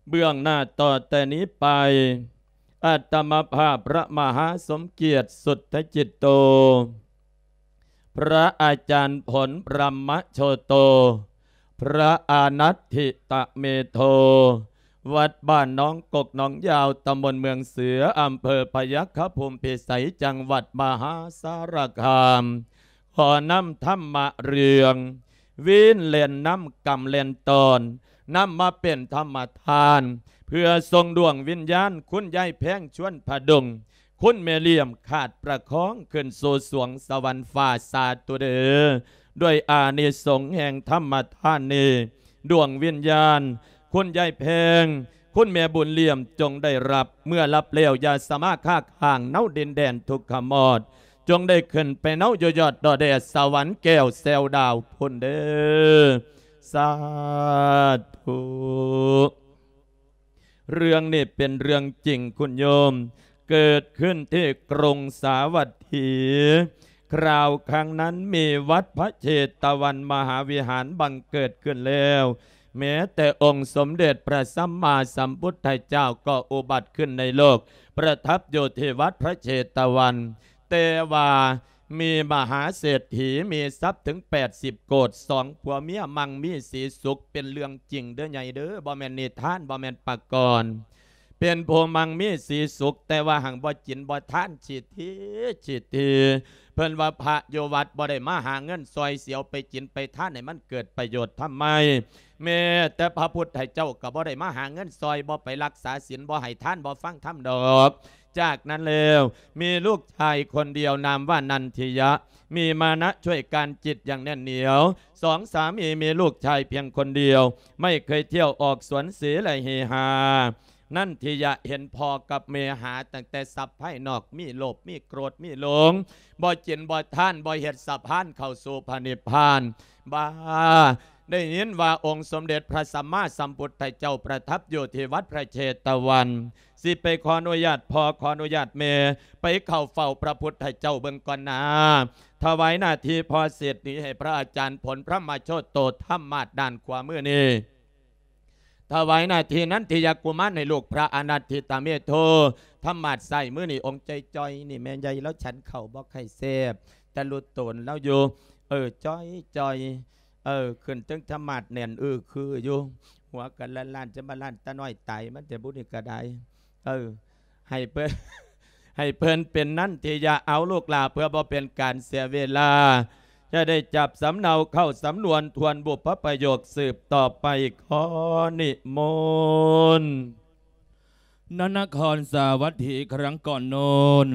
ເບື້ອງໜ້າຕໍ່ແຕ່ນີ້ໄປ ອາດຕະມະພາບພະມະຫາສົມກຽດ ສຸດທະຈິດໂຕ ພະອາຈານຜົນ ບຣະມະໂຊໂຕ ພະອານັດທິຕະເມໂທ ວັດບ້ານໜອງກົກໜອງຍາວ ຕຳບົນເມືອງເສືອ ອຳເພີພະຍັກຄະພູມພິໄສ ຈັງຫວັດມະຫາສາລະຄາມ ຂໍນຳທຳມະເລື່ອງ ວິນແລ່ນນຳກຳແລ່ນຕອນ ນຳມາເປັນທຳມະທານ ເພື່ອສົ່ງດວງວິນຍານ ຄຸນຍາຍແພງ ຊວນຜະດົງ ຄຸນແມ່ຫຼ້ຽມ ຂາດປະຄອງ ຂຶ້ນສູ່ສວງສະຫວັນຟ້າ ສາທຸເດີ້ ດ້ວຍອານິສົງແຫ່ງທຳມະທານນີ້ ດວງວິນຍານ ຄຸນຍາຍແພງ ຄຸນແມ່ບຸນຫຼ້ຽມ ຈົ່ງໄດ້ຮັບ ເມື່ອຮັບແລ້ວ ຢ່າສະມາຄ້າຄ້າງ ເນົາດິນແດນທຸກຂະມອດ ຈົ່ງໄດ້ຂຶ້ນໄປເນົາຢູ່ຍອດດອກແດ ສະຫວັນແກ້ວແຊວດາວພຸ້ນເດີ້ ສາທຸ. ເລື່ອງນີ້ເປັນເລື່ອງຈິງຄຸນໂຍມ ເກີດຂຶ້ນທີ່ກຸງສາວັດຖີ ຄາວຄັ້ງນັ້ນມີວັດພະເຊຕະວັນມະຫາວິຫານບັງເກີດຂຶ້ນແລ້ວ ແມ້ແຕ່ອົງສົມເດັດພະສຳມາສຳພຸດທະເຈົ້າກໍອຸບັດຂຶ້ນໃນໂລກ ປະທັບຢູ່ທີ່ວັດພະເຊຕະວັນ ແຕ່ວ່າມີມະຫາເສດຖີ ມີຊັບເຖິງແປດສິບໂກດ ສອງຜົວເມຍ ມັ່ງມີສີສຸກ ເປັນເລື່ອງຈິງເດີ້ໃຫຍ່ເດີ້ ບໍ່ແມ່ນນິທານ ບໍ່ແມ່ນປະກອນ ເປັນຜູ້ມັ່ງມີສີສຸກ ແຕ່ວ່າຫາກບໍ່ກິນບໍ່ທານ ຊິທີ ຊິທີ ເພິ່ນວ່າພະຢູ່ວັດບໍ່ໄດ້ມາຫາເງິນຊ່ອຍ ຊິເອົາໄປກິນໄປທານໃຫ້ມັນເກີດປະໂຫຍດທຳໄມ ແມ້ແຕ່ພະພຸດທະເຈົ້າກໍບໍ່ໄດ້ມາຫາເງິນຊ່ອຍ ບໍ່ໄປຮັກສາສິນ ບໍ່ໃຫ້ທານ ບໍ່ຟັງທຳດອກ. ຈາກນັ້ນແລ້ວ ມີລູກຊາຍຄົນດຽວນາມວ່ານັນທິຍະ ມີມານະຊ່ວຍການຈິດຢ່າງແໜ້ນໜຽວ ສອງສາມີ ມີລູກຊາຍພຽງຄົນດຽວ ໄມ່ເຄີຍທ່ຽວອອກສວນເສລະເຮຮາ. ນັນທິຍະເຫັນພໍ່ກັບແມ່ຫາຕັ້ງແຕ່ຊັບພາຍນອກ ມີໂລບ ມີໂກດ ມີຫຼົງ ບໍ່ກິນບໍ່ທານ ບໍ່ເຮັດສະພານເຂົ້າສູ່ພະນິບພານ ບາ ໄດ້ຍິນວ່າອົງສົມເດັດພະສຳມາສຳພຸດທະເຈົ້າປະທັບຢູ່ທີ່ວັດພະເຊຕະວັນ ຊິໄປຂໍອະນຸຍາດພໍ່ ຂໍອະນຸຍາດແມ່ ໄປເຂົ້າເຝົ້າພະພຸດທະເຈົ້າເບິ່ງກ່ອນນາ ຖວາຍໜ້າທີ່ພໍ່ເສດຖີໃຫ້ພະອາຈານຜົນ ພະມະໂຊໂຕ ທຳມາດດ້ານຂວາມືນີ້ ຖວາຍໜ້າທີ່ນັນທິຍະກຸມານໃຫ້ລູກພະອານັດທິຕະເມໂທ ທຳມາດຊ້າຍມືນີ້ ອົງຈ່ອຍໆ ນີ້ແມ່ໃຫຍ່ລາວ ສັນເຂົ້າບໍ່ຄ່ອຍແຊບ ແຕ່ລຸໂຕນລາວຢູ່ ເອີ ຈ່ອຍໆ ເອີ ຂຶ້ນເທິງທຳມາດແໜ້ນ ອື ຄືຢູ່ ຫົວກະລ້ານໆ ຈະມາລ້ານຕານ້ອຍຕາຍ ມັນແຕ່ບຸນີ້ກະໄດ້ ເອີ ໃຫ້ເພິ່ນ ໃຫ້ເພິ່ນເປັນນັນທິຍະ ເອົາລູກຫຼ້າ ເພື່ອບໍ່ເປັນການເສຍເວລາ ຈະໄດ້ຈັບສຳເນົາເຂົ້າສຳນວນທວນບຸບພະປະໂຫຍກສືບຕໍ່ໄປ ຂໍນິມົນ. ນະນະຄອນສາວັດຖີ ຄັ້ງກ່ອນໂນ້ນ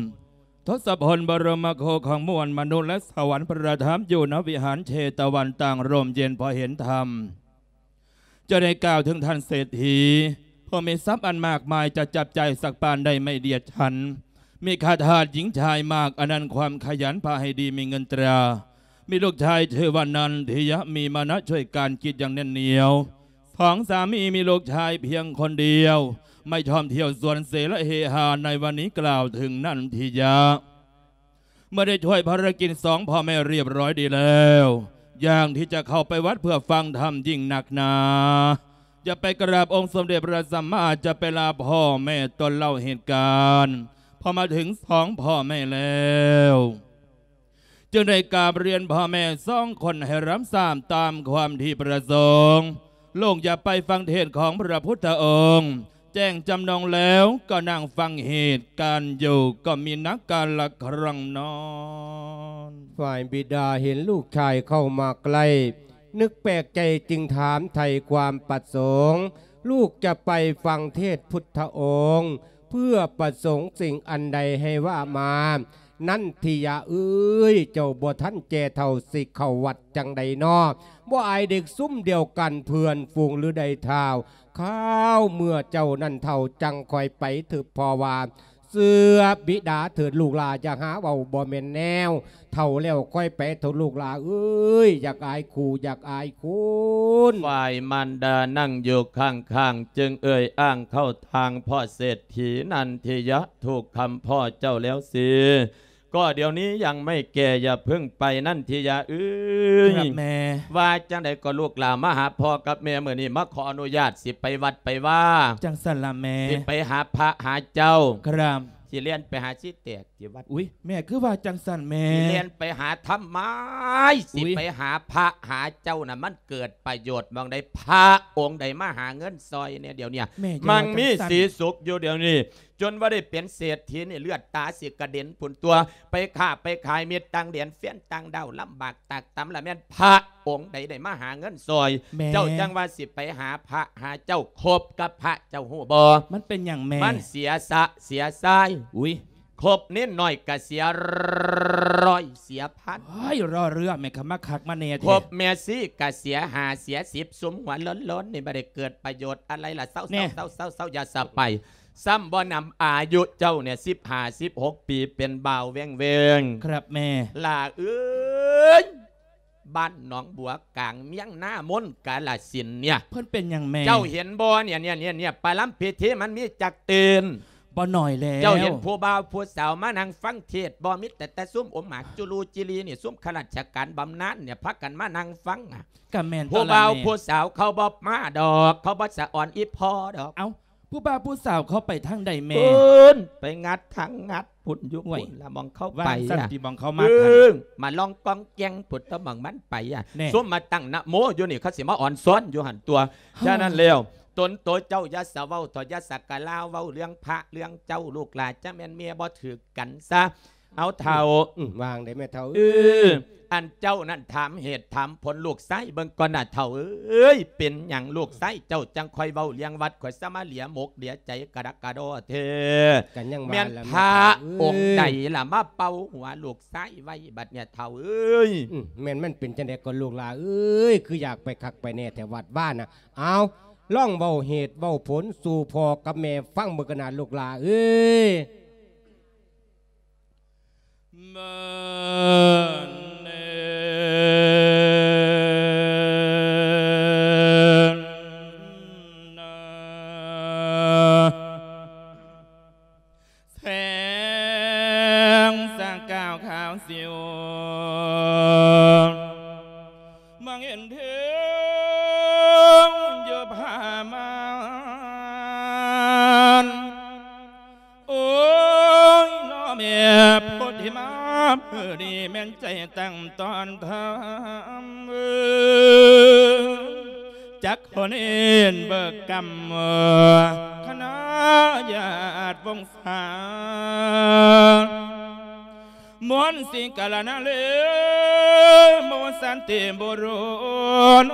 ທົດສະພົນ ບະລົມມະໂຄຂອງມວນມະນຸດ ແລະ ສະຫວັນ ປະທັບຢູ່ນະວິຫານເຊຕະວັນ ຕ່າງຮົ່ມເຢັນເພາະເຫັນທຳ ຈະໄດ້ກ່າວເຖິງທ່ານເສດຖີ ຜູ້ມີຊັບອັນມາກມາຍ ຈະຈັບຈ່າຍສັກປານໄດ້ໄມ່ດຽດສັນ ມີຂ້າທາດຍິງຊາຍມາກ ອັນນັ້ນຄວາມຂະຫຍັນພາໃຫ້ດີ ມີເງິນຕາ ມີລູກຊາຍຊື່ວ່ານັນທິຍະ ມີມານະຊ່ວຍການກິດຢ່າງແໜ້ນໜຽວ ສອງສາມີ ມີລູກຊາຍພຽງຄົນດຽວ ໄມ່ຊອບທ່ຽວສວນເສລະເຮຮາ ໃນວັນນີ້ກ່າວເຖິງນັນທິຍະ ເມື່ອໄດ້ຊ່ວຍພາລະກິດສອງພໍ່ແມ່ຮຽບຮ້ອຍດີແລ້ວ ຢ່າງທີ່ຈະເຂົ້າໄປວັດເພື່ອຟັງທຳຍິ່ງນັກໜາ ຈະໄປກະລາບອົງສົມເດັດພະສຳມາ ຈະໄປລາພໍ່ແມ່ຕົນເລົ່າເຫດການ ພໍມາເຖິງສອງພໍ່ແມ່ແລ້ວ ຈຶ່ງໄດ້ກາບຮຽນພໍ່ແມ່ສອງຄົນໃຫ້ຮັບຊາບຕາມຄວາມທີ່ປະສົງ ລູກຈະໄປຟັງເທດຂອງພະພຸດທະອົງ ແຈ້ງຈຳນົງແລ້ວ ກໍນັ່ງຟັງເຫດການຢູ່ ກໍມີນັກກາລະຄັ້ງນັ້ນ ຝ່າຍບິດາເຫັນລູກຊາຍເຂົ້າມາໃກ້ ນຶກແປກໃຈຈຶ່ງຖາມໄຖ່ຄວາມປະສົງ ລູກຈະໄປຟັງເທດພຸດທະອົງ ເພື່ອປະສົງສິ່ງອັນໃດໃຫ້ວ່າມາ. ນັນທິຍະເອີຍ ເຈົ້າບໍ່ທັນແກ່ເຖົ້າ ຊິເຂົ້າວັດຈັ່ງໃດນໍ ບໍ່ອາຍເດັກຊຸມດຽວກັນ ເພື່ອນຝູງຫຼືໃດທ້າວ ຄາວເມື່ອເຈົ້ານັ້ນເຖົ້າ ຈັ່ງຄ່ອຍໄປເຖິບພໍ່ວ່າ ເຊື່ອບິດາເຖີດລູກຫຼ້າ ຢ່າຫາເວົ້າບໍ່ແມ່ນແນວ ເຖົ້າແລ້ວຄ່ອຍໄປເຖົ້າລູກຫຼ້າເອີຍ ຢ່າອາຍຄູ ຢ່າອາຍຄູນ. ຝ່າຍມານດານັ່ງຢູ່ຂ້າງໆ ຈຶ່ງເອີ່ຍອ້າງເຂົ້າທາງພໍ່ເສດຖີ ນັນທິຍະ ຖືກຄຳພໍ່ເຈົ້າແລ້ວຊິ ເ ກໍດຽວນີ້ຍັງໄມ່ແກ່ ຢ່າເພິ່ງໄປ ນັນທິຍາເອີຍ. ຄັບແມ່. ວ່າຈັ່ງໃດກໍລູກຫຼານມາຫາພໍ່ກັບແມ່ ມື້ນີ້ມາຂໍອະນຸຍາດ ຊິໄປວັດໄປວາ. ຈັ່ງຊັ້ນລະແມ່. ຊິໄປຫາພະຫາເຈົ້າ. ຄັບ. ຊິແລ່ນໄປຫາຊີແຕກ ທີ່ວັດ. ອຸ້ຍ ແມ່ຄືວ່າຈັ່ງຊັ້ນແມ່? ຊິແລ່ນໄປຫາທຳໄມ? ຊິໄປຫາພະຫາເຈົ້ານະ ມັນເກີດປະໂຫຍດໝ່ອງໃດ? ພະອົງໃດມາຫາເງິນຊ່ອຍແດ່ດຽວນີ້? ມັງມີສີສຸກຢູ່ດຽວນີ້ ຈົນວ່າໄດ້ເປັນເສດຖີນີ້ ເລືອດຕາຊິກະເດັນພຸ້ນຕົວະ. ໄປຄ້າໄປຂາຍມິດຕ່າງແດນ ແຟນຕ່າງດ້າວ ລຳບາກຕາກຕຳ ລະແມ່ນພະອົງໃດໄດ້ມາຫາເງິນຊ່ອຍ? ແມ່. ເຈົ້າຈັ່ງວ່າຊິໄປຫາພະຫາເຈົ້າ ຄົບກັບພະ ເຈົ້າຮູ້ບໍ່? ມັນເປັນຫຍັງແມ່? ມັນເສຍຊະເສຍຊາຍ. ອຸ້ຍ. ຄົບເນນນ້ອຍກະເສຍຮ້ອຍເສຍພັນ. ໂອ້ຍ ລໍເລືອແມ່ ຄຳມາຄັກມາແນ່ແທ້. ຄົບແມ່ຊີກະເສຍຫ້າເສຍສິບ ຊຸມຫົວໂລ້ນໆນີ້ບໍ່ໄດ້ເກີດປະໂຫຍດອະໄລລະ. ເຊົາໆໆໆ ຢ່າສະໄປ. ຊ້ຳບໍ່ນຳອາຍຸເຈົ້ານີ້ ສິບຫ້າສິບຫົກປີ ເປັນບ່າວແວ່ງໆ. ຄັບແມ່. ຫຼ້າເອີຍ ບ້ານໜອງບົວກາງ ເມືອງນາມົນ ກາລະສິນນີ້. ເພິ່ນເປັນຫຍັງແມ່? ເຈົ້າເຫັນບໍ່ ເນຍ ເນຍ ເນຍ ປະລຳພິທີມັນມີຈັກຕື່ນ? ບໍ່ໜ້ອຍແລ້ວ. ເຈົ້າເຫັນຜູ້ບ່າວຜູ້ສາວມານັ່ງຟັງເທດບໍ່? ມີແຕ່ ແຕ່ຊຸມອົມໝາກຈຸລູຈິລີນີ້ ຊຸມຂ້າລາຊະການບຳນານນີ້ ພາກັນມານັ່ງຟັງ. ກະແມ່ນ ຜູ້ບ່າວຜູ້ສາວເຂົາບໍ່ມາດອກ ເຂົາບໍ່ສະອອນອີ່ພໍ່ດອກ. ເອົ້າ ຜູ້ບ່າວຜູ້ສາວເຂົາໄປທາງໃດແມ່? ພຸ້ນ ໄປງັດທາງງັດ ພຸ້ນຢູ່ ໂອ້ຍ ພຸ້ນລະ ໝ່ອງເຂົາໄປ. ວ່າຊັ້ນຕິ ໝ່ອງເຂົາມາ. ເອີ ມາລອງກອງແກງ ພຸ້ນຕົວະ ໝ່ອງມັນໄປອະ. ແນ່. ຊຸມມາຕັ້ງນະໂມຢູ່ນີ້ ເຂົາຊິມາອອນຊອນຢູ່ຫັ້ນຕົວະ. ເອີ ສະນັ້ນແລ້ວ ຕົນໂຕເຈົ້າຢ່າສະເວົ້າເຖາະ ຢ່າສະກະລາເວົ້າເລື່ອງພະເລື່ອງເຈົ້າ ລູກຫຼານ ຈະແມ່ນເມຍບໍ່ຖືກກັນຊະ. ເອົາເຖົ້າ. ອືມ ວ່າຈັ່ງໃດແມ່ເຖົ້າ? ເອີ ເອີຍ ອັນເຈົ້ານັ້ນຖາມເຫດຖາມຜົນລູກຊາຍເບິ່ງກ່ອນນະເຖົ້າເອີຍ. ເປັນຫຍັງລູກຊາຍເຈົ້າຈັ່ງຄ່ອຍເວົ້າເລື່ອງວັດ ຂ້ອຍສະມາເຫຼຍໝົກເຫຼຍໃຈກະດະກະດໍແທ້? ກະຍັງວ່າ ແມ່ນພະອົງໃດລະມາເປົ່າຫົວລູກຊາຍໄວ້ບັດນີ້ເຖົ້າເອີຍ? ອືມ ແມ່ນມັນເປັນຈັ່ງໃດກໍລູກຫຼ້າເອີຍ ຄືຢາກໄປຄັກໄປແນ່ແທ້ວັດວານະ. ເອົາ ລອງເວົ້າເຫດເວົ້າຜົນສູ່ພໍ່ກັບແມ່ຟັງເບິ່ງກັນນະລູກຫຼ້າເອີຍ. ແສງສະກາວຂາວສິວ ມອງເຫັນເທິງຢູ່ຜາມ່ານ. ໂອ້ຍ ນ້ອງແມ່ໂພທິມາ ມື້ນີ້ແມ່ນໃຈຕັ້ງຕ້ອນທຳ ຈັກຂໍເນນເບີກກຳ ຄະນະຍາດວົງສາ ມວນສິງກາລະນະເລ ໂມສັນຕິບຸລຸນ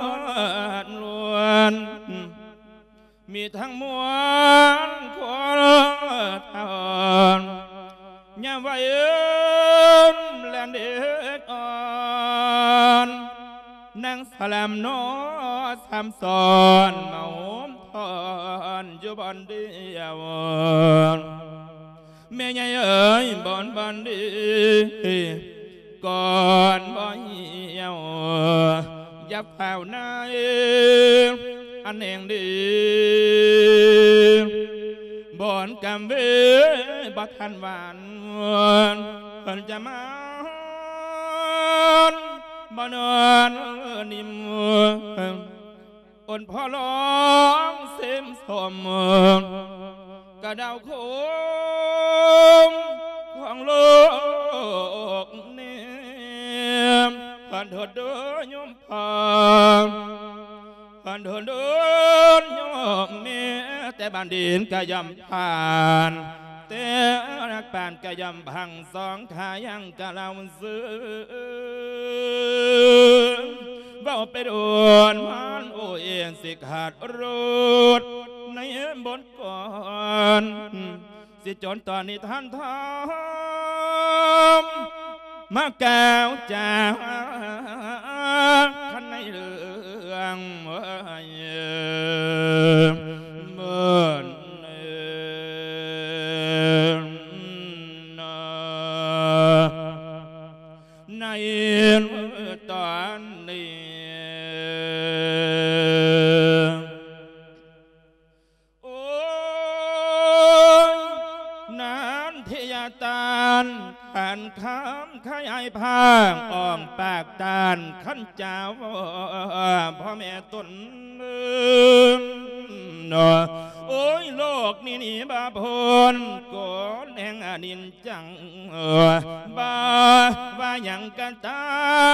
ມີທັງມວນຄົນເຖົ້າ ຍາມໄວເອີນແລນເດັກອ່ອນ ນາງສະແລມນໍ ສາມຊ້ອນ ມາໂຮມທ້ອນຢູ່ບ່ອນດຽວ. ແມ່ໃຫຍ່ເອີຍ ບ່ອນ ບ່ອນດີ ກ່ອນບໍ່ຫ່ຽວ ຢ່າຟ້າວນາຍ ອັນແຫ່ງດີ ບ່ອນກຳເວ ບໍ່ທັນຫວານ ເພິ່ນຈະມານ ບໍ່ນອນນິ່ມ ອົນພໍ່ລອງເຊມສົມ ກະດາວໂຄງຂອງໂລກນີ້ ເພິ່ນໂທດໂດຍໂຍມພໍ່ ເພິ່ນໂທດໂດຍໂຍມແມ່ ແຕ່ບ້ານດິນກະຍ່ອມຜ່ານ ແຕ່ນັກປານກະຍ່ອມພັງ ສອງຂາຍັງກະລາວ ເວົ້າໄປໂດນມານໂອເອນ ຊິຂາດໂລດໃນບົດກ່ອນ ຊິຈົນຕອນນີ້ທ່ານທອມ ມາກ່າວຈາຄັນໃນເລື່ອງເອີຍ ເມີນ ໃນຕອນນີ້ ໂອ້ຍ ນັນທິຍາ ຕານ ຂັນຄຳຂະຫຍາຍພາກອອກປາກຕານ ຂັນຈາວພໍ່ແມ່ຕົນ ໂອ້ຍ ໂລກນີ້ໜີບໍ່ພົ້ນ ກົດແຫ່ງອະນິດ ຈັງ ບໍ່ວ່າຫຍັງກໍຕາ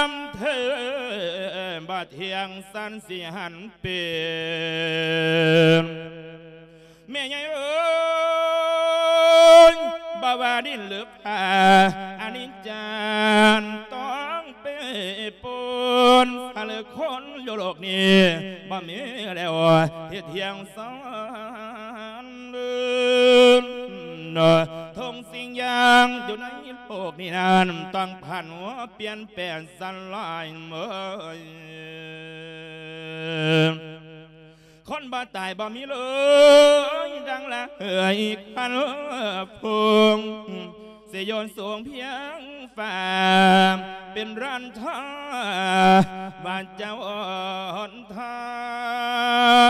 ມເທີ ບໍ່ທ່ຽງສັນຊິຫັນເປັນ ແມ່ໃຫຍ່ເອີຍ ບໍ່ວ່າດິນຫຼືຟ້າ ອະນິດຈັງຕ້ອງເປປົນ ຖ້າເລີກຄົນຢູ່ໂລກນີ້ ບໍ່ມີແລ້ວທີ່ທ່ຽງສັນ ທຸກສິ່ງຢ່າງຢູ່ໃນໂລກນີ້ນັ້ນ ຕ້ອງຜັນຫວນປ່ຽນແປງສະຫຼາຍເມີຍ ຄົນບໍ່ຕາຍບໍ່ມີເລີຍ ດັ່ງລະເຫີຍຄວັນຟຸ່ງ ຊິໂຍນສູງພຽງຟ້າ ເປັນລານທາ ວ່າຈະອອນທາ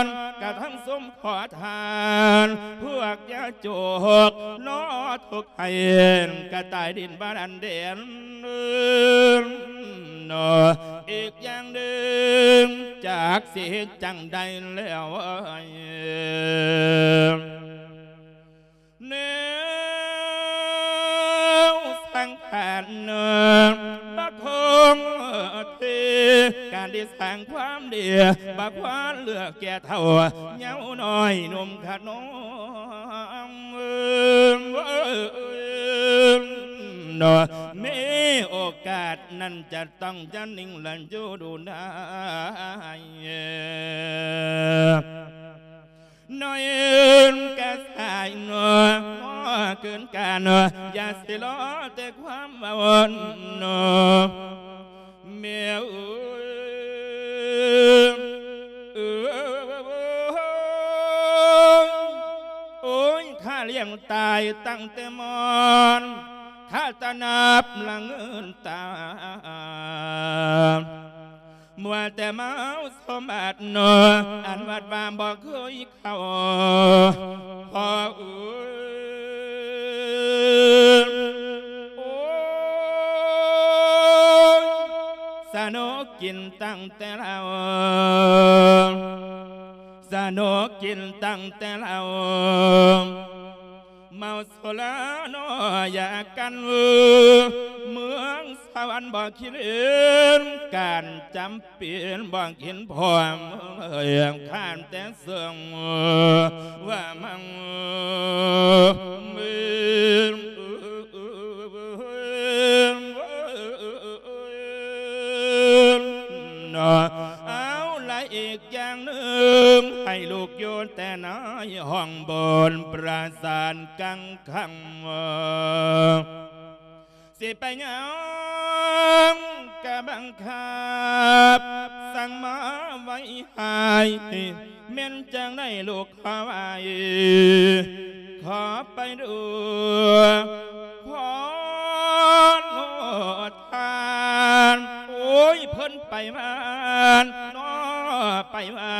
ນ ກະທັງສົມຂໍທານ ພວກຢາຈົກ ນອທຸກໃຫ້ ກະຕາຍດິນບາດອັນເດັ່ນ ອີກຢ່າງໜຶ່ງ ຈັກຊິເຮັດຈັ່ງໃດແລ້ວ ແນວສັງຂານບັກຄົງເທ ການທີ່ສ້າງຄວາມດີ ບັກຄວານເລືອກແກ່ເຖົ້າເຍົານ້ອຍໜຸ່ມຂະໜອງ ມີໂອກາດນັ້ນຈະຕ້ອງຢ່ານິ່ງ ແລະ ຢູ່ດູນາຍ ນ້ອຍກະສາຍໜໍ ເກີນການ ຢ່າຊິລໍແຕ່ຄວາມເວົ້າ ແມ່ເອີຍ ໂອ້ຍ ຂ້າລ້ຽງຕາຍຕັ້ງແຕ່ມອນ ຂ້າຕະໜັບລະເງິນຕາ ມັວແຕ່ເມົາສົມບັດ ອັນວັດວາບໍ່ເຄີຍເຂົ້າ ພໍ່ເອີຍ ໂອ້ຍ ສະໜຸກກິນຕັ້ງແຕ່ເຫຼົ້າ ສະໜຸກກິນຕັ້ງແຕ່ເຫຼົ້າ ເມົາສຸລາເນາະ ຢາກັນ ເມືອງສະຫວັນບໍ່ຄິດເຫັນ ການຈຳເປັນບໍ່ກິນພ້ອມ ຂ້ານແຕ່ເຊິ່ງວ່າມັງ ເອົາລະ ອີກຢ່າງໜຶ່ງ ໃຫ້ລູກຢູ່ແຕ່ໃນຫ້ອງບົນປາສາດກັງຂັງ ຊິໄປຫຍັງກະບັງຄັບ ສັ່ງມາໄວ້ໃຫ້ ແມ່ນຈັ່ງໃດລູກຂໍໄວ້ ຂໍໄປດູຄວາມໂຫດຮ້າຍ ໂອ້ຍ ເພິ່ນໄປມາເນາະ ໄປມາ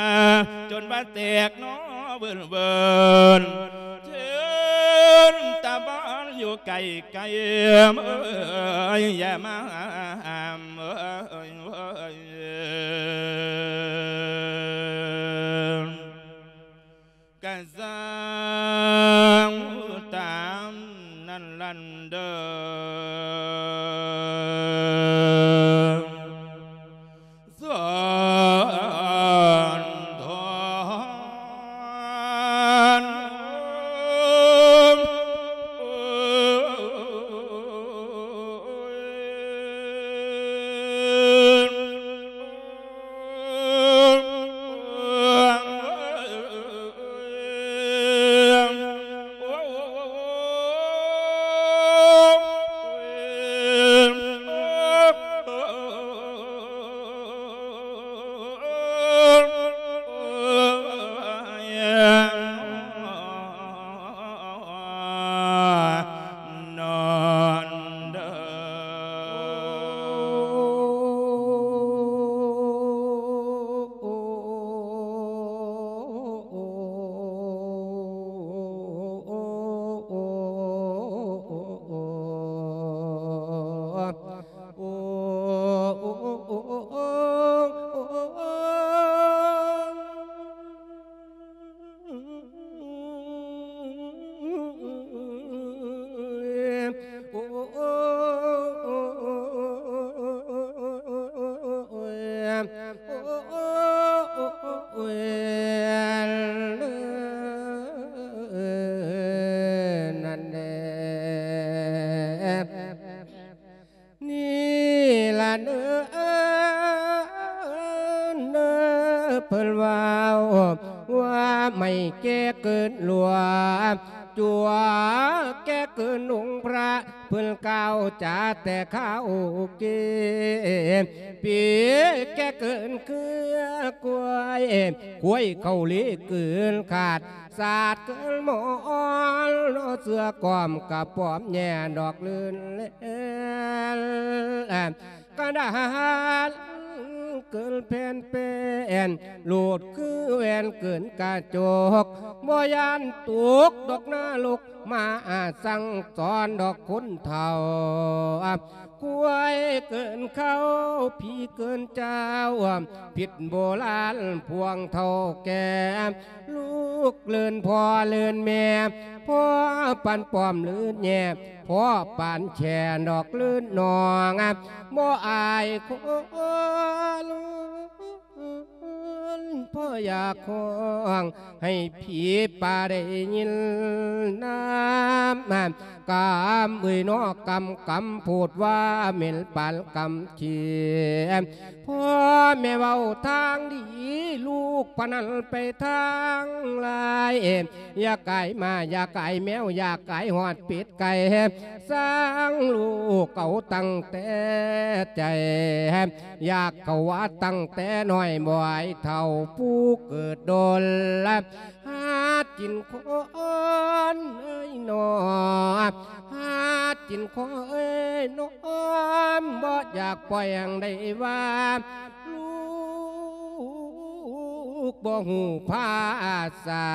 ຈົນວ່າແຕກເນາະ ເວີນໆ ເຖິງຕາບ້ານຢູ່ໄກໆ ເອີຍ ຢ່າມາຫ້າມ ເອີຍ ກະຊ່າງຕາມນັ້ນລະເດີ ສອນທອນ. ໂອ້ຍ ໂອ້ຍ ນັ້ນແຫຼະ ນີ້ລະເນີ ເນີ ເພິ່ນເວົ້າວ່າໄມ້ແກ່ເກີນຫຼວງ ຈົວແກ່ເກີນອົງພະ ເພິ່ນກ່າວຈາແຕ່ຄາວເກ ປີແກ່ເກີນເຄືອຄວາຍ ຄວາຍເຂົ້າເລເກີນຂາດ ສາດເກີນໝໍນ ເສືອກອມກະປອມແຍ່ດອກລື່ນແລ ກະດານເກີນແຜ່ນແປ້ນ ໂລດຄືແວ່ນເກີນກະຈົກ ບໍ່ຢ້ານຕົກດອກນະລົກ ມາສັ່ງສອນດອກຄົນເຖົ້າ ຄວາຍເກີນເຂົ້າ ຜີເກີນເຈົ້າ ຜິດໂບລານພວງເຖົ້າແກ່ ລູກເລີນພໍ່ເລີນແມ່ ພໍ່ປານປ້ອມເລີນແຍ່ ພໍ່ປານແຊ່ດອກເລີນນ້ອງ ບໍ່ອາຍຄົນ ພໍ່ຢາກຮ້ອງໃຫ້ຜີປ່າໄດ້ຍິນນຳ ກຳເອີຍເນາະ ກຳ ກຳໂພດວ່າເໝັນປານກຳຂີ້ ພໍ່ແມ່ເວົ້າທາງດີ ລູກພະນັ້ນໄປທາງລາຍ ຢາກກາຍໝາ ຢາກກາຍແມວ ຢາກກາຍຮອດເປັດໄກ່ ສ້າງລູກເອົາຕັ້ງແຕ່ໃຈ ຢາກເຂົ້າວັດຕັ້ງແຕ່ນ້ອຍ ບໍ່ອາຍເຖົ້າຜູ້ເກີດດົນ ຫາກິນຄົນເອີຍໜໍ ຫາກິນຄົນເອີຍໜໍ ບໍ່ຢາກປ່ອຍຫຍັງໄດ້ວ່າ ລູກບໍ່ຮູ້ພາສາ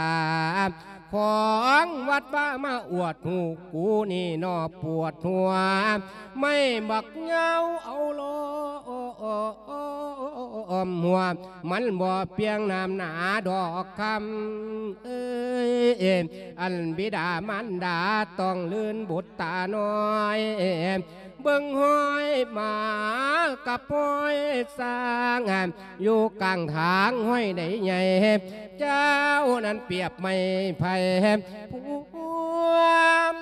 ຂອງວັດວາມາອວດຮູ້ ກູນີ້ໜໍປວດຫົວ ໄມ້ບັກຍາວເອົາລ້ອມຫົວ ມັນບໍ່ປຽງນ້ຳໜາດອກຄຳເອີຍ ອັນບິດາມານດາຕ້ອງລື່ນບຸດຕານ້ອຍ ເບິ່ງຫ້ອຍໝາກັບຫ້ອຍຊ້າງ ຢູ່ກາງທາງຫ້ອຍໃດໃຫຍ່ ເຈົ້ານັ້ນປຽບໄມ້ໄຜ່ ພວມ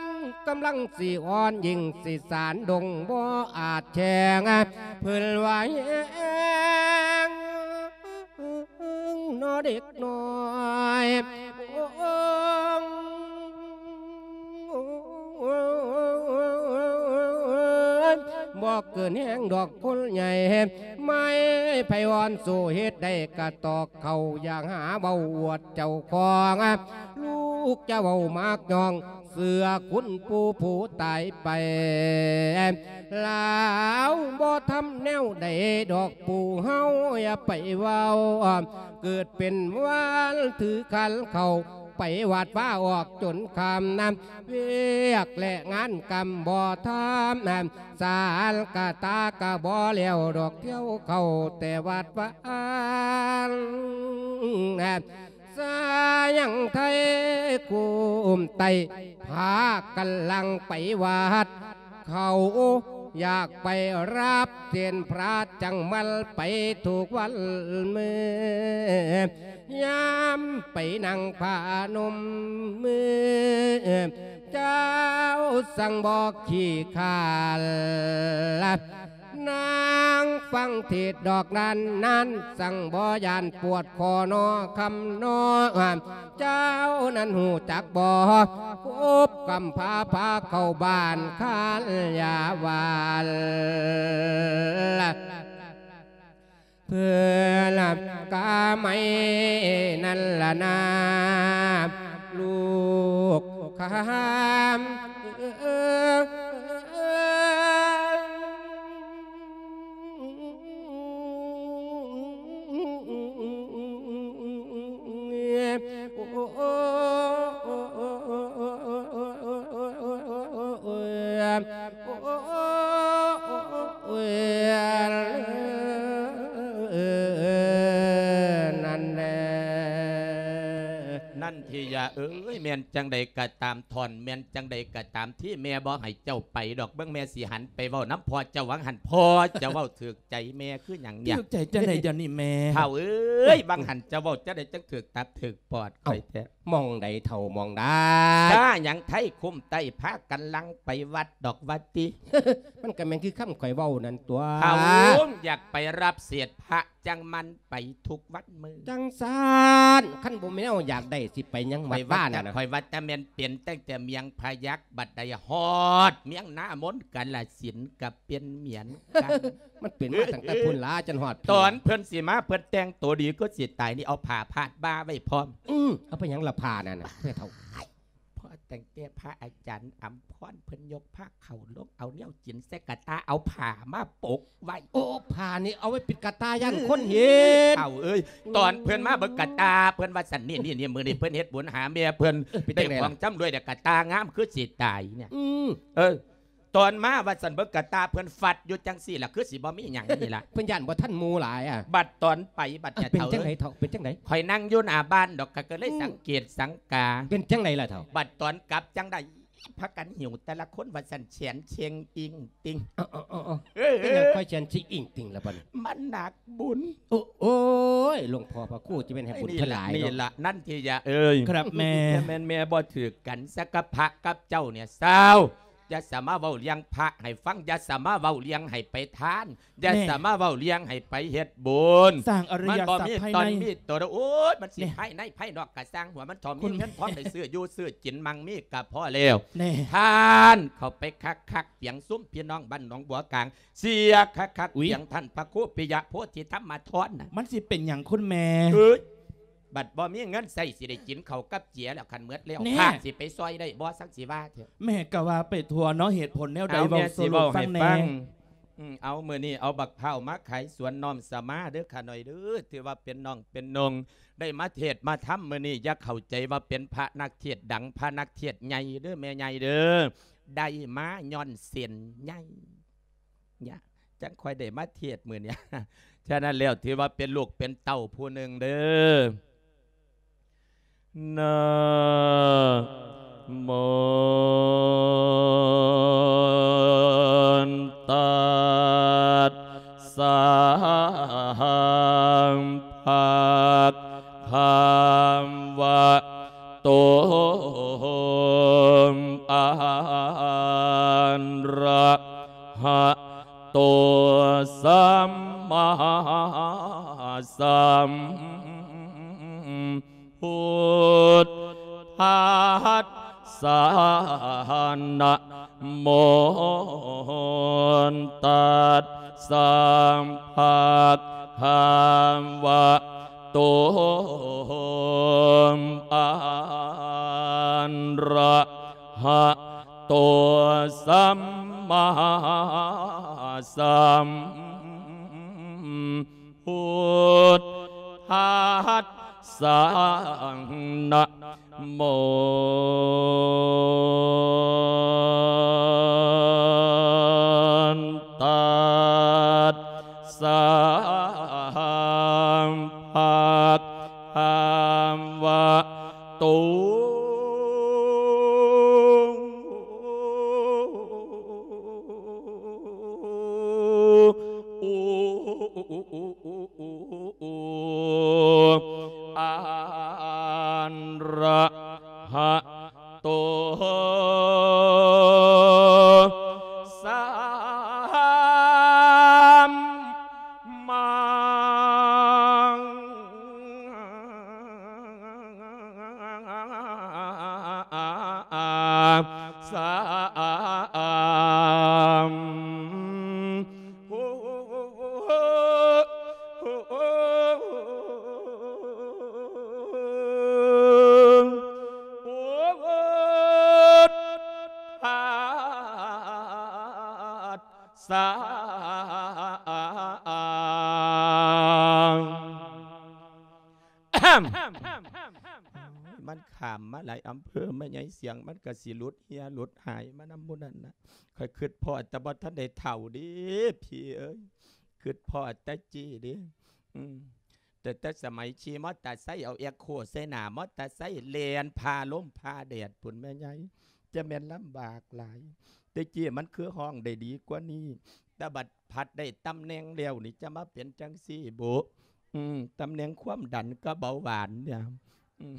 ກຳລັງຊິອ່ອນ ຍິ່ງຊິສານດົງບໍ່ອາດແຂງ ເພິ່ນວ່າແຮງ ເນາະເດັກນ້ອຍ ໂອ້ ບໍ່ເກີນແຮງດອກຄົນໃຫຍ່ ໄມ້ໄຜ່ອ່ອນສູ້ເຮັດໄດ້ກະຕອກເຂົ້າ ຢ່າຫາເວົ້າອວດເຈົ້າຂອງ ລູກຈະເວົ້າມັກຍ່ອງ ເສືອຄຸນປູ່ຜູ້ຕາຍໄປ ລາວບໍ່ທຳແນວໃດດອກປູ່ເຮົາ ຢ່າໄປເວົ້າ ເກີດເປັນວັນຖືຂັນເຂົ້າ ໄປວັດວາອອກຈົນຄ່ຳນຳ ວຽກແລະງານກຳບໍ່ທຳ ສານກະຕາກະບໍ່ແລ້ວດອກ ທ່ຽວເຂົ້າແຕ່ວັດວາ ສາຍັງໄທກຸ້ມໄຕ້ ພາກັນຫຼັ່ງໄປວັດ ເຂົາຢາກໄປຮັບເສນພະ ຈັ່ງມາໄປທຸກວັນມື້ ຍາມໄປນັ່ງພະນົມມື ເຈົ້າສັ່ງບໍ່ຂີ້ຄ້ານ ນາງຟັງເທດດອກນັ້ນ ນັ້ນສັ່ງບໍ່ຢ້ານປວດຄໍນໍຄຳນໍ ເຈົ້ານັ້ນຮູ້ຈັກບໍ່ ກົບກຳພ້າພາເຂົ້າບ້ານຄານຢາວານ ເພື່ອນກາໄມນັ້ນລະນາ ລູກຄຳ ນັ້ນແຫຼະ ນັນທິຍະ ເອີຍ ແມ່ນຈັ່ງໃດກໍຕາມ ທ່ອນ ແມ່ນຈັ່ງໃດກໍຕາມ ທີ່ແມ່ບໍ່ໃຫ້ເຈົ້າໄປດອກ ເບິ່ງແມ່ຊິຫັນໄປເວົ້ານຳພໍ່ເຈົ້າຫວ່າງຫັ້ນ ພໍ່ເຈົ້າເວົ້າຖືກໃຈແມ່ຄືຫຍັງເນຍ? ຖືກໃຈຈັ່ງໃດດຽວນີ້ແມ່? ທ້າວເອີຍ ຫວ່າງຫັ້ນເຈົ້າເວົ້າຈັ່ງໃດຈັ່ງຖືກຕັບຖືກປອດຂ້ອຍແທ້? ເອົ້າ ໝ່ອງໃດເຖົ້າ ໝ່ອງໃດ? ຖ້າຫຍັງໄທຄຸ້ມໃຕ້ ພາກັນຫຼັ່ງໄປວັດດອກວ່າຕິ. ມັນກໍແມ່ນຄືຄຳຂ້ອຍເວົ້ານັ້ນຕົວະ. ຖ້າຫາກຢາກໄປຮັບເສດພະ ຈັ່ງມັນໄປທຸກວັນມື້. ຈັ່ງຊັ້ນ ຄັນບໍ່ແມ່ນແນວຢາກໄດ້ ຊິໄປຫຍັງວັດວານັ້ນນະ? ຂ້ອຍວ່າແຕ່ແມ່ນເປັນຕັ້ງແຕ່ເມືອງພະຍັກ ບັດໃດຮອດເມືອງນາມົນ ກາລະສິນກໍເປັນເໝືອນກັນ. ມັນເປັນມາຕັ້ງແຕ່ພຸ້ນລະ ຈົນຮອດພີ້. ຕອນເພິ່ນຊິມາ ເພິ່ນແຕ່ງໂຕດີຄືຊິຕາຍນີ້ ເອົາຜ້າພາດບ່າໄວ້ພ້ອມ. ອື ເອົາໄປຫຍັງລະຜ້ານັ້ນນະ ແມ່ເຖົ້າ? ພໍຕັ້ງແຕ່ພະອາຈານອຳພອນເພິ່ນຍົກພາເຂົ້າລົງ ເອົາແນວກິນໃສ່ກະຕ່າ ເອົາຜ້າມາປົກໄວ້. ໂອ້ ຜ້ານີ້ເອົາໄວ້ປິດກະຕ່າ ຢ້ານຄົນເຫັນ. ເຖົ້າເອີຍ ຕອນເພິ່ນມາເບິ່ງກະຕ່າ ເພິ່ນວ່າຊັ້ນ ນີ້ໆ ມື້ນີ້ເພິ່ນເຮັດບຸນຫາແມ່ເພິ່ນ ເອີ ເປັນຈັ່ງໃດລະ? ໄດ້ຂອງຈຳລວຍ ແລ້ວກະຕ່າງາມຄືຊິຕາຍເນຍ. ອື ເອີ ຕອນມາວ່າຊັ້ນ ເບິ່ງກະຕ່າເພິ່ນຟັດຢູ່ຈັ່ງຊີ້ລະ ຄືຊິບໍ່ມີຫຍັງນີ້ລະ. ເພິ່ນຢ້ານບໍ່ທັນໝູ່ຫຼາຍອະ. ບັດຕອນໄປ ບັດ ເອີ ເປັນຈັ່ງໃດເຖົ້າ ເປັນຈັ່ງໃດ? ຂ້ອຍນັ່ງຢູ່ໜ້າບ້ານດອກ ກໍເລີຍ ອືມ ສັງເກດສັງກາ. ເປັນຈັ່ງໃດລະເຖົ້າ? ບັດຕອນກັບຈັ່ງໃດ ພາກັນຫິ້ວແຕ່ລະຄົນວ່າຊັ້ນ ແຂນເຊັງອິງຕິງ. ເອີ ເອີ ເອີ ເອີ ເປັນຫຍັງຄ່ອຍແຂນຊິອິງຕິງລະບັດນີ້? ມັນໜັກບຸນ. ໂອ້ ໂອ້ຍ ຫຼວງພໍ່ພະຄູຈະແມ່ນໃຫ້ບຸນເພິ່ນຫຼາຍເນາະ. ນີ້ລະ ນັນທິຍາເອີຍ. ครับแม่. ແມ່ນແມ່ບໍ່ຖືກກັນ ສະກັບພະກັບເຈົ້າເນຍ ຊາວ ຢ່າສາມາເວົ້າເລື່ອງພະໃຫ້ຟັງ ຢ່າສາມາເວົ້າເລື່ອງໃຫ້ໄປທານ ຢ່າ ແມ່ ສາມາເວົ້າເລື່ອງໃຫ້ໄປເຮັດບຸນ. ສ້າງອະລິຍະສັບພາຍໃນ ມັນບໍ່ມີຕົນມີຕົວ. ໂອ້ຍ ມັນຊິ ແມ່ ພາຍໃນພາຍນອກກະຊ່າງຫົວມັນເຖາະ ມີ ແມ່ ເງິນທອງໄດ້ຊື້ຢູ່ຊື້ກິນ ມັ່ງມີກະພໍແລ້ວ. ແມ່ ທານເຂົ້າໄປຄັກໆ ປຽງຊຸມພີ່ນ້ອງບ້ານໜອງບົວກາງ ເສຍຄັກໆ ອຸຍ ປຽງທ່ານພະຄູປິຍະໂພທິທຳມະທອນນະ. ມັນຊິເປັນຫຍັງຄຸນແມ່? ເອີຍ ບັດບໍ່ມີເງິນໃຊ້ ຊິໄດ້ກິນເຂົ້າກັບເຈຍແລ້ວ ຄັນໝົດແລ້ວ ແນ່ ພະຊິໄປຊ່ອຍໄດ້ບໍ່? ສັກຊິວ່າເຖາະ. ແມ່ກໍວ່າໄປທົ່ວເນາະ ເຫດຜົນແນວໃດ ເວົ້າສູ່ລູກຟັງແນ່. ອືມ ເອົາ ມື້ນີ້ເອົາບັກພ້າວມາຂາຍສວນ ນ້ອມສະມາເດີ້ຂ້ານ້ອຍເດີ້ ຖືວ່າເປັນນ້ອງເປັນນົງ ໄດ້ມາເທດມາທຳມື້ນີ້ ຢ່າເຂົ້າໃຈວ່າເປັນພະນັກເທດດັງ ພະນັກເທດໃຫຍ່ເດີ້ແມ່ໃຫຍ່ເດີ້ ໄດ້ມາຍ້ອນເສັ້ນໃຍ ຍະ ຈັ່ງຄ່ອຍໄດ້ມາເທດມື້ນີ້. ສະນັ້ນແລ້ວ ຖືວ່າເປັນລູກເປັນເຕົ້າຜູ້ໜຶ່ງເດີ້. ນະໂມ ຕັດສະ ພະຄະວະໂຕ ອະຣະຫະໂຕ ສຳມາສຳພຸດທັດສະ ນະໂມ ຕັດສະ ພະຄະວະໂຕ ອະຣະຫະ ໂຕ ສຳມາສຳພຸດທັດສະ ນະໂມ ຕັດສະ ພະຄະວະໂຕ ອະຣະຫະໂຕ ສຳມາ ສຳພຸດທັດ ສາ ມັນຂ້າມມາຫຼາຍອຳເພີ ແມ່ໃຫຍ່ ສຽງມັນກະຊິຫຼຸດເຮ່ຍຫຼຸດຫາຍມານຳໝູ່ນັ້ນນະ. ຂ້ອຍຄິດພໍ້ແຕ່ບໍ່ທັນໄດ້ເຖົ້າເດ້ ພີ່ເອີຍ ຄິດພໍ້ແຕ່ເຈ້ເດ້. ອືມ ແຕ່ ແຕ່ສະໄໝຂີ່ມໍເຕີໄຊ ເອົາແອັກໂຄໃສ່ໜ້າມໍເຕີໄຊ ແລ່ນຜ່າລົມຜ່າແດດພຸ້ນແມ່ໃຫຍ່ ຈະແມ່ນລຳບາກຫຼາຍ. ແຕ່ກີ້ມັນຄືຮ້ອງໄດ້ດີກວ່ານີ້ ແຕ່ບັດພັດໄດ້ຕຳແໜ່ງແລ້ວນີ້ ຈະມາເປັນຈັ່ງຊີ້ບໍ? ອືມ ຕຳແໜ່ງຄວາມດັນກັບເບົາຫວານເນຍ ອືມ.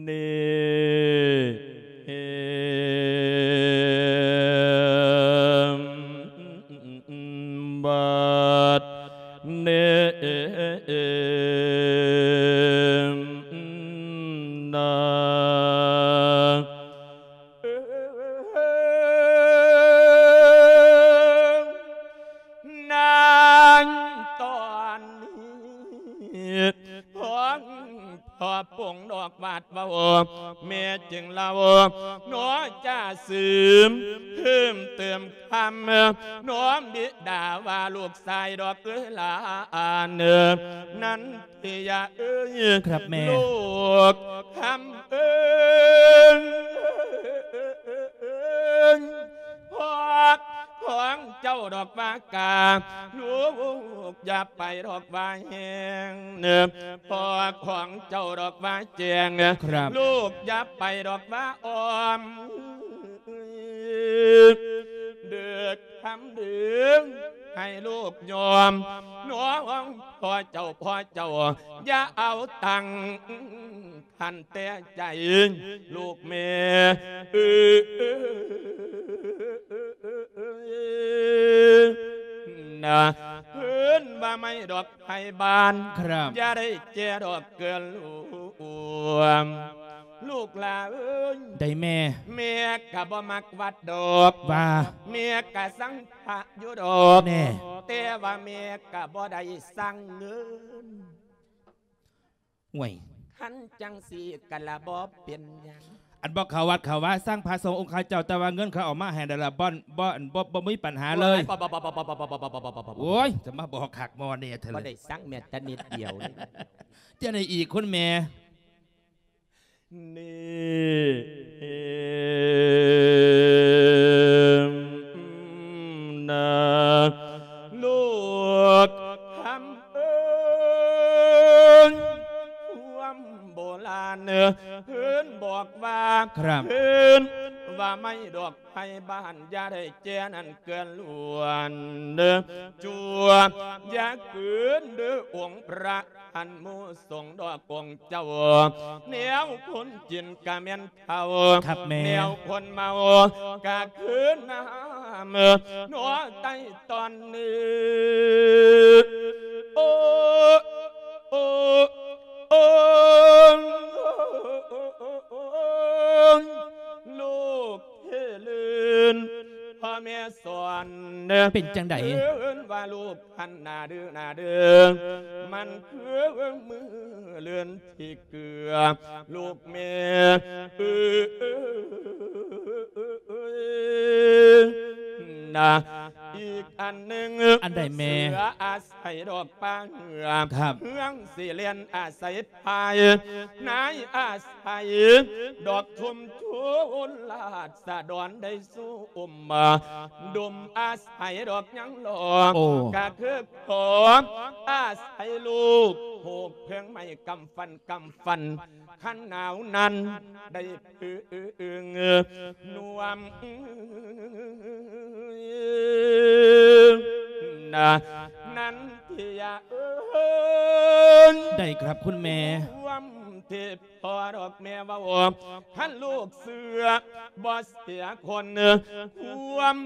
ນີ້ບັດນີ້ນາ ເອີ ນາງຕອນນີ້ ພວງພໍ່ປົງດອກຫວາດເວົ້າ ແມ່ຈຶ່ງເລົ່າໜໍຈາຊືມ ເພີ່ມເຕີມຄຳໜໍບິດາວ່າ ລູກຊາຍດອກເອີຍຫຼານ ນັນ ທີ່ຢາເອີຍ ຄັບແມ່ ລູກຄຳເອີຍ ພໍ່ຂອງເຈົ້າດອກວ່າກາ ລູກຢ່າໄປດອກວ່າແຮງ ພໍ່ຂອງເຈົ້າດອກວ່າແຈ້ງ ຄັບ ລູກຢ່າໄປດອກວ່າອ້ອມ ເດີກ ຄຳດຶງໃຫ້ລູກຍອມ ນ້ອງພໍ່ເຈົ້າ ພໍ່ເຈົ້າ ຢ່າເອົາຕັ້ງຄັນແຕ່ໃຈ ລູກແມ່ເອີຍນະ ເອີ້ນວ່າໄມ້ດອກໄພບານ ຄັບ ຢ່າໄດ້ແກ່ດອກເກືອລວມ ລູກຫຼາເອີຍ ໄດ້ແມ່ ແມ່ກະບໍ່ມັກວັດດອກ ວ່າ ແມ່ກະສັງພະຢູ່ດອກ ແນ່ ແຕ່ວ່າແມ່ກະບໍ່ໄດ້ສັງເງິນ ໂອ້ຍ ຄັນຈັ່ງຊີ້ກະລະບໍ່ເປັນຫຍັງ ອັນບໍ່ເຂົ້າວັດເຂົ້າວາ ສັງພະສົງອົງຄະເຈົ້າ ແຕ່ວ່າເງິນເຂົາເອົາມາໃຫ້ນັ້ນລະ ບໍ່ ບໍ່ ບໍ່ ບໍ່ມີປັນຫາເລີຍ ໂອ້ຍ ຈະມາບອກຄັກໝໍແນ່ເທື່ອ ບໍ່ໄດ້ສັງແມ້ແຕ່ນິດດຽວ ຈັ່ງໃດອີກຄຸນແມ່? ນີ້ນາ ລູກຄຳເອີຍ ຄວາມໂບລານເພິ່ນບອກວ່າ ຄັບ ເພິ່ນວ່າໄມ້ດອກໄພບ້ານ ຢ່າໄດ້ແກ່ນັ້ນເກືອລວນ ຈົວຢ່າເກີນເດີອົງພະ ອັນໝູ່ສົງດອກອົງເຈົ້າ ແນວຄົນກິນກະແມ່ນເຂົ້າ ຄັບແມ່ ແນວຄົນເມົາກະຄືນ້ຳໜໍໃຕ້ຕອນນີ້ ໂອ້ ໂອ້ ໂອ້ ລູກເທລື່ນ ພໍ່ແມ່ສອນ ເປັນຈັ່ງໃດ? ເອີ້ນວ່າລູກ ຫັ້ນໜ້າດື້ໜ້າເດີ ມັນຄືມື້ເລື່ອນທີ່ເກືອ ລູກແມ່ເອີຍນະ ອີກອັນໜຶ່ງ ອັນໃດແມ່? ເສືອອາໄສດອກປ່າເຫືອ ຄັບ ເຮືອງຊິແລ່ນອາໄສພາຍ ນາຍອາໄສດອກຊຸມຊົນລາຊະດອນໄດ້ ຊຸມດົມອາໄສດອກຍັງຫຼອກ ໂອ້ ກະຄືຂອງອາໄສລູກ ໂຫກເພິງໄມ້ກຳຟັນກຳຟັນ ຄັນໜາວນັ້ນໄດ້ເພິ່ງນວມນະ ນັນທິຍາເອີຍ ໄດ້ຄັບຄຸນແມ່ ຄວາມທີ່ ພໍ່ດອກແມ່ເວົ້າ ຄັນລູກເຊື່ອບໍ່ເສຍຄົນ ຄວາມ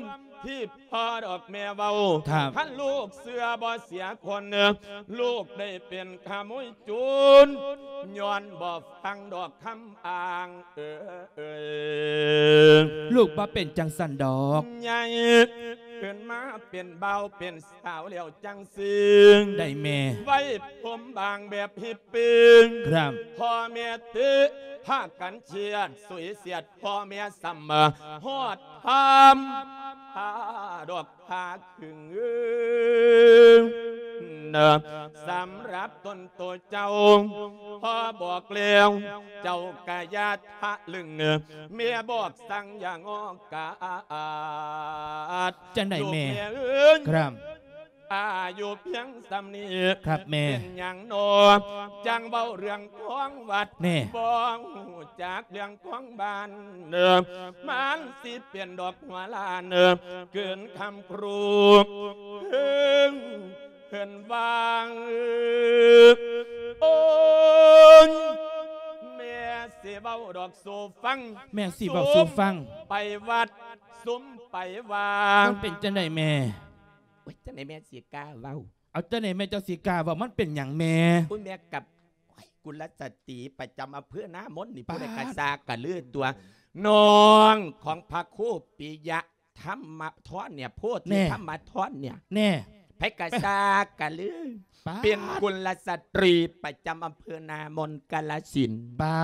ທີ່ພໍ່ດອກແມ່ເວົ້າ ຄັບ ຄັນລູກເຊື່ອບໍ່ເສຍຄົນ ລູກໄດ້ເປັນຂະໂມຍໂຈນ ຍ້ອນບໍ່ຟັງດອກຄຳອ້າງເອີຍ ລູກບໍ່ເປັນຈັ່ງຊັ້ນດອກ ໃຫຍ່ຂຶ້ນມາເປັນບ່າວເປັນ ສາວແລ້ວຈັ່ງຊີ້ ໄດ້ແມ່ ໄວ້ຜົມບາງແບບຮິບປິງ ຄັບ ພໍ່ແມ່ເຕະ ພາກັນເຊຍດ ສຸຍສຽດ ພໍ່ແມ່ສ່ຳຮອດທຳ ພາດອກພາຄຶງນະ ສຳລັບຕົນໂຕເຈົ້າ ພໍ່ບອກແລ້ວ ເຈົ້າກະຢ່າທະລຶ່ງ ແມ່ບອກສັ່ງຢ່າງອກກາດ. ຈັ່ງໃດແມ່? ລູກແມ່ເອີຍ ຄັບ ອາຍຸພຽງສ່ຳນີ້ ຄັບແມ່ ເປັນຫຍັງນໍ ຈັ່ງເວົ້າເລື່ອງຂອງວັດ ແນ່ ບໍ່ຮູ້ຈັກເລື່ອງຂອງບ້ານ ມັນຊິເປັນດອກຫົວລ້ານ ເກີນຄຳຄູເພິ່ນວ່າ ໂອ້ຍ ແມ່ຊິເວົ້າດອກສູ່ຟັງ ແມ່ຊິເວົ້າສູ່ຟັງ ໄປວັດ ຊຸມໄປວາ ມັນເປັນຈັ່ງໃດແມ່? ໂອ້ຍ ຈັ່ງໃດແມ່ຊິກ້າເວົ້າ? ເອົາ ຈັ່ງໃດແມ່ເຈົ້າຊິກ້າເວົ້າ? ມັນເປັນຫຍັງແມ່? ໂອ້ຍ ແມ່ກັບ ໂອ້ຍ ກຸລະສະຕີປະຈຳອຳເພີນາມົນນີ້ ປາດ ຜູ້ໃດກະຊາກະລືຕົວະ ນ້ອງຂອງພະຄູປິຍະທຳມະທອນເນຍ ໂພທິ ແນ່ ທຳມະທອນເນຍ ແນ່ ໃຜກະຊາກະລື ປາດ ເປັນກຸລະສະຕີປະຈຳອຳເພີນາມົນກາລະສິນ ປາ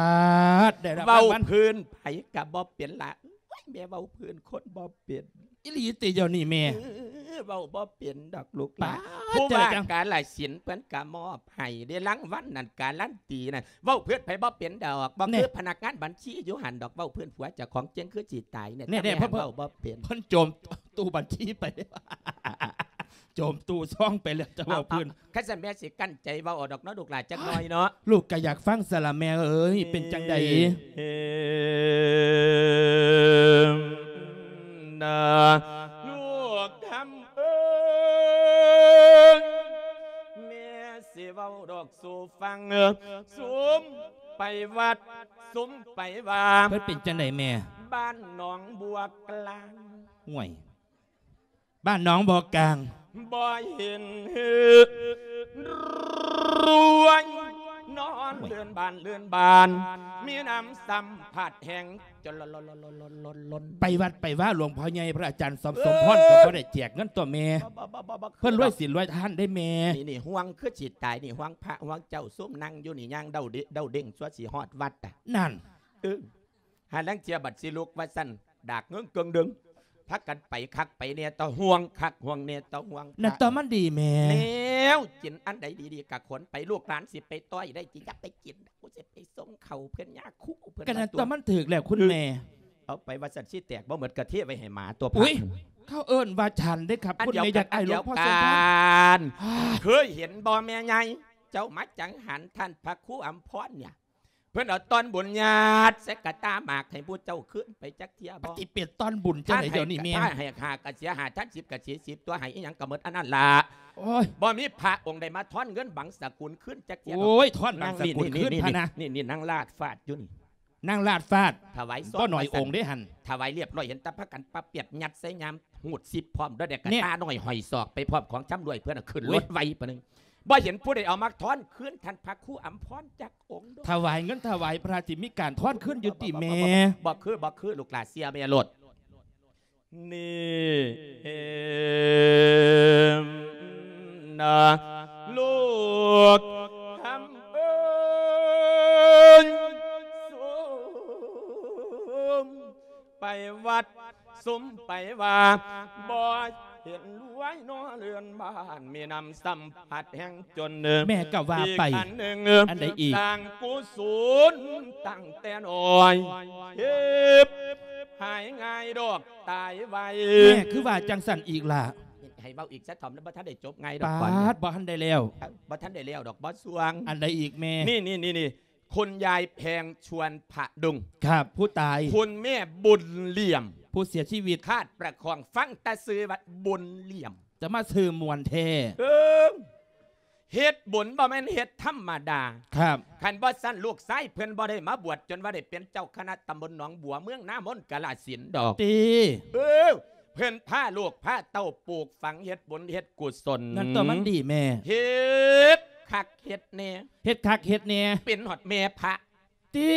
ດ ໄດ້ລາງວັນ ເວົ້າພື້ນໃຜກະບໍ່ເປັນລະ ໂອ້ຍ ແມ່ເວົ້າພື້ນຄົນບໍ່ເປັນ ອີ່ຫຼີຕິດຽວນີ້ແມ່? ເອີ ເວົ້າບໍ່ເປັນດອກລູກຫຼານ ປາດ ຜູ້ວ່າກາລະສິນເພິ່ນກະມອບໃຫ້ເດ້ ລາງວັນນັ້ນກາລັນຕີນັ້ນ ເວົ້າເພິ່ນໃຜບໍ່ເປັນດອກ ບໍ່ຄື ແນ່ ພະນັກງານບັນຊີຢູ່ຫັ້ນດອກ ເວົ້າເພິ່ນຜົວເຈົ້າຂອງເຈັງຄືຊິຕາຍເນຍ ແນ່ໆ ແຕ່ແມ່ ເພິ່ນ ເວົ້າບໍ່ເປັນ ເພິ່ນໂຈມຕູ້ບັນຊີໄປ ໂຈມຕູ້ຊອງໄປແລ້ວ ຈະເວົ້າເພິ່ນ ເອົາ ຄັນຊັ້ນແມ່ຊິກັ້ນໃຈເວົ້າເອົາດອກເນາະລູກຫຼານ ຈັກໜ້ອຍເນາະ ລູກກະຢາກຟັງຊັ້ນລະແມ່ເອີຍ ເປັນຈັ່ງໃດ? ນາ ລູກຄຳເອີຍ ແມ່ຊິເວົ້າດອກສູ່ຟັງ ຊຸມໄປວັດ ຊຸມໄປວາ ເພິ່ນເປັນຈັ່ງໃດແມ່? ບ້ານໜອງບົວກລາງ ຫ້ວຍ ບ້ານໜອງບໍ່ກາງ ບໍ່ເຫັນລວຍ ນອນເລື່ອນບ້ານເລື່ອນບ້ານ ມີນ້ຳຊ້ຳພັດແຮງ ໄປວັດໄປວາ ຫຼວງພໍ່ໃຫຍ່ພະອາຈານສອມ ເອີ ສົມພອນ ກະບໍ່ໄດ້ແຈກເງິນຕົວະແມ່ ບໍ່ ບໍ່ ບໍ່ ບໍ່ ບໍ່ ເພິ່ນລວຍສິນລວຍທານເດ້ແມ່ ນີ້ ນີ້ ຫ່ວງຄືຊິຕາຍນີ້ ຫ່ວງພະຫ່ວງເຈົ້າ ຊຸມນັ່ງຢູ່ນີ້ ຍ່າງເດົ່ງເດ້ງ ຊົ່ວຊິຮອດວັດ ນັ້ນ ເອີ ຫາລາງເທື່ອບັດຊິລຸກວ່າຊັ້ນ ດາກເງິງເກິ່ງເດິງ ພາກັນໄປຄັກໄປແນ່ ຕາຫ່ວງຄັກຫ່ວງແນ່ ຕາຫ່ວງ ນັ້ນຕົວະ ມັນດີແມ່ ແນວກິນອັນໃດດີໆກະຂົນໄປ ລູກຫຼານຊິໄປຕ້ອຍໄດ້ຕິ ຢ່າໄປກິນ ກູຊິໄປສົ່ງເຂົ້າເພິ່ນຍາຄູເພິ່ນ ກະນັ້ນຕົວະ ມັນຖືກແລ້ວຄຸນແມ່ ເອົາໄປວ່າຊັ້ນຊິແຕກບໍ່ໝົດກະເທໄວ້ໃຫ້ໝາຕົວະ ອຸ້ຍ ເຂົາເອີ້ນວ່າສັນເດ້ຄັບ ອັນດຽວກັນ ຄຸນແມ່ ຢາກອ້າຍ ອັນດຽວກັນ ຫຼວງພໍ່ສົມພອນ ເຄີຍເຫັນບໍ່ແມ່ໃຫຍ່ ເຈົ້າມາຈັງຫັນທ່ານພະຄູອຳພອນເນຍ ເພິ່ນເອົາຕ່ອນບຸນຍາດໃສ່ກະຕ່າໝາກໃຫ້ຜູ້ເຈົ້າຄືນໄປຈັກເທື່ອບໍ່? ປະຕິເປັນຕ່ອນບຸນຈັ່ງໃດດຽວນີ້ແມ່? ຖ້າໃຫ້ຫ້າກະເສຍຫ້າ ຖ້າສິບກະເສຍສິບ ຕົວະ ໃຫ້ອີ່ຫຍັງກະໝົດອັນນັ້ນລະ. ໂອ້ຍ ບໍ່ມີພະອົງໃດມາທອນເງິນບັງສະກຸນຄືນຈັກເທື່ອດອກ. ໂອ້ຍ ທອນບັງສະກຸນຄືນພະນະ. ນີ້ໆ ນາງລາດຟາດຢູ່ນີ້ ນາງລາດຟາດ. ຖວາຍຊອງ ບໍ່ໜ້ອຍອົງເດ້ຫັ້ນ. ຖວາຍລຽບຮ້ອຍ ເຫັນແຕ່ພາກັນປະປຽບຍັດໃສ່ຍາມ ຫູດຊິບພ້ອມ ດ້ວຍແດ່ກະຕ່ານ້ອຍຫ້ອຍສອກໄປພ້ອມຂອງຊຳລວຍເພິ່ນນະ ຂຶ້ນລົດໄວປານໜຶ່ງ. ບໍ່ເຫັນຜູ້ໃດເອົາມາທອນຄືນທ່ານພະຄູອຳພອນຈັກອົງ. ຖວາຍເງິນຖວາຍພະ ຊິມີການທອນຄືນຢູ່ຕິແມ່? ບໍ່ຄື ບໍ່ຄື ລູກຫຼາເຊື່ອແມ່ໂລດ. ນີ້ນະ ລູກຄຳເອີຍ ຊຸມໄປວັດ ຊຸມໄປວ່າ ບໍ່ເຫັນລວຍນໍ ເຮືອນບ້ານມີນ້ຳຊ້ຳພັດແຮງຈົນ. ແມ່ກະວ່າໄປ. ອັນໃດອີກ? ສ້າງກຸສົນຕັ້ງແຕ່ນ້ອຍ ເຮັດຫາຍງ່າຍດອກ ຕາຍໄວ. ແມ່ຄືວ່າຈັ່ງຊັ້ນອີກລະ? ໃຫ້ເວົ້າອີກຊະ ຖ້າບໍ່ທັນໄດ້ຈົບ ງ່າຍດອກ. ປາດ ບໍ່ທັນໄດ້ແລ້ວ ບໍ່ທັນໄດ້ແລ້ວດອກ ບໍ່ຊ່ວງ. ອັນໃດອີກແມ່? ນີ້ໆໆ ຄຸນຍາຍແພງ ຊວນຜະດົງ. ຄັບ ຜູ້ຕາຍ. ຄຸນແມ່ບຸນຫຼຽມ ຜູ້ເສຍຊີວິດ. ຄາດປະຄອງ ຟັງແຕ່ຊື່ວ່າບຸນຫຼຽມ ຈະມາຊື່ມ່ວນແທ້. ເອີ ເຮັດບຸນບໍ່ແມ່ນເຮັດທຳມະດາ. ຄັບ ຄັນບໍ່ຊັ້ນ ລູກຊາຍເພິ່ນບໍ່ໄດ້ມາບວດ ຈົນວ່າໄດ້ເປັນເຈົ້າຄະນະຕຳບົນໜອງບົວ ເມືອງນາມົນ ກາລະສິນດອກ. ຕິ ເອີ ເພິ່ນພາລູກພາເຕົ້າປູກຝັງ ເຮັດບຸນເຮັດກຸສົນ. ນັ້ນຕົວະ ມັນດີແມ່. ເຮັດຄັກເຮັດແນ່. ເຮັດຄັກເຮັດແນ່. ເປັນຮອດແມ່ພະ. ຕິ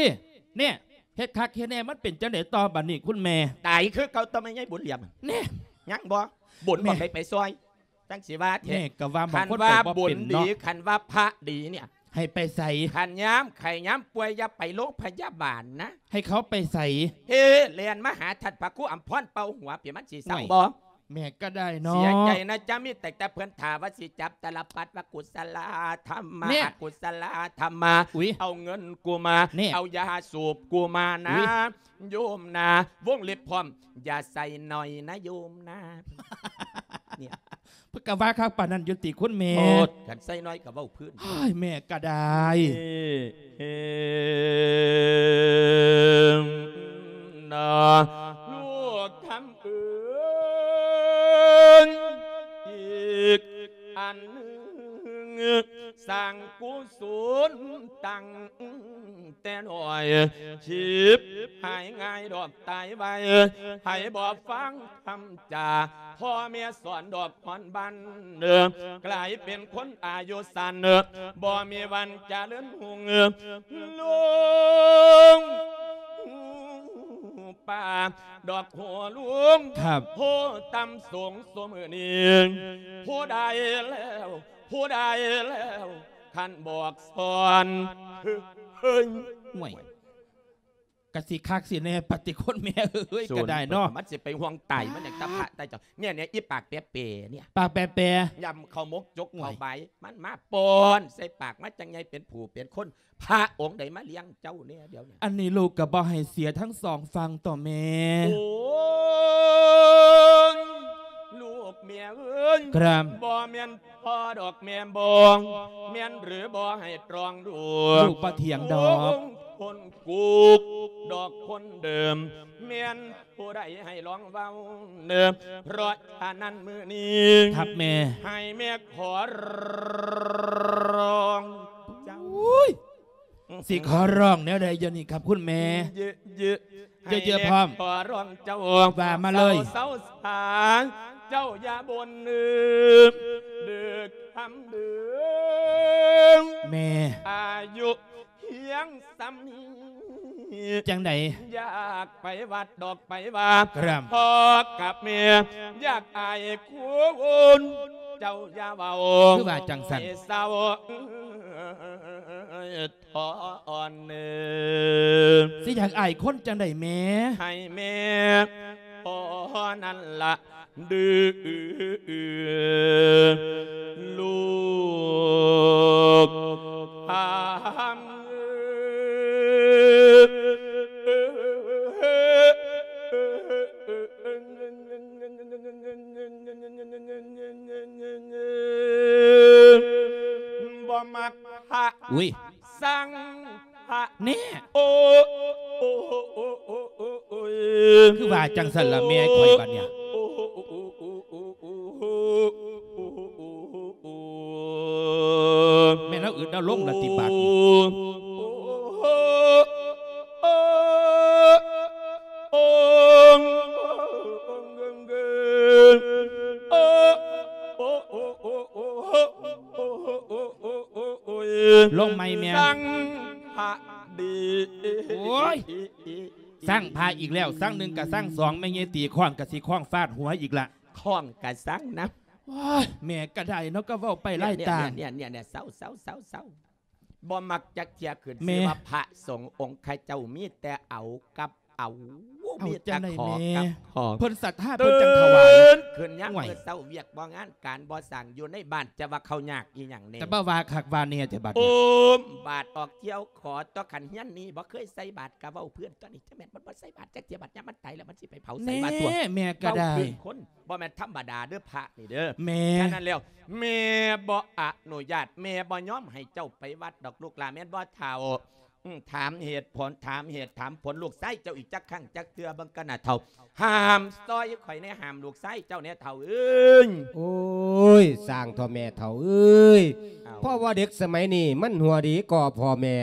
ເນຍ ເຮັດຄັກເຮັດແນ່ ມັນເປັນຈັ່ງໃດຕໍ່ບາດນີ້ຄຸນແມ່? ຕາຍຄືເກົ່າຕົວະ ແມ່ໃຫຍ່ບຸນຫຼຽມ. ແນ່ ຍັງບໍ່? ບຸນບໍ່ໄດ້ໄປຊ່ອຍ ຈັ່ງຊິວ່າແທ້. ແມ່ກະວ່າບາງຄົນໄປບໍ່ເປັນເນາະ. ຄັນວ່າບຸນດີ ຄັນວ່າພະດີເນຍ ໃຫ້ໄປໃສ? ຄັນຍາມໄຂ້ຍາມປ່ວຍ ຢ່າໄປໂລງພະຍາບານນະ. ໃຫ້ເຂົາໄປໃສ? ເອີ ແລ່ນມາຫາທ່ານພະຄູອຳພອນ ເປົ່າຫົວ ເປັນມັນຊິເຊົາບໍ່? ແມ່ກໍໄດ້ເນາະ ເສຍໃຈນະ ຈະມີແຕ່ ແຕ່ເພິ່ນຖ້າວ່າຊິຈັບຕາລະປັດວ່າ ກຸສະລາທຳມະ ແນ່ ອະກຸສະລາທຳມະ ອຸ້ຍ ເອົາເງິນກູມາ ແນ່ ເອົາຢາສູບກູມານະ ອຸ້ຍ ໂຍມນາ ວົງເລັບພ້ອມ ຢ່າໃສ່ໜ້ອຍນະໂຍມນາ ເນຍ ເພິ່ນກໍວ່າຄັກປານນັ້ນຢູ່ຕິຄຸນແມ່ ໂອ້ ຄັນໃສ່ໜ້ອຍກໍເວົ້າພື້ນ ໂອ້ຍ ແມ່ກໍໄດ້ ເອີ ນະ ລູກຄຳເອີຍ ອີກອັນໜຶ່ງ ສ້າງກຸສົນຕັ້ງແຕ່ນ້ອຍ ຊິບຫາຍງ່າຍດອກຕາຍໄວ ໃຜບໍ່ຟັງຄຳຈາ ພໍ່ແມ່ສອນດອກ ຮອນບັນ ເອີ ກາຍເປັນຄົນອາຍຸສັ້ນ ເອີ ບໍ່ມີວັນຈະເລີນຮຸ່ງ ເອີ ລຸງປ່າດອກໂຫລຸງ ຄັບ ໂຫຕ່ຳສູງຊຸມື້ນີ້ ຜູ້ໃດແລ້ວ ຜູ້ໃດແລ້ວ ຄັນບອກສອນ ເຮີ້ຍ ໂອ້ຍ ກະຊິຄັກຊິແນ່ປະຕິຄົນແມ່ເອີຍ ກໍໄດ້ເນາະ ມັນຊິໄປຫ່ວງຕາຍ ມັນຫຍັງຕາພະຕາເຈົ້າ ເນຍ ເນຍ ອີປາກແປໆ ເນຍ ປາກແປໆ ຢຳເຂົ້າໝົກຈົກເຂົ້າບາຍ ມັນມາປ້ອນໃສ່ປາກ ມາຈັ່ງໃຫຍ່ເປັນຜູ້ເປັນຄົນ ພະອົງໃດມາລ້ຽງເຈົ້າແນ່ດຽວນີ້ ອັນນີ້ລູກກໍບໍ່ໃຫ້ເສຍທັງສອງຝັ່ງຕົວະແມ່ ໂອ້ຍ ລູກແມ່ເອີຍ ຄັບ ບໍ່ແມ່ນ ພໍ່ດອກແມ່ນບໍ່ ແມ່ນຫຼືບໍ່ໃຫ້ຕຣອງດູ ລູກບໍ່ຖຽງດອກ ຄົນກຸກດອກຄົນເດີມ ແມ່ນຜູ້ໃດໃຫ້ລອງເວົ້າເດີ ເພາະສະນັ້ນມື້ນີ້ ຄັບແມ່ ໃຫ້ແມ່ຂໍຮ້ອງເຈົ້າ ໂອ້ຍ ຊິຂໍຮ້ອງແນວໃດດຽວນີ້ຄັບຄຸນແມ່ ເຢີະໆ ເຢີະໆ ພ້ອມ ຂໍຮ້ອງເຈົ້າ ວ່າມາເລີຍ ເຊົາໆ ສາ ເຈົ້າຢ່າບົ່ນເດີ ເດີຄຳເດີ ແມ່ ອາຍຸພຽງສ່ຳນີ້ ຈັ່ງໃດ ຢາກໄປວັດດອກໄປວາ ຄັບ ພໍ່ກັບແມ່ ຢາກອາຍຄົນ ເຈົ້າຢ່າເວົ້າ ຄືວ່າຈັ່ງຊັ້ນ ໃຫ້ເຊົາ ຂໍອ່ອນເນີ ຊິຢາກອາຍຄົນຈັ່ງໃດແມ່ ໃຫ້ແມ່ພໍນັ້ນລະເດີ ລູກຄຳເອີຍ ບໍ່ມັກພະ ອຸ້ຍ ຊັງພະ ແນ່ ໂອ້ ໂອ້ ໂອ້ ໂອ້ ໂອ້ ໂອ້ ໂອ້ ຄືວ່າຈັ່ງຊັ້ນລະແມ່ຂ້ອຍບັດນີ້ ໂອ້ ໂອ້ ໂອ້ ໂອ້ ໂອ້ ໂອ້ ໂອ້ ແມ່ນເຮົາອຶດເຮົາລົງລະຕິບາດນີ້ ໂອ້ ໂອ້ ໂອ້ ໂອ້ ໂອ້ ໂອ້ ໂອ້ ໂອ້ ໂອ້ ໂອ້ ໂອ້ຍ ລົງໃໝ່ແມ່ ຊັງພະດີ ໂອ້ຍ ຊັງພະອີກແລ້ວ ຊັງໜຶ່ງກະຊັງສອງ ແມ່ໃຫຍ່ຕີຄ້ອນກະຊິຄ້ອນຟາດຫົວອີກລະ ຄ້ອນກະຊັງນຳ ໂອ້ຍ ແມ່ກະໄດ້ເນາະ ກະເວົ້າໄປຫຼາຍຕ່າງ ເນຍ ເນຍ ເນຍ ເຊົາ ເຊົາ ເຊົາ ເຊົາ ບໍ່ມັກຈັກເທື່ອ ຂຶ້ນຊື່ວ່າພະສົງອົງຄະເຈົ້າມີແຕ່ເອົາກັບ ເອົາ ເອົາ ມີແຕ່ຂໍກັບຂໍ ເພິ່ນສັດທາເພິ່ນຈັ່ງຖວາຍ ຕື່ນຂຶ້ນຍາມມື້ເຊົ້າ ວຽກບໍ່ງານການບໍ່ສ້າງ ຢູ່ໃນບ້ານຈະວ່າເຂົາຍາກອີ່ຫຍັງແນ່ ແຕ່ບໍ່ວ່າຄັກວ່າແນ່ແທ້ບັດນີ້ ໂອມບາດອອກທ່ຽວຂໍ ຕົວະຄັນຮຽນນີ້ບໍ່ເຄີຍໃສ່ບາດກະເວົ້າເພື່ອນຕົວະນີ້ ຈະແມ່ນມັນບໍ່ໃສ່ບາດຈັກເທື່ອ ບາດຍາມມັນຕາຍແລ້ວມັນຊິໄປເຜົາໃສ່ບາດຕົວະ ແນ່ ແມ່ກະໄດ້ ເວົ້າເປັນຄົນ ບໍ່ແມ່ນທຳມະດາເດີພະນີ້ເດີ ແມ່ ສະນັ້ນແລ້ວ ແມ່ບໍ່ອະນຸຍາດ ແມ່ບໍ່ຍອມໃຫ້ເຈົ້າໄປວັດດອກລູກຫຼານ ແມ່ນບໍ່ເຖົ້າ? ອືມ ຖາມເຫດຜົນ ຖາມເຫດຖາມຜົນ ລູກຊາຍເຈົ້າອີກຈັກຄັ້ງຈັກເທື່ອເບິ່ງກັນນະເຖົ້າ ຫ້າມຊ່ອຍຂ້ອຍແດ່ ຫ້າມລູກຊາຍເຈົ້າແດ່ເຖົ້າເອີຍ. ໂອ້ຍ ຊ່າງເຖາະແມ່ເຖົ້າເອີຍ ເອົາ ເພາະວ່າເດັກສະໄໝນີ້ມັນຫົວດີກວ່າພໍ່ແມ່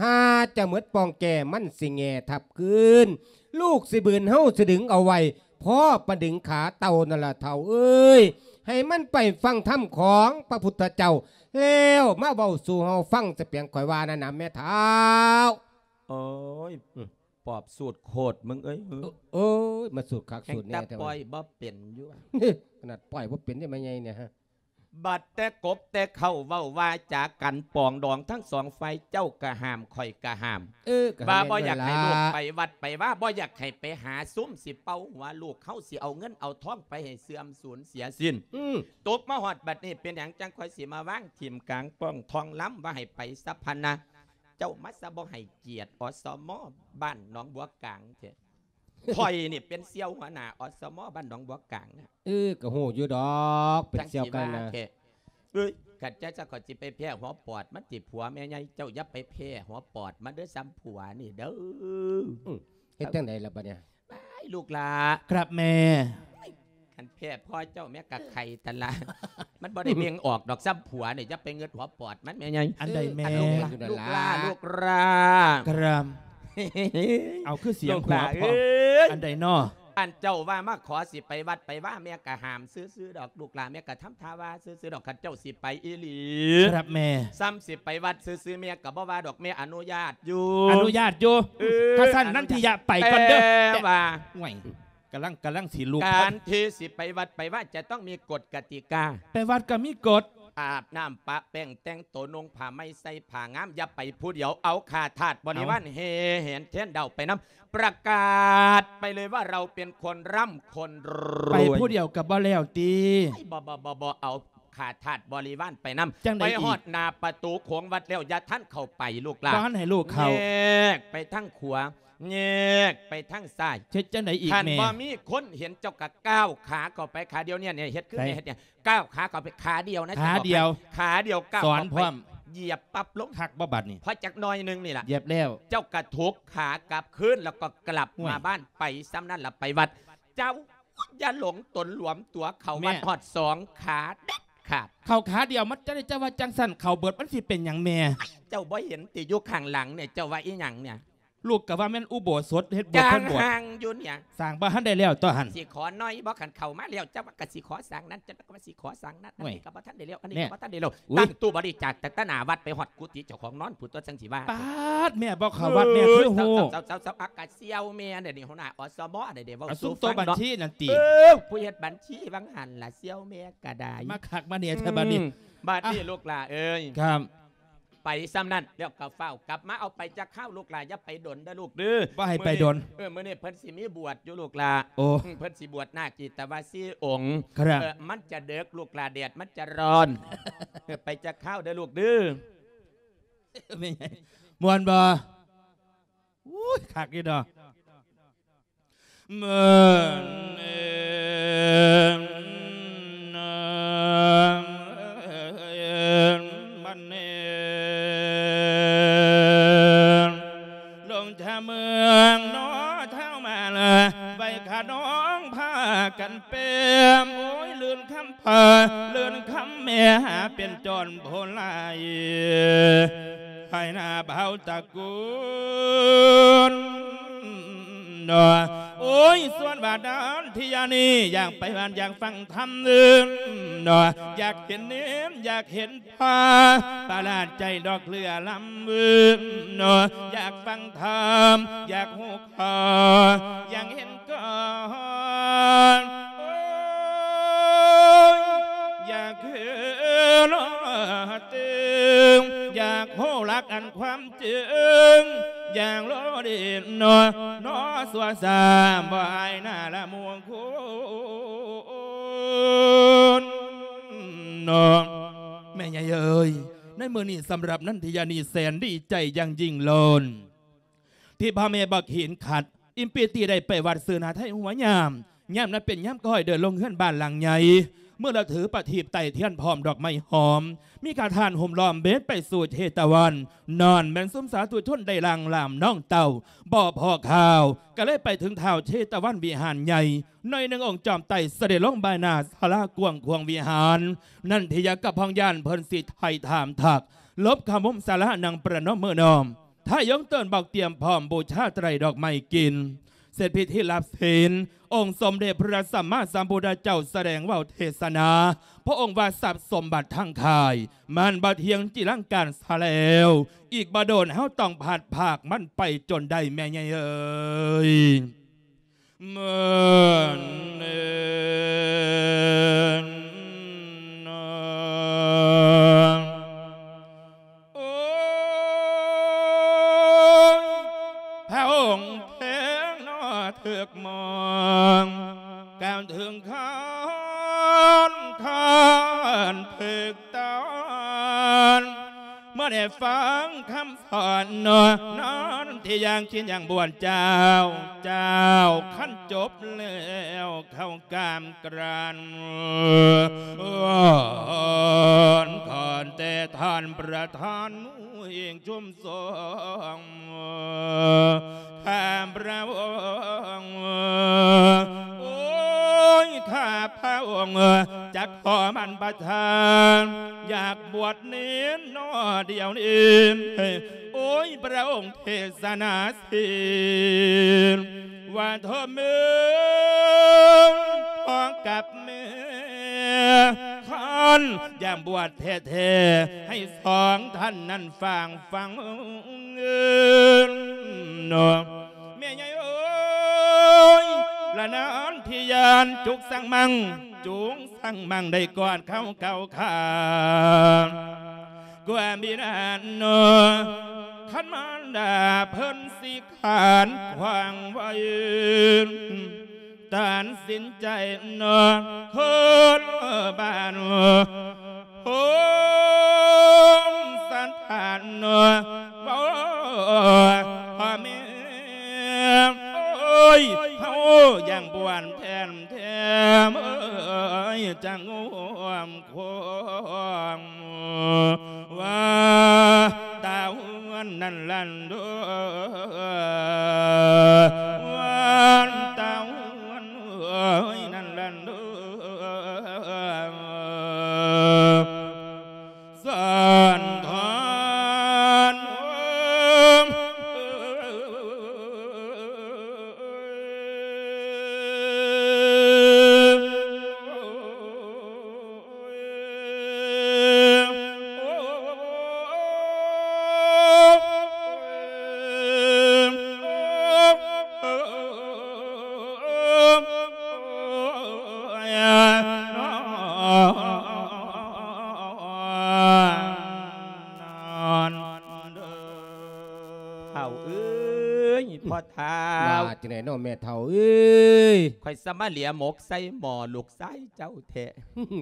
ຫາຈະໝົດປ່ອງແກ່ ມັນຊິແງ່ທັບຄືນ ລູກຊິບືນ ເຮົາຊິດຶງເອົາໄວ້ ພໍປານດຶງຂາເຕົ່ານັ້ນລະເຖົ້າເອີຍ ໃຫ້ມັນໄປຟັງທຳຂອງພະພຸດທະເຈົ້າ ແລ້ວມາເວົ້າສູ່ເຮົາຟັງ ສະປຽງຂ້ອຍວ່ານັ້ນນະແມ່ເຖົ້າ. ໂອ້ຍ ອືມ ປອບສູດໂຄດມຶງເອີຍ ໂອ້ຍ ມາສູດຄັກສູດແນ່ແທ້ ແຮ່ງແຕ່ປ່ອຍບໍ່ເປັນຢູ່ ຂະໜາດປ່ອຍບໍ່ເປັນໄດ້ ແມ່ໃຫຍ່ນີ້ ຮະ. ບັດແຕ່ກົບແຕ່ເຄົ້າເວົ້າວ່າຈາກັນປອງດອງທັງສອງຝ່າຍ ເຈົ້າກະຫ້າມ ຂ້ອຍກະຫ້າມ ເອີ ກະວ່າບໍ່ຢາກໃຫ້ລູກໄປວັດໄປວາ ບໍ່ຢາກໃຫ້ໄປຫາຊຸມຊິເປົ່າຫົວລູກ ເຮົາຊິເອົາເງິນເອົາທອງໄປໃຫ້ເສື່ອມສູນເສຍສິ້ນ. ອືມ ຕົກມາຮອດບັດນີ້ ເປັນຫຍັງຈັ່ງຂ້ອຍຊິມາວາງຖິ້ມກາງປ້ອງທ້ອງລຳວ່າໃຫ້ໄປຊະພະນະ? ເຈົ້າມາຊະບໍ່ໃຫ້ກຽດ ອສມ ບ້ານໜອງບົວກາງແທ້. ຂ້ອຍນີ້ເປັນສ່ຽວຫົວໜ້າ ອສມ ບ້ານໜອງບົວກາງນະ. ເອີ ກໍຮູ້ຢູ່ດອກ ເປັນສ່ຽວກັນນະ. ເອີຍ ຄັນຈັ່ງຊັ້ນຂ້ອຍຊິໄປແພ້ຫົວປອດມັນຕິ ຜົວແມ່ໃຫຍ່ ເຈົ້າຢ່າໄປແພ້ຫົວປອດມັນເດີ ສ່ຳຜົວນີ້ເດີ. ອືມ ເຮັດຈັ່ງໃດລະບັດນີ້? ອ້າຍ ລູກຫຼ້າ. ຄັບແມ່. ໂອ້ຍ ຄັນແພ້ພໍ່ເຈົ້າແມ່ກະໄຂ່ຫັ້ນລະ ມັນບໍ່ໄດ້ເບັ່ງອອກດອກ ສ່ຳຜົວນີ້ ຢ່າໄປເງິດຫົວປອດມັນແມ່ໃຫຍ່. ອັນໃດແມ່? ເອີ ອັນລູກຫຼ້າ ເອີ ລູກຫຼ້າ ລູກຫຼ້າ. ຄັບ ເອົາ ຄືສຽງຫົວພ້ອມ. ລູກຫຼ້າເອີຍ ອັນໃດນໍ? ອັນເຈົ້າວ່າມາຂໍຊິໄປວັດໄປວາ ແມ່ກະຫ້າມຊື່ໆດອກ ລູກຫຼ້າ ແມ່ກະທຳທ່າວ່າຊື່ໆດອກ ຄັນເຈົ້າຊິໄປອີ່ຫຼີ. ຄັບແມ່. ສ່ຳຊິໄປວັດຊື່ໆ ແມ່ກະບໍ່ວ່າດອກ ແມ່ອະນຸຍາດຢູ່ ອະນຸຍາດຢູ່. ເອີ ຖ້າຊັ້ນ ອະນຸຍາດ ນັນທິຍະໄປກ່ອນເດີ. ແຕ່ວ່າ ໂອ້ຍ ກຳລັງ ກຳລັງຊິລຸກ. ການທີ່ຊິໄປວັດໄປວາຈະຕ້ອງມີກົດກະຕິກາ. ໄປວັດກໍມີກົດ. ອາບນ້ຳປະແປ້ງ ແຕ່ງໂຕນຸ່ງຜ້າໃໝ່ ໃສ່ຜ້າງາມ ຢ່າໄປຜູ້ດຽວ ເອົາຂ້າທາດບໍລິວານແຫ່ແຫນແທນດາວໄປນຳ ປະກາດໄປເລີຍວ່າເຮົາເປັນຄົນຮ່ຳຄົນລວຍ. ໄປຜູ້ດຽວກໍບໍ່ແລ້ວຕິ? ບໍ່ ບໍ່ ບໍ່ ບໍ່ ເອົາຂ້າທາດບໍລິວານໄປນຳ. ຈັ່ງໃດອີກ? ໄປຮອດໜ້າປະຕູໂຂງວັດແລ້ວ ຢ່າທັນເຂົ້າໄປ ລູກຫຼ້າ ບໍ່ທັນໃຫ້ລູກເຂົ້າ. ແຍກໄປທາງຂວາ ແຍກໄປທາງຊ້າຍ. ເຮັດຈັ່ງໃດອີກແມ່? ຄັນບໍ່ມີຄົນເຫັນ ເຈົ້າກໍກ້າວຂາເຂົ້າໄປ ຂາດຽວນີ້ ເຮັດຄືແມ່ເຮັດນີ້ ກ້າວຂາເຂົ້າໄປ ຂາດຽວນະ ຂາດຽວ ຂາດຽວ ກ້າວເຂົ້າໄປ ຢຽບປັບລົງ. ຄັກບໍ່ບັດນີ້? ພໍຈັກໜ້ອຍໜຶ່ງນີ້ລະ ຢຽບແລ້ວ ເຈົ້າກໍຖົກຂາກັບຄືນ ແລ້ວກໍກັບມາບ້ານ. ໂອ້ຍ ໄປສ່ຳນັ້ນລະ ໄປວັດ. ເຈົ້າຢ່າຫຼົງຕົນຫຼວມຕົວ ເຂົ້າວັດຮອດສອງຂາເດັດຂາດ. ເຂົ້າຂາດຽວມັນຈະໄດ້ ເຈົ້າວ່າຈັ່ງຊັ້ນ ເຂົ້າເບິດມັນຊິເປັນຫຍັງແມ່? ເຈົ້າບໍ່ເຫັນຕິ ຢູ່ຂ້າງຫຼັງນີ້ ເຈົ້າວ່າອີ່ຫຍັງນີ້? ລູກກໍວ່າແມ່ນອຸໂບສົດ ເຮັດໂບດ ເພິ່ນໂບດ ຢູ່ນີ້ ສ້າງບໍ່ທັນໄດ້ແລ້ວຕົວຫັ້ນ. ຊິຂໍໜ້ອຍບໍ່? ຄັນເຂົ້າມາແລ້ວ ເຈົ້າວ່າກໍຊິຂໍສ້າງນັ້ນ ເຈົ້າກໍວ່າຊິຂໍສ້າງນັ້ນ. ໂອ້ຍ ອັນນີ້ກໍບໍ່ທັນໄດ້ແລ້ວ ອັນນີ້ກໍບໍ່ທັນໄດ້ແລ້ວ. ນີ້ ຕັ້ງຕູ້ບໍລິຈາກຕັ້ງແຕ່ໜ້າວັດໄປຮອດກຸຕິເຈົ້າຂອງນອນພຸ້ນຕົວະ ຈັ່ງຊິວ່າ. ປາດ ແມ່ບໍ່ເຂົ້າວັດ ແມ່ຄືຮູ້. ເອີ ເຈົ້າ ເຈົ້າ ເຈົ້າ ເຈົ້າ ອາກາດສ່ຽວແມ່ນີ້ ຫົວໜ້າ ອສມ ນີ້ເດ້ ເວົ້າສູ່ຟັງເນາະ. ຊຸມໂຕບັນຊີນັ້ນຕິ? ເອີ ຜູ້ເຮັດບັນຊີຫວ່າງຫັ້ນລະ ສ່ຽວແມ່ກໍໄດ້. ມາຄັກມາແນ່ແທ້ບັດນີ້. ອືມ ບັດນີ້ ອ່ະ ລູກຫຼ້າເອີຍ ຄັບ ໄປສ່ຳນັ້ນແລ້ວກໍຟ້າວກັບມາ. ເອົາ ໄປຈັກຄາວລູກຫຼ້າ ຢ່າໄປດົນເດີລູກເດີ. ບໍ່ໃຫ້ໄປດົນ. ມື້ນີ້ ເອີ ມື້ນີ້ເພິ່ນຊິມີບວດຢູ່ລູກຫຼ້າ. ໂອ້ ອືມ ເພິ່ນຊິບວດນາກຈີຕະວາຊີອົງ. ຄັບ ເອີ ມັນຈະເດິກລູກຫຼ້າ ແດດມັນຈະຮ້ອນ. ເອີ ໄປຈັກຄາວເດີລູກເດີ. ແມ່ໃຫຍ່ ມ່ວນບໍ່? ໂອ້ຍ ຄັກຢູ່ດອກ. ເມີນເອນ ມັນເອນ ລົງຈາກເມືອງນອທາວມາລາ ໄວ້ຂ້ານ້ອງພາກັນເປັນ ໂອ້ຍ ລື່ນຄຳ ພາເລີນຄຳແມ່ຫາເປັນຈອນໂພລາຍ ໃຫ້ໜ້າບ່າວຕະກູນເນາະ. ໂອ້ຍ ສ່ວນວ່ານັນທິຍານີ້ ຢາກໄປບ້ານ ຢາກຟັງທຳເນາະ ຢາກເຫັນເນນ ຢາກເຫັນພາ ປະຫຼາດໃຈດອກເຫຼືອລຳເນາະ ຢາກຟັງທຳ ຢາກຮູ້ ຂໍ ຢາກເຫັນກ່ອນ ໂອ້ຍ ຢາກເຫັນເຖິງ ຢາກຮູ້ຫຼັກອັນຄວາມຈິງ ຢ່າງໂລດເດັ່ນເນາະ ເນາະ ຊົ່ວຊ້າບໍ່ອາຍໜ້າລະໝູ່ຄົນເນາະ. ແມ່ໃຫຍ່ເອີຍ ໃນມື້ນີ້ສຳລັບນັນທິຍານີ້ແສນດີໃຈຢ່າງຍິ່ງໂລດ ທີ່ພໍ່ແມ່ບັກຫີນຂັດ ອີ່ມປີຕີໄດ້ໄປວັດຊື່ນາໄທຫົວຍາມ. ຍາມນັ້ນເປັນຍາມຄ້ອຍເດີນລົງເຮືອນບ້ານຫຼັງໃຫຍ່ ເມື່ອລະຖືປະທີບໄຕ້ທຽນພ້ອມດອກໄມ້ຫອມ ມີຂ້າທ່ານໂຮມລ້ອມເບັດໄປສູ່ເຊຕະວັນ. ນັ້ນແມ່ນຊຸມສາທຸຊົນໄດ້ລ່າງລາມນ້ອງເຕົ້າ ບໍ່ພໍຂ່າວ ກໍເລີຍໄປເຖິງທ້າວເຊຕະວັນວິຫານໃຫຍ່. ໜ້ອຍໜຶ່ງອົງຈອມໄຕ້ສະເດັດລົງບາຍໜ້າສາລາກວ້າງຂວາງວິຫານ. ນັນທິຍາກັບພອງຍານເພິ່ນຊິໄຖ່ຖາມທັກ ຫຼົບເຂົ້າມຸມສາລານັ່ງປະນົມມືນ້ອມ ທ້າຍຍົງເຕີນບອກຕຽມພ້ອມບູຊາໄຕຣດອກໄມ້ກິນ ເສັດພິທີຮັບສິນ ອົງສົມເດັດພະສຳມາສຳພຸດທະເຈົ້າສະແດງເວົ້າເທດສະໜາ ພະອົງວ່າຊັບສົມບັດທັງຂາຍ ມັນບໍ່ທ່ຽງຈິລັງການຊະແລ້ວ ອີກບໍ່ດົນເຮົາຕ້ອງພັດພາກມັນໄປຈົນໄດ້ ແມ່ໃຫຍ່ເອີຍ. ເມີນເອີນ ໂອ້ຍ ພະອົງເພງເນາະ ຖືກມອງ ກ່າວເຖິງຄອນ ຄອນເພິກຕອນ ເມື່ອໄດ້ຟັງຄຳສອນເນາະ ນັ້ນທີ່ຢ່າງຄິດຢ່າງບວນເຈົ້າ ເຈົ້າ ຄັນຈົບແລ້ວເຂົ້າກາມ ກຣານວອນ ຂໍແຕ່ທ່ານປະທານເອງຊຸມຊົມ ຂ້າພະອົງ ໂອ້ຍ ຂ້າພະອົງ ຈັກຂໍມັນປະທານ ຢາກບວດເນນນອດຽວນີ້ ໂອ້ຍ ພະອົງເທສະນາສິນ ວ່າໂທແມ່ ພໍ່ກັບແມ່ ຄັນຢາກບວດແທ້ໆ ໃຫ້ສອງທ່ານນັ້ນຟັງ ຟັງເນາະ ແມ່ໃຫຍ່ເອີຍ ລະນານທີ່ຍານ ຈຸກສັງມັງ ຈຸງສັງມັງ ໄດ້ກອດເຂົ້າເກົ້າຂາ ກວ່າມີນານເນາະ ຄັນມານດາເພິ່ນຊິຂານຂວາງໄວ້ ຕັດສິນໃຈເນາະ ຄົນບ້ານໂຮມສັນຖານເນາະ ໂອ້ ພໍ່ແມ່ ໂອ້ຍ ເຮົາຢ່າງບວນແທນແທ້ ເອີຍ ຈັກງວມ ຄວາມວ່າຕາຫວນນັ້ນລັນໂດ ຫວນຕາຫວນ ເອີຍ ນັ້ນລັນໂດດ ສັນຖານ ເຖົ້າເອີຍ ພໍ່ເຖົ້າ ວ່າຈັ່ງໃດເນາະແມ່ເຖົ້າເອີຍ? ຂ້ອຍສະມາເຫຼຍໝົກໃສ່ໝໍ້ລູກຊາຍເຈົ້າແທ້.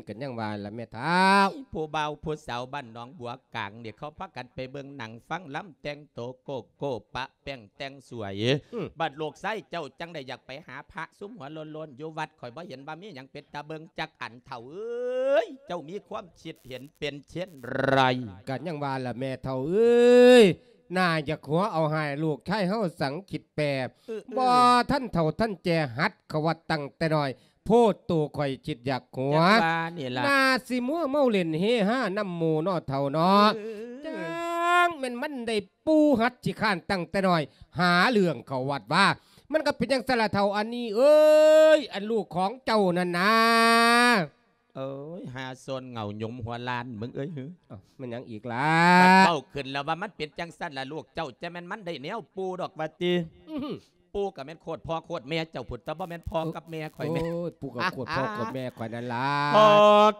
ກໍຍັງວ່າລະແມ່ເຖົ້າ ຜູ້ບ່າວຜູ້ສາວບ້ານໜອງບົວກາງນີ້ ເຂົາພາກັນໄປເບິ່ງໜັງຟັງລຳ ແຕ່ງໂຕໂກໂກ້ປະແປ້ງແຕ່ງສວຍ. ອືມ ບັດລູກຊາຍເຈົ້າຈັ່ງໄດ້ຢາກໄປຫາພະຊຸມຫົວໂລ້ນໆຢູ່ວັດ. ຂ້ອຍບໍ່ເຫັນວ່າມີຫຍັງເປັນຕາເບິ່ງຈັກອັນ ເຖົ້າເອີຍ. ເຈົ້າມີຄວາມຄິດເຫັນເປັນເຊັ່ນໃດ? ກໍຍັງວ່າລະແມ່ເຖົ້າເອີຍ ໜ້າຢາກຫົວເອົາຮ້າຍລູກຊາຍເຮົາສັງຄິດແປ ເອີ ເອີ ບໍ່ທັນເຖົ້າທັນແກ່ ຫັດເຂົ້າວັດຕັ້ງແຕ່ນ້ອຍໂພດ. ໂຕຂ້ອຍຄິດຢາກຫົວ ຈັ່ງວ່ານີ້ລະ ໜ້າຊິມົວເມົາຫຼິ້ນເຮຮານຳໝູ່ເນາະເຖົ້າເນາະ. ເອີ ຈັ່ງແມ່ນມັນໄດ້ປູຫັດຂີ້ຄ້ານຕັ້ງແຕ່ນ້ອຍ ຫາເລື່ອງເຂົ້າວັດວ່າ. ມັນກໍເປັນຈັ່ງຊັ້ນລະເຖົ້າອັນນີ້ເອີຍ ອັນລູກຂອງເຈົ້ານັ້ນນາ. ໂອ້ຍ ຫາໂຊນເຫງົາຫຍຸມຫົວລ້ານມຶງເອີຍ. ອ້າວ ແມ່ນຫຍັງອີກລະ? ເວົ້າຂຶ້ນແລ້ວວ່າມັນເປັນຈັ່ງຊັ້ນລະ ລູກເຈົ້າ ຈະແມ່ນມັນໄດ້ແນວປູດອກວ່າຕິ. ອື ປູກໍແມ່ນໂຄດພໍ່ໂຄດແມ່ເຈົ້າພຸ້ນ ແຕ່ບໍ່ແມ່ນພໍ່ກັບແມ່ຂ້ອຍແມ່. ໂອ້ຍ ປູກໍໂຄດພໍ່ໂຄດແມ່ຂ້ອຍນັ້ນລະ. ພໍ່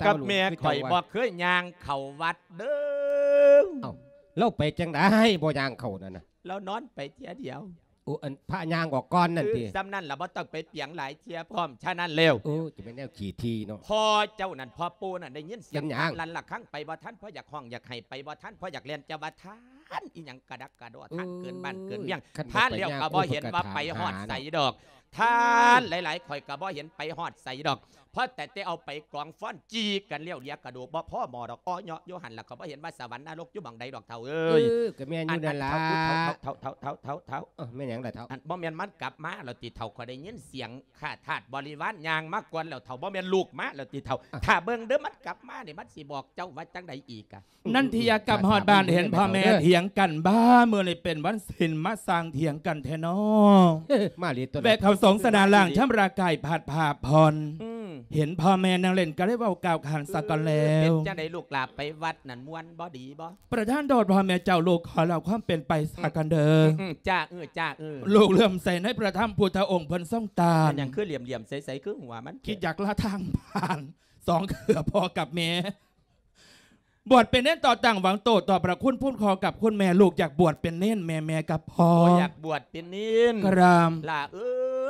ກັບແມ່ຂ້ອຍບໍ່ເຄີຍຍ່າງເຂົ້າວັດເດີ້. ເອົ້າ ລາວໄປຈັ່ງໃດບໍ່ຍ່າງເຂົ້ານັ້ນນະ? ລາວນອນໄປເທື່ອດຽວ. ໂອ້ ອັນພະຍ່າງອອກກ່ອນນັ້ນຕິ? ເອີ ຊ່ຳນັ້ນລະ ບໍ່ຕ້ອງໄປປຽງຫຼາຍເທື່ອພ້ອມ. ສະນັ້ນແລ້ວ ໂອ້ ຈະແມ່ນແນວຂີ້ຖີ່ເນາະ. ພໍ່ເຈົ້ານັ້ນ ພໍ່ປູນັ້ນ ໄດ້ຍິນສຽງ ເປັນຫຍັງ? ລັນລະຄັງ ໄປບໍ່ທັນ. ພໍ່ຢາກຮ້ອງຢາກໄຫ້ ໄປບໍ່ທັນ. ພໍ່ຢາກແລ່ນ ຈະວ່າທ່ານອີ່ຫຍັງກະດັກກະດໍ້ ທ່ານເກີນບ້ານເກີນເມືອງ. ທ່ານແລ້ວກໍບໍ່ເຫັນວ່າໄປຮອດໃສດອກ. ທ່ານຫຼາຍໆ ຂ້ອຍກໍບໍ່ເຫັນໄປຮອດໃສດອກ. ພໍແຕ່ແຕ່ເອົາໄປກອງຟ້ອນຈີ່ກັນແລ້ວ ເຫຼືອກະດູກບໍ່ພໍໝໍດອກ. ອໍເຍາະຢູ່ຫັ້ນລະ ກໍບໍ່ເຫັນວ່າສະຫວັນນະລົກຢູ່ໝ່ອງໃດດອກ ເຖົ້າເອີຍ. ເອີ ກໍແມ່ນຢູ່ນັ້ນລະ ເຖົ້າ ເຖົ້າ ເຖົ້າ ເຖົ້າ ເຖົ້າ. ເອີ ແມ່ນຫຍັງລະເຖົ້າ? ອັນ ບໍ່ແມ່ນມັນກັບມາແລ້ວຕິເຖົ້າ? ຂ້ອຍໄດ້ຍິນສຽງຂ້າທາດບໍລິວານຍ່າງມາກ່ອນແລ້ວເຖົ້າ. ບໍ່ແມ່ນລູກມາແລ້ວຕິເຖົ້າ? ອ່ະ ຖ້າເບິ່ງເດີ້ ມັນກັບມານີ້ ມັນຊິບອກເຈົ້າວ່າຈັ່ງໃດອີກກະ? ນັນທິຍາກັບຮອດບ້ານ ເຫັນພໍ່ແມ່ຖຽງກັນບ້າ ມື້ນີ້ເປັນວັນສິນ ມາສ້າງຖຽງກັນແທ້ນໍ. ມາເລີຍຕົວະ ແວະເຂົ້າສົງສະໜານລ້າງຊຳລະກາຍ ພັດພາຜ່ອນ. ອືມ ເຫັນພໍ່ແມ່ນັ່ງຫຼິ້ນ ກໍໄດ້ເວົ້າກ່າວຂານສາກ່ອນແລ້ວ. ເອີ ເປັນຈັ່ງໃດລູກຫຼານໄປວັດນັ້ນ ມ່ວນບໍ່ ດີບໍ່? ປະທານໂທດພໍ່ແມ່ເຈົ້າ ລູກຂໍເລົ່າຄວາມເປັນໄປສາກ່ອນເດີ້. ອືມ ອືມ ຈ້າ ເອີ ຈ້າ ເອີ. ລູກເຫຼື້ອມໃສໃນພະທຳພຸດທະອົງ ເພິ່ນຊົງຕານ. ແມ່ນຫຍັງຄືຫຼຽມໆໃສໆ ຄືຫົວມັນ ຄິດຢາກລາທາງຜ່ານ ສອງເທື່ອພໍ່ກັບແມ່. ບວດເປັນເນນຕໍ່ຕັ້ງຫວັງໂຕ ຕໍ່ພະຄຸນຄຸມຄອງກັບຄຸນແມ່ ລູກຢາກບວດເປັນເນນ ແມ່ ແມ່ກັບພໍ່ ບໍ່ຢາກບວດເປັນເນນ ກະລາມ ຫຼ້າເອ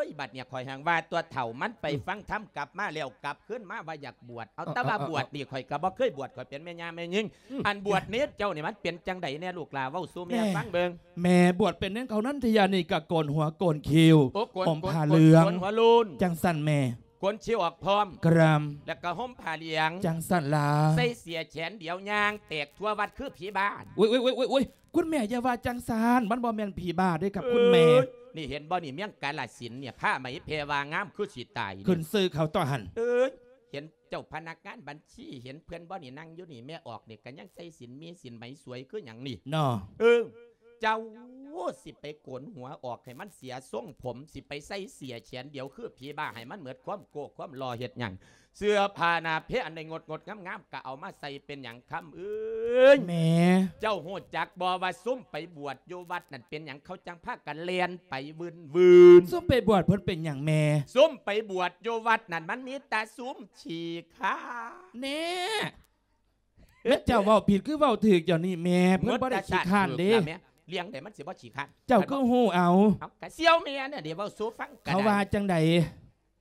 ີຍ ບັດນີ້ຂ້ອຍຮັ່ງວ່າຕົວເຖົ້າມັນໄປ ອືມ ຟັງທຳກັບມາແລ້ວ ກັບຄືນມາວ່າຢາກບວດ ເອົາ ເອີ ແຕ່ວ່າ ເອີ ເອີ ບວດນີ້ ເອີ ຂ້ອຍກໍບໍ່ເຄີຍບວດ ຂ້ອຍເປັນແມ່ຍ່າແມ່ຍິງ ອືມ ອັນບວດເນນເຈົ້ານີ້ມັນເປັນຈັ່ງໃດແດ່ ລູກຫຼ້າເວົ້າສູ່ແມ່ ແມ່ ຟັງເບິ່ງ ແມ່ ບວດເປັນເນນເຂົານັ້ນ ທະຍານີ້ກະໂກນຫົວໂກນຄິ້ວ ໂອ້ ໂກນ ຫົ່ມຜ້າເຫຼືອງ ໂກນຫົວໂລ້ນ ຈັ່ງຊັ້ນແມ່ ໂກນຄິ້ວອອກພ້ອມ ກະລາມ ແລ້ວກໍຫົ່ມຜ້າເຫຼືອງ ຈັ່ງຊັ້ນລະ ໃສ່ເສື້ອແຂນດຽວຍ່າງແຕກທົ່ວວັດຄືຜີບ້າ ໂອ້ຍ ໂອ້ຍ ໂອ້ຍ ໂອ້ຍ ໂອ້ຍ ຄຸນແມ່ຢ່າວ່າຈັ່ງຊັ້ນ ມັນບໍ່ແມ່ນຜີບ້າເດ້ຄັບ ເອີຍ ຄຸນແມ່ ນີ້ເຫັນບໍ່ນີ້ ເມືອງກາລະສິນນີ້ ຜ້າໄໝແພວ່າງາມຄືຊິຕາຍນີ້ ຂຶ້ນຊື່ເຂົາຕົວະຫັ້ນ ເອີຍ ເຫັນເຈົ້າພະນັກງານບັນຊີ ເຫັນເພິ່ນບໍ່ນີ້ ນັ່ງຢູ່ນີ້ ແມ່ອອກນີ້ກໍຍັງໃສ່ສິນມີສິນໄໝສວຍຄືຫຍັງນີ້ ເນາະ ເອີ ເຈົ້າຊິໄປໂກນຫົວອອກໃຫ້ມັນເສຍຊົງຜົມ ຊິໄປໃສ່ເສື້ອແຂນດຽວຄືຜີບ້າ ໃຫ້ມັນໝົດຄວາມໂກ້ຄວາມຫຼໍ່ເຮັດຫຍັງ? ເສື້ອຜ້າໜ້າແພອັນໃດງົດໆງາມໆ ກໍເອົາມາໃສ່ເປັນຫຍັງຄຳເອີຍ? ແມ່ ເຈົ້າຮູ້ຈັກບໍ່ວ່າຊຸມໄປບວດຢູ່ວັດນັ້ນເປັນຫຍັງ ເຂົາຈັ່ງພາກັນແລ່ນໄປວືນໆ? ຊຸມໄປບວດເພິ່ນເປັນຫຍັງແມ່? ຊຸມໄປບວດຢູ່ວັດນັ້ນມັນມີແຕ່ຊຸມຂີ້ຄ້ານ ແນ່ ແມ່ນເຈົ້າເວົ້າຜິດຄືເວົ້າຖືກດຽວນີ້ແມ່ ເພິ່ນບໍ່ໄດ້ຂີ້ຄ້ານເດ້ ແມ່ ລ້ຽງໃດມັນຊິບໍ່ຂີ້ຄ້ານ ເຈົ້າຄືຮູ້ເອົາ ເອົາກະສ່ຽວແມ່ນະເດ ເວົ້າສູ່ຟັງກະໄດ້ ເຂົາວ່າຈັ່ງໃດ?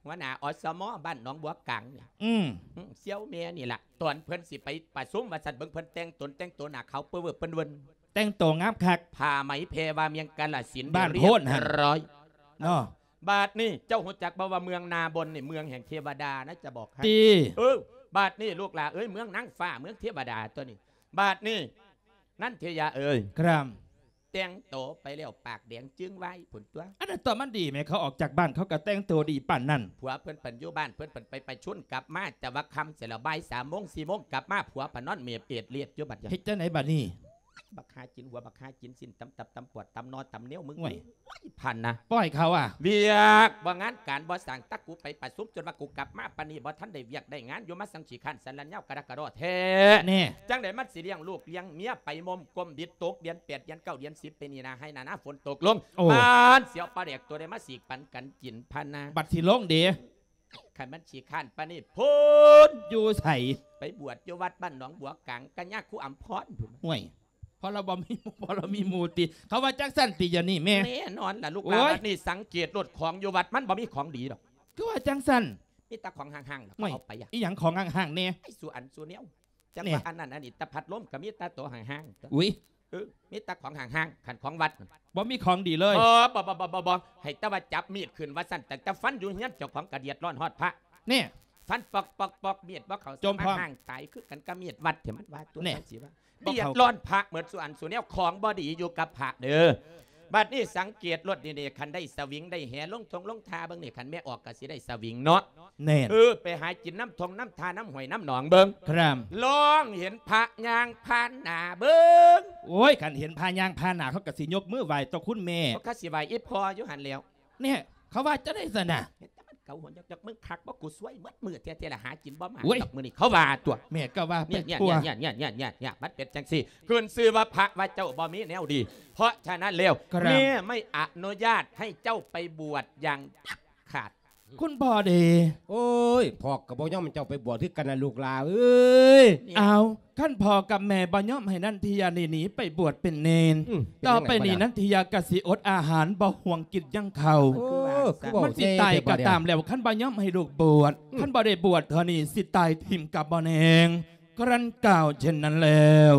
ຫົວໜ້າ ອສມ ບ້ານໜອງບົວກາງນີ້ ອືມ ອືມ ສ່ຽວແມ່ນີ້ລະ ຕອນເພິ່ນຊິໄປປະຊຸມວ່າຊັ້ນ ເບິ່ງເພິ່ນແຕ່ງຕົນ ແຕ່ງໂຕໜ້າຂາວເປິ້ນເວີ້ນ ແຕ່ງໂຕງາມຄັກ ຜ້າໄໝແພວ່າເມືອງກາລະສິນ ບ້ານໂພນຫັ້ນ ຮຽບຮ້ອຍ ເນາະ ບາດນີ້ເຈົ້າຮູ້ຈັກບໍ່ວ່າເມືອງນາບົນນີ້ເມືອງແຫ່ງເທວະດານະ ຈະບອກໃຫ້ ຕິ ເອີ ບາດນີ້ລູກຫຼ້າເອີຍ ເມືອງນາງຟ້າ ເມືອງເທວະດາຕົວນີ້ ບາດນີ້ ນັນທິຍາເອີຍ ກະລາມ ແຕ່ງໂຕໄປແລ້ວປາກແດງຈຶ້ງວາຍພຸ້ນຕົວະ ອັນນັ້ນຕົວະ ມັນດີແໝ ເຂົາອອກຈາກບ້ານເຂົາກໍແຕ່ງໂຕດີປານນັ້ນ ຜົວເພິ່ນ ເພິ່ນຢູ່ບ້ານເພິ່ນ ເພິ່ນໄປປະຊຸມກັບມາແຕ່ວ່າຄ່ຳເສຍແລ້ວ ບ່າຍສາມໂມງ ສີ່ໂມງກັບມາ ຜົວເພິ່ນນອນເມບເອດລຽດຢູ່ບັດນີ້ ເຮັດຈັ່ງໃດບັດນີ້? ບັກຫາກິນຫົວ ບັກຫາກິນຊີ້ນ ຕຳຕັບ ຕຳປອດ ຕຳໜໍ່ ຕຳເໜວ ມຶງ ໂອ້ຍ ໂອ້ຍ ພັນນະ ປ່ອຍເຂົາອະ ວຽກບໍ່ງານການບໍ່ສ້າງ ຕະກູໄປປະຊຸມ ຈົນວ່າກູກັບມາປານນີ້ ບໍ່ທັນໄດ້ວຽກໄດ້ງານຢູ່ ມາສັງຂີ້ຄ້ານສັນລັນຍາວກະດະກະດໍແທ້ ແນ່ ຈັ່ງໃດມັນຊິລ້ຽງລູກລ້ຽງເມຍ ໄປມົມກົມບິດ ຕົກເດືອນແປດ ເດືອນເກົ້າ ເດືອນສິບ ໄປນີ້ນະ ໄຮ່ນານາຝົນຕົກລົງ ໂອ້ ປານຊິເອົາປາແດກຕົວໃດມາສີກປັນກັນກິນ ພັນນະ ບັດຊິລົງເດ ຄັນມັນຂີ້ຄ້ານປານນີ້ພຸ້ນ ຢູ່ໃສ? ໄປບວດຢູ່ວັດບ້ານໜອງບົວກາງ ກັນຍາຄູອຳພອນພຸ້ນ ຫ້ວຍ ເພາະລາວບໍ່ມີໝູ່ ເພາະລາວມີໝູ່ຕິ ເຂົາວ່າຈັ່ງຊັ້ນຕິ ດຽວນີ້ແມ່ ແນ່ນອນລະລູກຫຼ້າ ໂອ້ຍ ບັດນີ້ສັງເກດໂລດ ຂອງຢູ່ວັດມັນບໍ່ມີຂອງດີດອກ ຄືວ່າຈັ່ງຊັ້ນ? ມີແຕ່ຂອງຫ່າງໆ ເຂົາເອົາໄປອະ ອີຫຍັງຂອງຫ່າງໆແນ່? ໄອ້ສູ່ອັນສູ່ແນວ ຈັກວ່າອັນນັ້ນອັນນີ້ ແຕ່ພັດລົມກໍມີແຕ່ໂຕຫ່າງໆ ອຸ້ຍ ເອີ ມີແຕ່ຂອງຫ່າງໆ ຄັນຂອງວັດ ບໍ່ມີຂອງດີເລີຍ ບໍ່ ບໍ່ ບໍ່ ບໍ່ ບໍ່ ໃຫ້ແຕ່ວ່າຈັບມີດຂຶ້ນວ່າຊັ້ນ ຕັ້ງແຕ່ຟັນຢູ່ເຮືອນເຈົ້າຂອງກະເດືອດຮ້ອນຮອດພະ ແນ່ ຟັນປອກໆໆ ມີດບໍ່ເຂົ້າ ຈົມພ້ອມ ມາຫ່າງຕາຍຄືກັນກັບມີດວັດ ທີ່ມັນວ່າຕົວະ ແນ່ ຈັ່ງຊີ້ວ່າ ບໍ່ເຂົ້າ ເດືອດຮ້ອນພະໝົດສູ່ອັນສູ່ແນວ ຂອງບໍ່ດີຢູ່ກັບພະເດີ ບັດນີ້ສັງເກດໂລດນີ້ ຄັນໄດ້ສະຫວິງໄດ້ແຫລົງທົ່ງລົງທ່າເບິ່ງນີ້ ຄັນແມ່ອອກກໍຊິໄດ້ສະຫວິງເນາະ ແມ່ນ ເອີ ໄປຫາກິນນຳທົ່ງນຳທ່າ ນຳຫ້ວຍນຳໜອງເບິ່ງ ຄັບ ລອງເຫັນພະຍ່າງຜ່ານໜ້າເບິ່ງ ໂອ້ຍ ຄັນເຫັນພະຍ່າງຜ່ານໜ້າ ເຂົາກໍຊິຍົກມືໄຫວ້ຕໍ່ຄຸນແມ່ ເຂົາກໍຊິໄຫວ້ອີ່ພໍ່ຢູ່ຫັ້ນແລ້ວ ແນ່ ເຂົາວ່າຈັ່ງໃດຊັ້ນນະ? ເຫັນແຕ່ມັນເກົາຫົວຍອກໆ ມຶງຄັກບໍ່ ກູຊວຍໝົດມື້ແທ້ໆ ລະຫາກິນບໍ່ມາ ໂອ້ຍ ດອກມື້ນີ້ ເຂົາວ່າຕົວະ ແມ່ກໍວ່າໄປທົ່ວ ຍະໆໆໆ ມັນເປັນຈັ່ງຊີ້ ຂຶ້ນຊື່ວ່າພະວ່າເຈົ້າບໍ່ມີແນວດີ ເພາະສະນັ້ນແລ້ວ ຄັບ ແມ່ໄມ່ອະນຸຍາດໃຫ້ເຈົ້າໄປບວດຢ່າງເດັດຂາດ ຄຸນພໍ່ເດ ໂອ້ຍ ພໍ່ກໍບໍ່ຍອມໃຫ້ເຈົ້າໄປບວດຄືກັນນະລູກຫຼ້າເອີຍ ເອົາ ຄັນພໍ່ກັບແມ່ບໍ່ຍອມໃຫ້ນັນທິຍານີ້ໜີໄປບວດເປັນເນນ ອືມ ຕໍ່ໄປນີ້ ເປັນຈັ່ງໃດບັດນີ້ ນັນທິຍາກໍຊິອົດອາຫານ ບໍ່ຫ່ວງກິນຫຍັງເຂົ້າ ໂອ້ ຄືວ່າ ມັນຊິຕາຍກໍຕາມແລ້ວ ຄັນບໍ່ຍອມໃຫ້ລູກບວດ ອືມ ຄັນບໍ່ໄດ້ບວດເທື່ອນີ້ ຊິຕາຍຖິ້ມກັບບໍ່ແນງ ຄັ້ນກ່າວເຊັ່ນນັ້ນແລ້ວ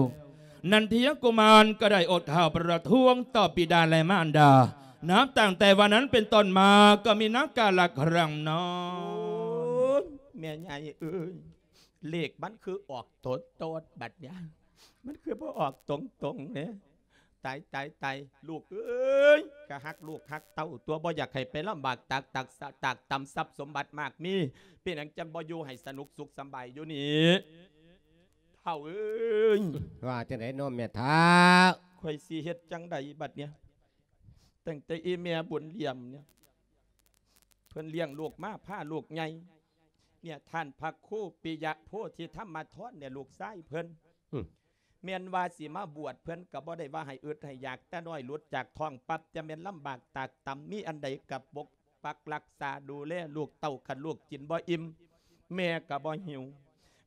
ນັນທິຍະກຸມານກໍໄດ້ອົດຂ້າວປະທ້ວງຕໍ່ບິດາ ແລະ ມານດາ ນັບຕັ້ງແຕ່ວັນນັ້ນເປັນຕົ້ນມາ ກໍມີນາກາລະຄັ້ງນັ້ນ ໂອ້ຍ ແມ່ໃຫຍ່ເອີຍ ເລກມັນຄືອອກໂຕໂຕດບັດນີ້ ມັນຄືບໍ່ອອກຕົງໆເດ້ ຕາຍ ຕາຍ ຕາຍ ລູກເອີຍ ກະຮັກລູກຮັກເຕົ້າຕົວະ ບໍ່ຢາກໃຫ້ໄປລຳບາກຕາກ ຕາກ ຕາກຕຳຊັບສົມບັດມາກມີ ເປັນຫຍັງຈັ່ງບໍ່ຢູ່ໃຫ້ສະໜຸກສຸກສະບາຍຢູ່ນີ້ ເຖົ້າເອີຍ ວ່າຈັ່ງໃດເນາະແມ່ທ້າວ? ຂ້ອຍຊິເຮັດຈັ່ງໃດບັດນີ້? ຕັ້ງແຕ່ອີ່ແມ່ບຸນຫຼຽມນີ້ ເພິ່ນລ້ຽງລູກມາ ພາລູກໃຫຍ່ ເນຍ ທ່ານພະຄູປິຍະໂພທິທຳມະທອນເນຍ ລູກຊາຍເພິ່ນ ອືມ ແມ່ນວ່າຊິມາບວດ ເພິ່ນກໍບໍ່ໄດ້ວ່າໃຫ້ອຶດໃຫ້ຢາກ ແຕ່ນ້ອຍຫຼຸດຈາກທ້ອງປັບ ຈະແມ່ນລຳບາກຕາກຕຳ ມີອັນໃດກໍປົກປັກລັກສາດູແລລູກເຕົ້າ ຄັນລູກກິນບໍ່ອີ່ມ ແມ່ກໍບໍ່ຫິວ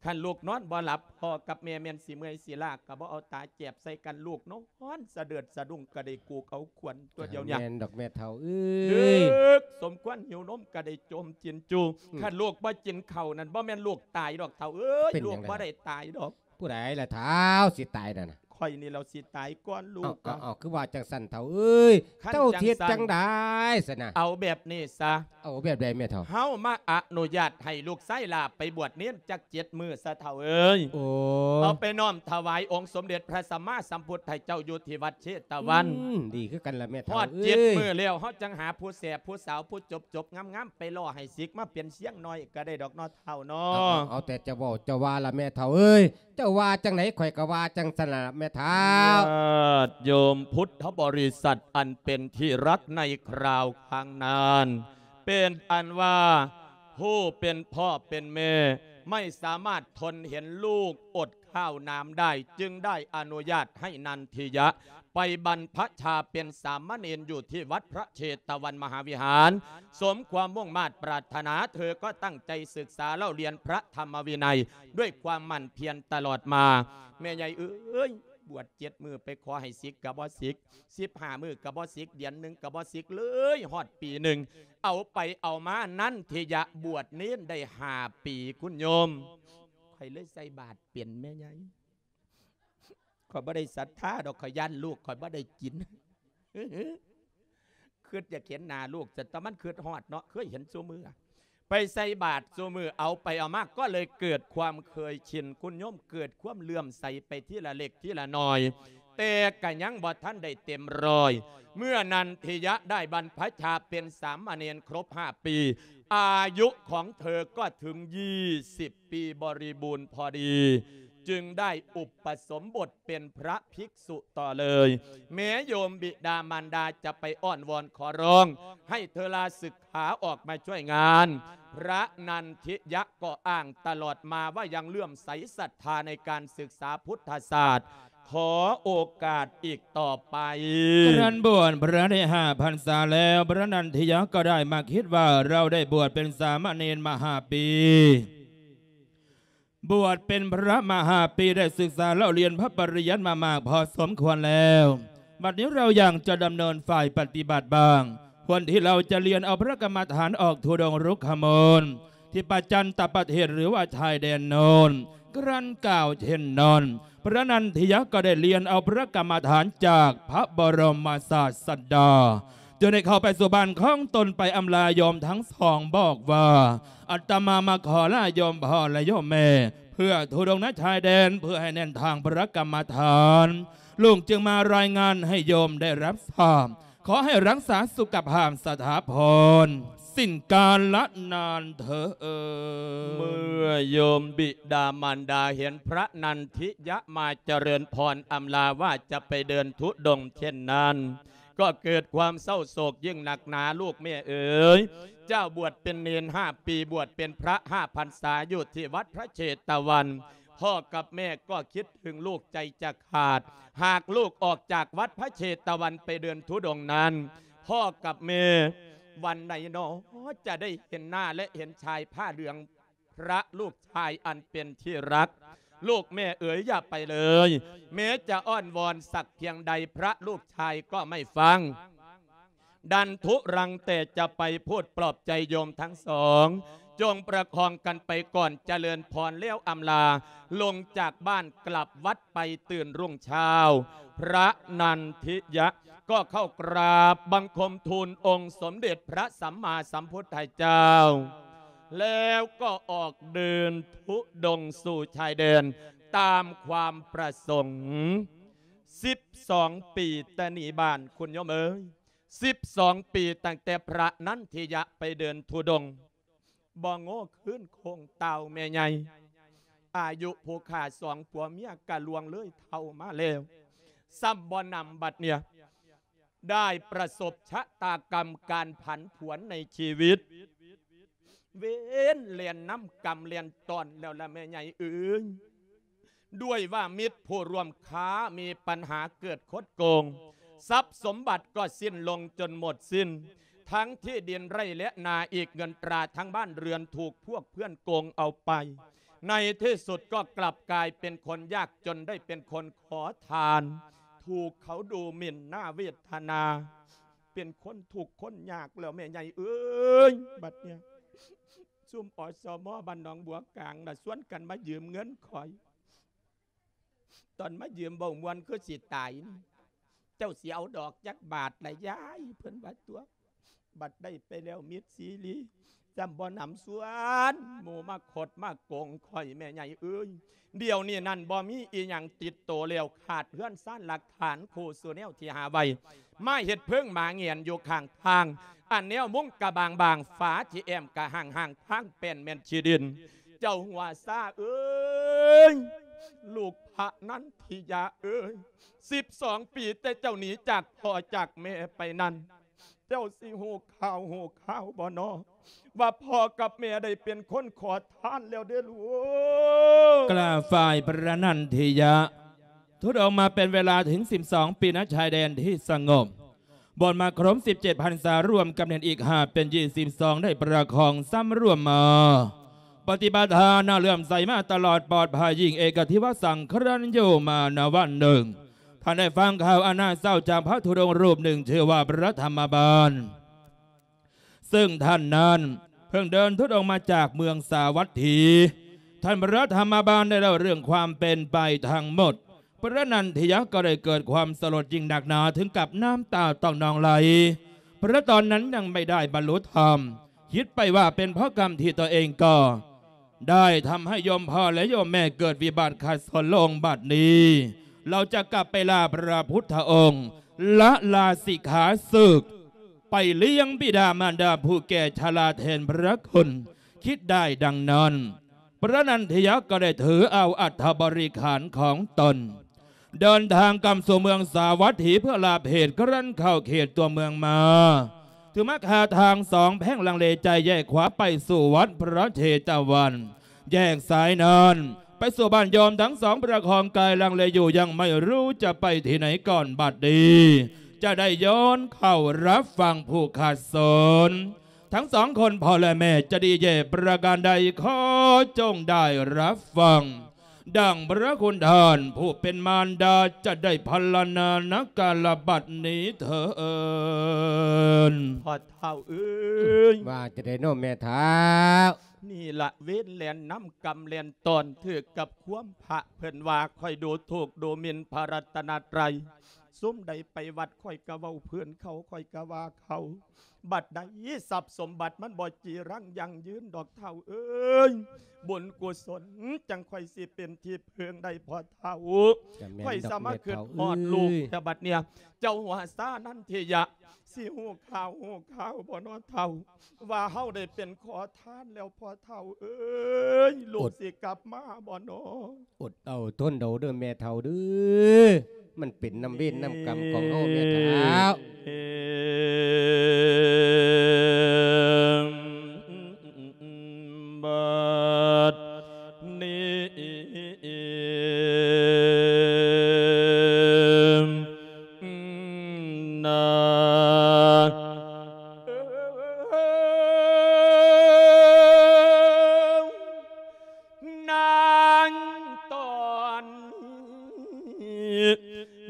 ຄັນລູກນອນບໍ່ຫຼັບ ພໍ່ກັບແມ່ແມ່ນຊິເມື່ອຍຊິລ້າ ກໍບໍ່ເອົາຕາແຈບໃສ່ກັນ ລູກນອນສະເດີດສະດຸ້ງ ກໍໄດ້ກູກເອົາຂວັນຕົວດຽວນີ້ ແມ່ນດອກແມ່ເຖົ້າເອີຍ ເດິກສົມຄວນຫິວນົມ ກໍໄດ້ຈົ່ມກິນຈູ່ ອືມ ຄັນລູກບໍ່ກິນເຂົ້ານັ້ນ ບໍ່ແມ່ນລູກຕາຍດອກເຖົ້າເອີຍ ເປັນຫຍັງ ລູກບໍ່ໄດ້ຕາຍດອກ ຜູ້ໃດລະທ້າວຊິຕາຍນັ້ນນະ? ຂ້ອຍນີ້ແຫຼ້ວຊິຕາຍກ່ອນລູກ ເອົ້າ ເອົ້າ ຄືວ່າຈັ່ງຊັ້ນເຖົ້າເອີຍ? ຄັນ ເຈົ້າຊິເຮັດຈັ່ງໃດຊັ້ນນະ? ເອົາແບບນີ້ຊະ ເອົາແບບໃດແມ່ເຖົ້າ? ເຮົາມາອະນຸຍາດໃຫ້ລູກຊາຍຫຼ້າໄປບວດເນນຈັກເຈັດມື້ຊະເຖົ້າເອີຍ ໂອ້ ເອົາໄປນ້ອມຖວາຍອົງສົມເດັດພະສຳມາສຳພຸດທະເຈົ້າຢູ່ທີ່ວັດເຊຕະວັນ ອືມ ດີຄືກັນລະແມ່ເຖົ້າ ຮອດເຈັດ ເອີຍ ມື້ແລ້ວ ເຮົາຈັ່ງຫາຜູ້ແສຜູ້ສາວຜູ້ຈົບໆງາມໆ ໄປຫຼໍ່ໃຫ້ສິກມາເປັນຊຽງນ້ອຍກໍໄດ້ດອກເນາະ ເຖົ້າເນາະ ເອົາ ເອົາ ເອົາແຕ່ເຈົ້າເວົ້າເຈົ້າວ່າລະແມ່ເຖົ້າເອີຍ ເຈົ້າວ່າຈັ່ງໃດຂ້ອຍກໍວ່າຈັ່ງຊັ້ນລະແມ່ເຖົ້າ ຍາດໂຍມພຸດທະບໍລິສັດອັນເປັນທີ່ຮັກໃນຄາວຄັ້ງນັ້ນ ເປັນອັນວ່າຜູ້ເປັນພໍ່ເປັນແມ່ໄມ່ສາມາດທົນເຫັນລູກອົດ ຂ້າວນ້ຳໄດ້ ຈຶ່ງໄດ້ອະນຸຍາດໃຫ້ນັນທິຍະໄປບັນພະຊາເປັນສາມະເນນຢູ່ທີ່ວັດພະເຊຕະວັນມະຫາວິຫານ ສົມຄວາມມຸ່ງມາດປາດຖະໜາ ເທີກໍຕັ້ງໃຈສຶກສາເລົ່າລຽນພະທຳມະວິໄນດ້ວຍຄວາມໝັ່ນພຽນຕະຫຼອດມາ. ແມ່ໃຫຍ່ເອີຍ ບວດເຈັດມື້ໄປຂໍໃຫ້ສິກກໍບໍ່ສິກ ສິບຫ້າມື້ກໍບໍ່ສິກ ເດືອນໜຶ່ງກໍບໍ່ສິກເລີຍ ຮອດປີໜຶ່ງ ເອົາໄປເອົາມາ ນັນທິຍະບວດເນນໄດ້ຫ້າປີ ຄຸນໂຍມ ຂ້ອຍເລີຍໃສ່ບາດເປັນແມ່ໃຫຍ່ ຂ້ອຍບໍ່ໄດ້ສັດທາດອກ ຂ້ອຍຢ້ານລູກຂ້ອຍບໍ່ໄດ້ກິນ ຄິດຢາກເຫັນໜ້າລູກ ແຕ່ມັນຄິດຮອດເນາະ ເຄີຍເຫັນຊຸມື້ ໄປໃສ່ບາດຊຸມື້ ເອົາໄປເອົາມາກໍເລີຍເກີດຄວາມເຄີຍຊິນ ຄຸນໂຍມ ເກີດຄວາມເຫຼື້ອມໃສໄປທີລະເລັກທີລະໜ້ອຍ ແຕ່ກະຍັງບໍ່ທັນໄດ້ເຕັມຮ້ອຍ ເມື່ອນັນທິຍະໄດ້ບັນພະຊາເປັນສາມະເນນຄົບຫ້າປີ ອາຍຸຂອງເທີກໍເຖິງຍີ່ສິບປີບໍລິບູນພໍດີ ຈຶ່ງໄດ້ອຸປະສົມບົດເປັນພະພິກສຸຕໍ່ເລີຍ. ແມ້ໂຍມບິດາມານດາຈະໄປອ້ອນວອນຂໍຮ້ອງໃຫ້ເທີລາສຶກ ພາອອກມາຊ່ວຍງານ ພະນັນທິຍະກໍອ້າງຕະຫຼອດມາວ່າຍັງເຫຼື້ອມໃສສັດທາໃນການສຶກສາພຸດທະສາດ ຂໍໂອກາດອີກຕໍ່ໄປ. ຄະຄັ້ນບວດພະໄດ້ຫ້າພັນສາແລ້ວ ພະນັນທິຍະກໍໄດ້ມາຄິດວ່າ ເຮົາໄດ້ບວດເປັນສາມະເນນມາຫ້າປີ ບວດເປັນພະມາຫ້າປີ ໄດ້ສຶກສາເລົ່າລຽນພະປະລິຍັດມາມາກພໍສົມຄວນແລ້ວ ບັດນີ້ເຮົາຢາກຈະດຳເນີນຝ່າຍປະຕິບັດບ້າງ ຄວນທີ່ເຮົາຈະລຽນເອົາພະກຳມະຖານອອກທຸດົງລຸກຂະມູນ ທີ່ປະຈັນຕະປະເທດ ຫຼືວ່າຊາຍແດນໂນ້ນ ຄະຄັ້ນກ່າວເຊັ່ນນັ້ນ ພະນັນທິຍະກໍໄດ້ລຽນເອົາພະກຳມະຖານຈາກພະບໍລົມມະສາດສະດາ ຈຶ່ງໄດ້ເຂົ້າໄປສູ່ບ້ານຂອງຕົນ ໄປອຳລາໂຍມທັງສອງ ບອກວ່າ ອາດຕະມາມາຂໍລາໂຍມພໍ່ ແລະ ໂຍມແມ່ ເພື່ອທຸດົງນະຊາຍແດນ ເພື່ອໃຫ້ແໜ້ນທາງພະກຳມະຖານ ລູກຈຶ່ງມາລາຍງານໃຫ້ໂຍມໄດ້ຮັບຊາບ ຂໍໃຫ້ຮັກສາສຸຂະພາບສະຖາພົນ ສິ້ນການລະນານເທີ້ນ. ເມື່ອໂຍມບິດາມານດາເຫັນພະນັນທິຍະມາຈະເລີນພອນອຳລາວ່າຈະໄປເດີນທຸດົງເຊັ່ນນັ້ນ ກໍເກີດຄວາມເສົ້າໂສກຍິ່ງໜັກໜາ ລູກແມ່ເອີຍ ເຈົ້າບວດເປັນເນນຫ້າປີ ບວດເປັນພະຫ້າພັນສາຢູ່ທີ່ວັດພະເຊຕະວັນ ພໍ່ກັບແມ່ກໍຄິດເຖິງລູກໃຈຈະຂາດ ຫາກລູກອອກຈາກວັດພະເຊຕະວັນໄປເດີນທຸດົງນັ້ນ ພໍ່ກັບແມ່ ວັນໃດນໍ ຈະໄດ້ເຫັນໜ້າ ແລະ ເຫັນຊາຍຜ້າເຫຼືອງ ພະລູກຊາຍອັນເປັນທີ່ຮັກ ລູກແມ່ເອີຍ ຢ່າໄປເລີຍ ແມ້ຈະອ້ອນວອນສັກພຽງໃດ ພະລູກຊາຍກໍໄມ່ຟັງ ດັນທຸລັງແຕ່ຈະໄປ ພູດປອບໃຈໂຍມທັງສອງ ຈົ່ງປະຄອງກັນໄປກ່ອນ ຈະເລີນພອນແລ້ວອຳລາ ລົງຈາກບ້ານກລັບວັດໄປ ຕື່ນລຸງເຊົ້າ ພະນັນທິຍະກໍເຂົ້າກາບບັງຄົມທູນອົງສົມເດັດພະສຳມາສຳພຸດທະເຈົ້າ ແລ້ວກໍອອກເດີນທຸດົງສູ່ຊາຍແດນຕາມຄວາມປະສົງ ສິບສອງປີແຕ່ໜີບ້ານ ຄຸນໂຍມເອີຍ ສິບສອງປີຕັ້ງແຕ່ພະນັນທິຍະໄປເດີນທຸດົງ ບໍ່ໂງ່ຄືນໂຄ້ງຕ່າວແມ່ໃຫຍ່ ອາຍຸຜູ້ຂ້າສອງຜົວເມຍກະລ່ວງເລີຍເຖົ້າມາແລ້ວ ຊ້ຳບໍ່ໜຳບັດເນຍ ໄດ້ປະສົບຊະຕາກຳການຜັນຜວນໃນຊີວິດ ເວນແລ່ນນຳກຳແລ່ນຕ້ອນແລ້ວລະແມ່ໃຫຍ່ເອີຍ ດ້ວຍວ່າມິດຜູ້ຮ່ວມຄ້າມີປັນຫາເກີດຄົດໂກງ ຊັບສົມບັດກໍສິ້ນລົງຈົນໝົດສິ້ນ ທັງທີ່ດິນໄຮ່ແລະນາ ອີກເງິນຕາທັງບ້ານເຮືອນຖືກພວກເພື່ອນໂກງເອົາໄປ ในที่สุดก็กลับกลายเป็นคนยากจน ได้เป็นคนขอทาน ถูกเขาดูหมิ่นหน้าเวทนา เป็นคนทุกข์คนยากแล้วแม่ใหญ่เอ้ย บัดเนี่ย ซุม อสม บ้านหนองบัวกลางน่ะ ชวนกันมายืมเงินข้อย ตอนมายืมเว้าม่วนคือสิตายนี่ เจ้าสิเอาดอกจักบาทละยาย เพิ่นว่าตั๊ว บัดได้ไปแล้วมิตรซีรี จำบ่หนำชวนหมู่มาคดมาโกงข้อยแม่ใหญ่เอ้ย เดี๋ยวนี้นั่นบ่มีอีหยังติดโตแล้ว ขาดเฮือนซานหลักฐานคู่สู่แนวที่หาไว้ มาเฮ็ดเพิงหมาแหงนอยู่ข้างทาง อันแนวมุงกะบางๆ ฝาที่แอ้มกะห่างๆ ทางแป้นแม่นขี้ดิน เจ้าหัวซ่าเอ้ย ลูกพระนันทิยะเอ้ย สิบสองปีแต่เจ้าหนีจากพ่อจากแม่ไปนั้น เจ้าสิฮู้ข่าวฮู้ข่าวบ่น้อ ว่าพ่อกับแม่ได้เป็นคนขอทานแล้วเด้อลูก กราบฝ่ายพระนันทิยะ ธุดงค์มาเป็นเวลาถึงสิบสองปี ณ ชายแดนที่สงบ บวชมาครบสิบเจ็ดพรรษา รวมกับเณรอีกห้าเป็นยี่สิบสอง ได้ประคองสำรวมมา ปฏิบัติทานน่าเลื่อมใสมาตลอด ปลอดภัยยิ่ง เอกทิวสังครันอยู่มา ณ วันหนึ่ง ท่านได้ฟังข่าวอันน่าเศร้าจากพระธุดงค์รูปหนึ่ง ชื่อว่าพระธรรมบาล ซึ่งท่านนั้นเพิ่งเดินธุดงค์มาจากเมืองสาวัตถี ท่านพระธรรมบาลได้เล่าเรื่องความเป็นไปทั้งหมด พระนันทิยะก็ได้เกิดความสลดยิ่งนักหนา ถึงกับน้ำตาต้องนองไหล เพราะตอนนั้นยังไม่ได้บรรลุธรรม คิดไปว่าเป็นเพราะกรรมที่ตัวเองก่อ ได้ทำให้โยมพ่อและโยมแม่เกิดวิบัติขัดสนลง บัดนี้ เราจะกลับไปลาพระพุทธองค์ ละลาสิกขาศึก ไปเลี้ยงบิดามารดาผู้แก่ชราแทนพระคุณ คิดได้ดังนั้น พระนันทิยะก็ได้ถือเอาอัฐบริขารของตน เดินทางกลับสู่เมืองสาวัตถีเพื่อลาเพศ ครั้นเข้าเขตตัวเมืองมา ถือมคาทางสองแพร่ง ลังเลใจแยกขวาไปสู่วัดพระเชตวัน แยกซ้ายนั้นไปสู่บ้านโยมทั้งสองประคองกายลังเลอยู่ ยังไม่รู้จะไปที่ไหนก่อน บัดนี้จะได้ย้อนเข้ารับฟังผู้ขัดสน ทั้งสองคนพ่อและแม่จะดีแย่ประการใด ขอจงได้รับฟัง ดังพระคุณท่านผู้เป็นมารดาจะได้พรรณนา ณ กาลบัดนี้เทอญ พ่อเฒ่าเอ้ย ว่าจั่งใดน้อแม่เฒ่า นี่ละเวรแล่นนำกรรมแล่นตอน ถืกกับความพระเพิ่นว่า ข้อยดูถูกดูหมิ่นพระรัตนตรัย ซุมใดไปวัดข้อยกะเว้าเพิ่น เขาข้อยกะว่าเขา บัดใดทรัพย์สมบัติมันบ่จีรังยั่งยืนดอกเฒ่าเอ้ย บุญกุศลจั่งค่อยสิเป็นที่เพิ่งได้พ่อเฒ่า กะแม่นดอก ข้อยสามารถ แม่เฒ่า คิดฮอดลูก เอ้ย แต่บัดเนี่ย เจ้าหัวซ่านันทิยะ สิฮู้ข่าวฮู้ข่าวบ่น้อเฒ่า ว่าเฮาได้เป็นขอทานแล้วพ่อเฒ่าเอ้ย ลูก อด สิกลับมาบ่น้อ อดเอาทนเอาเด้อแม่เฒ่าเด้อ มันเป็นนำเวรนำกรรมของเฮาแม่เฒ่า บัดนี้ นา นางตอนนี้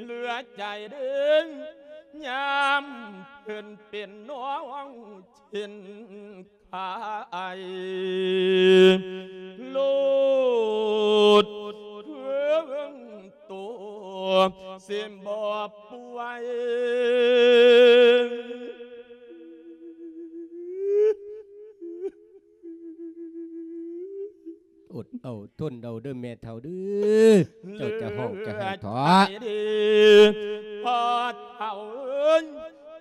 เหลือใจเด้อ ยามเพิ่นเป็นน้องเช่น ขายโลดเพิ่งโตสิบ่ป่วย อดเอาทนเอาเด้อแม่เฒ่าเด้อ เจ้าจะฮ้องจะไห้เถาะ พ่อเฒ่าเอ้ย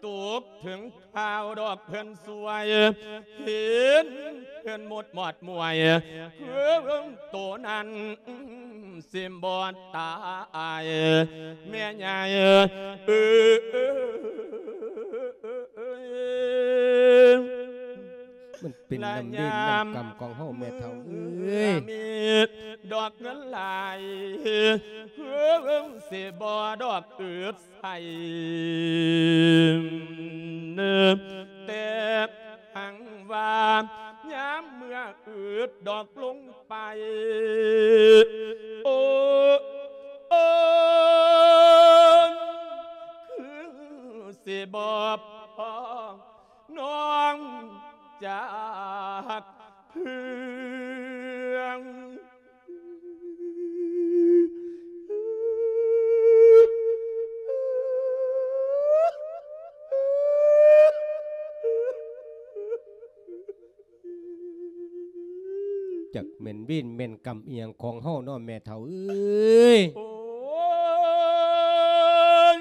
ตกถึง ข่าวดอกเพิ่นสวย เห็นเพิ่นหมดหมอดมวย เพิ่นโตนั้นสิบ่ตาย แม่ใหญ่เอ้ย มันเป็นนำเวรนำกรรมของเฮาแม่เฒ่าเอ้ย มีดอกเงินหลาย เพิ่นสิบ่ดอกอึด ใส่ แต่หังว่ายามมื้อ ກະອຶດດອກລົງໄປ ໂອ້ ໂອ້ ຄືຊິບໍ່ພໍນ້ອງຈາກເພື່ອນ. ຈັກແມ່ນເວນແມ່ນກຳອີ່ຫຍັງຂອງເຮົາເນາະແມ່ເຖົ້າເອີຍ. ໂອ້ຍ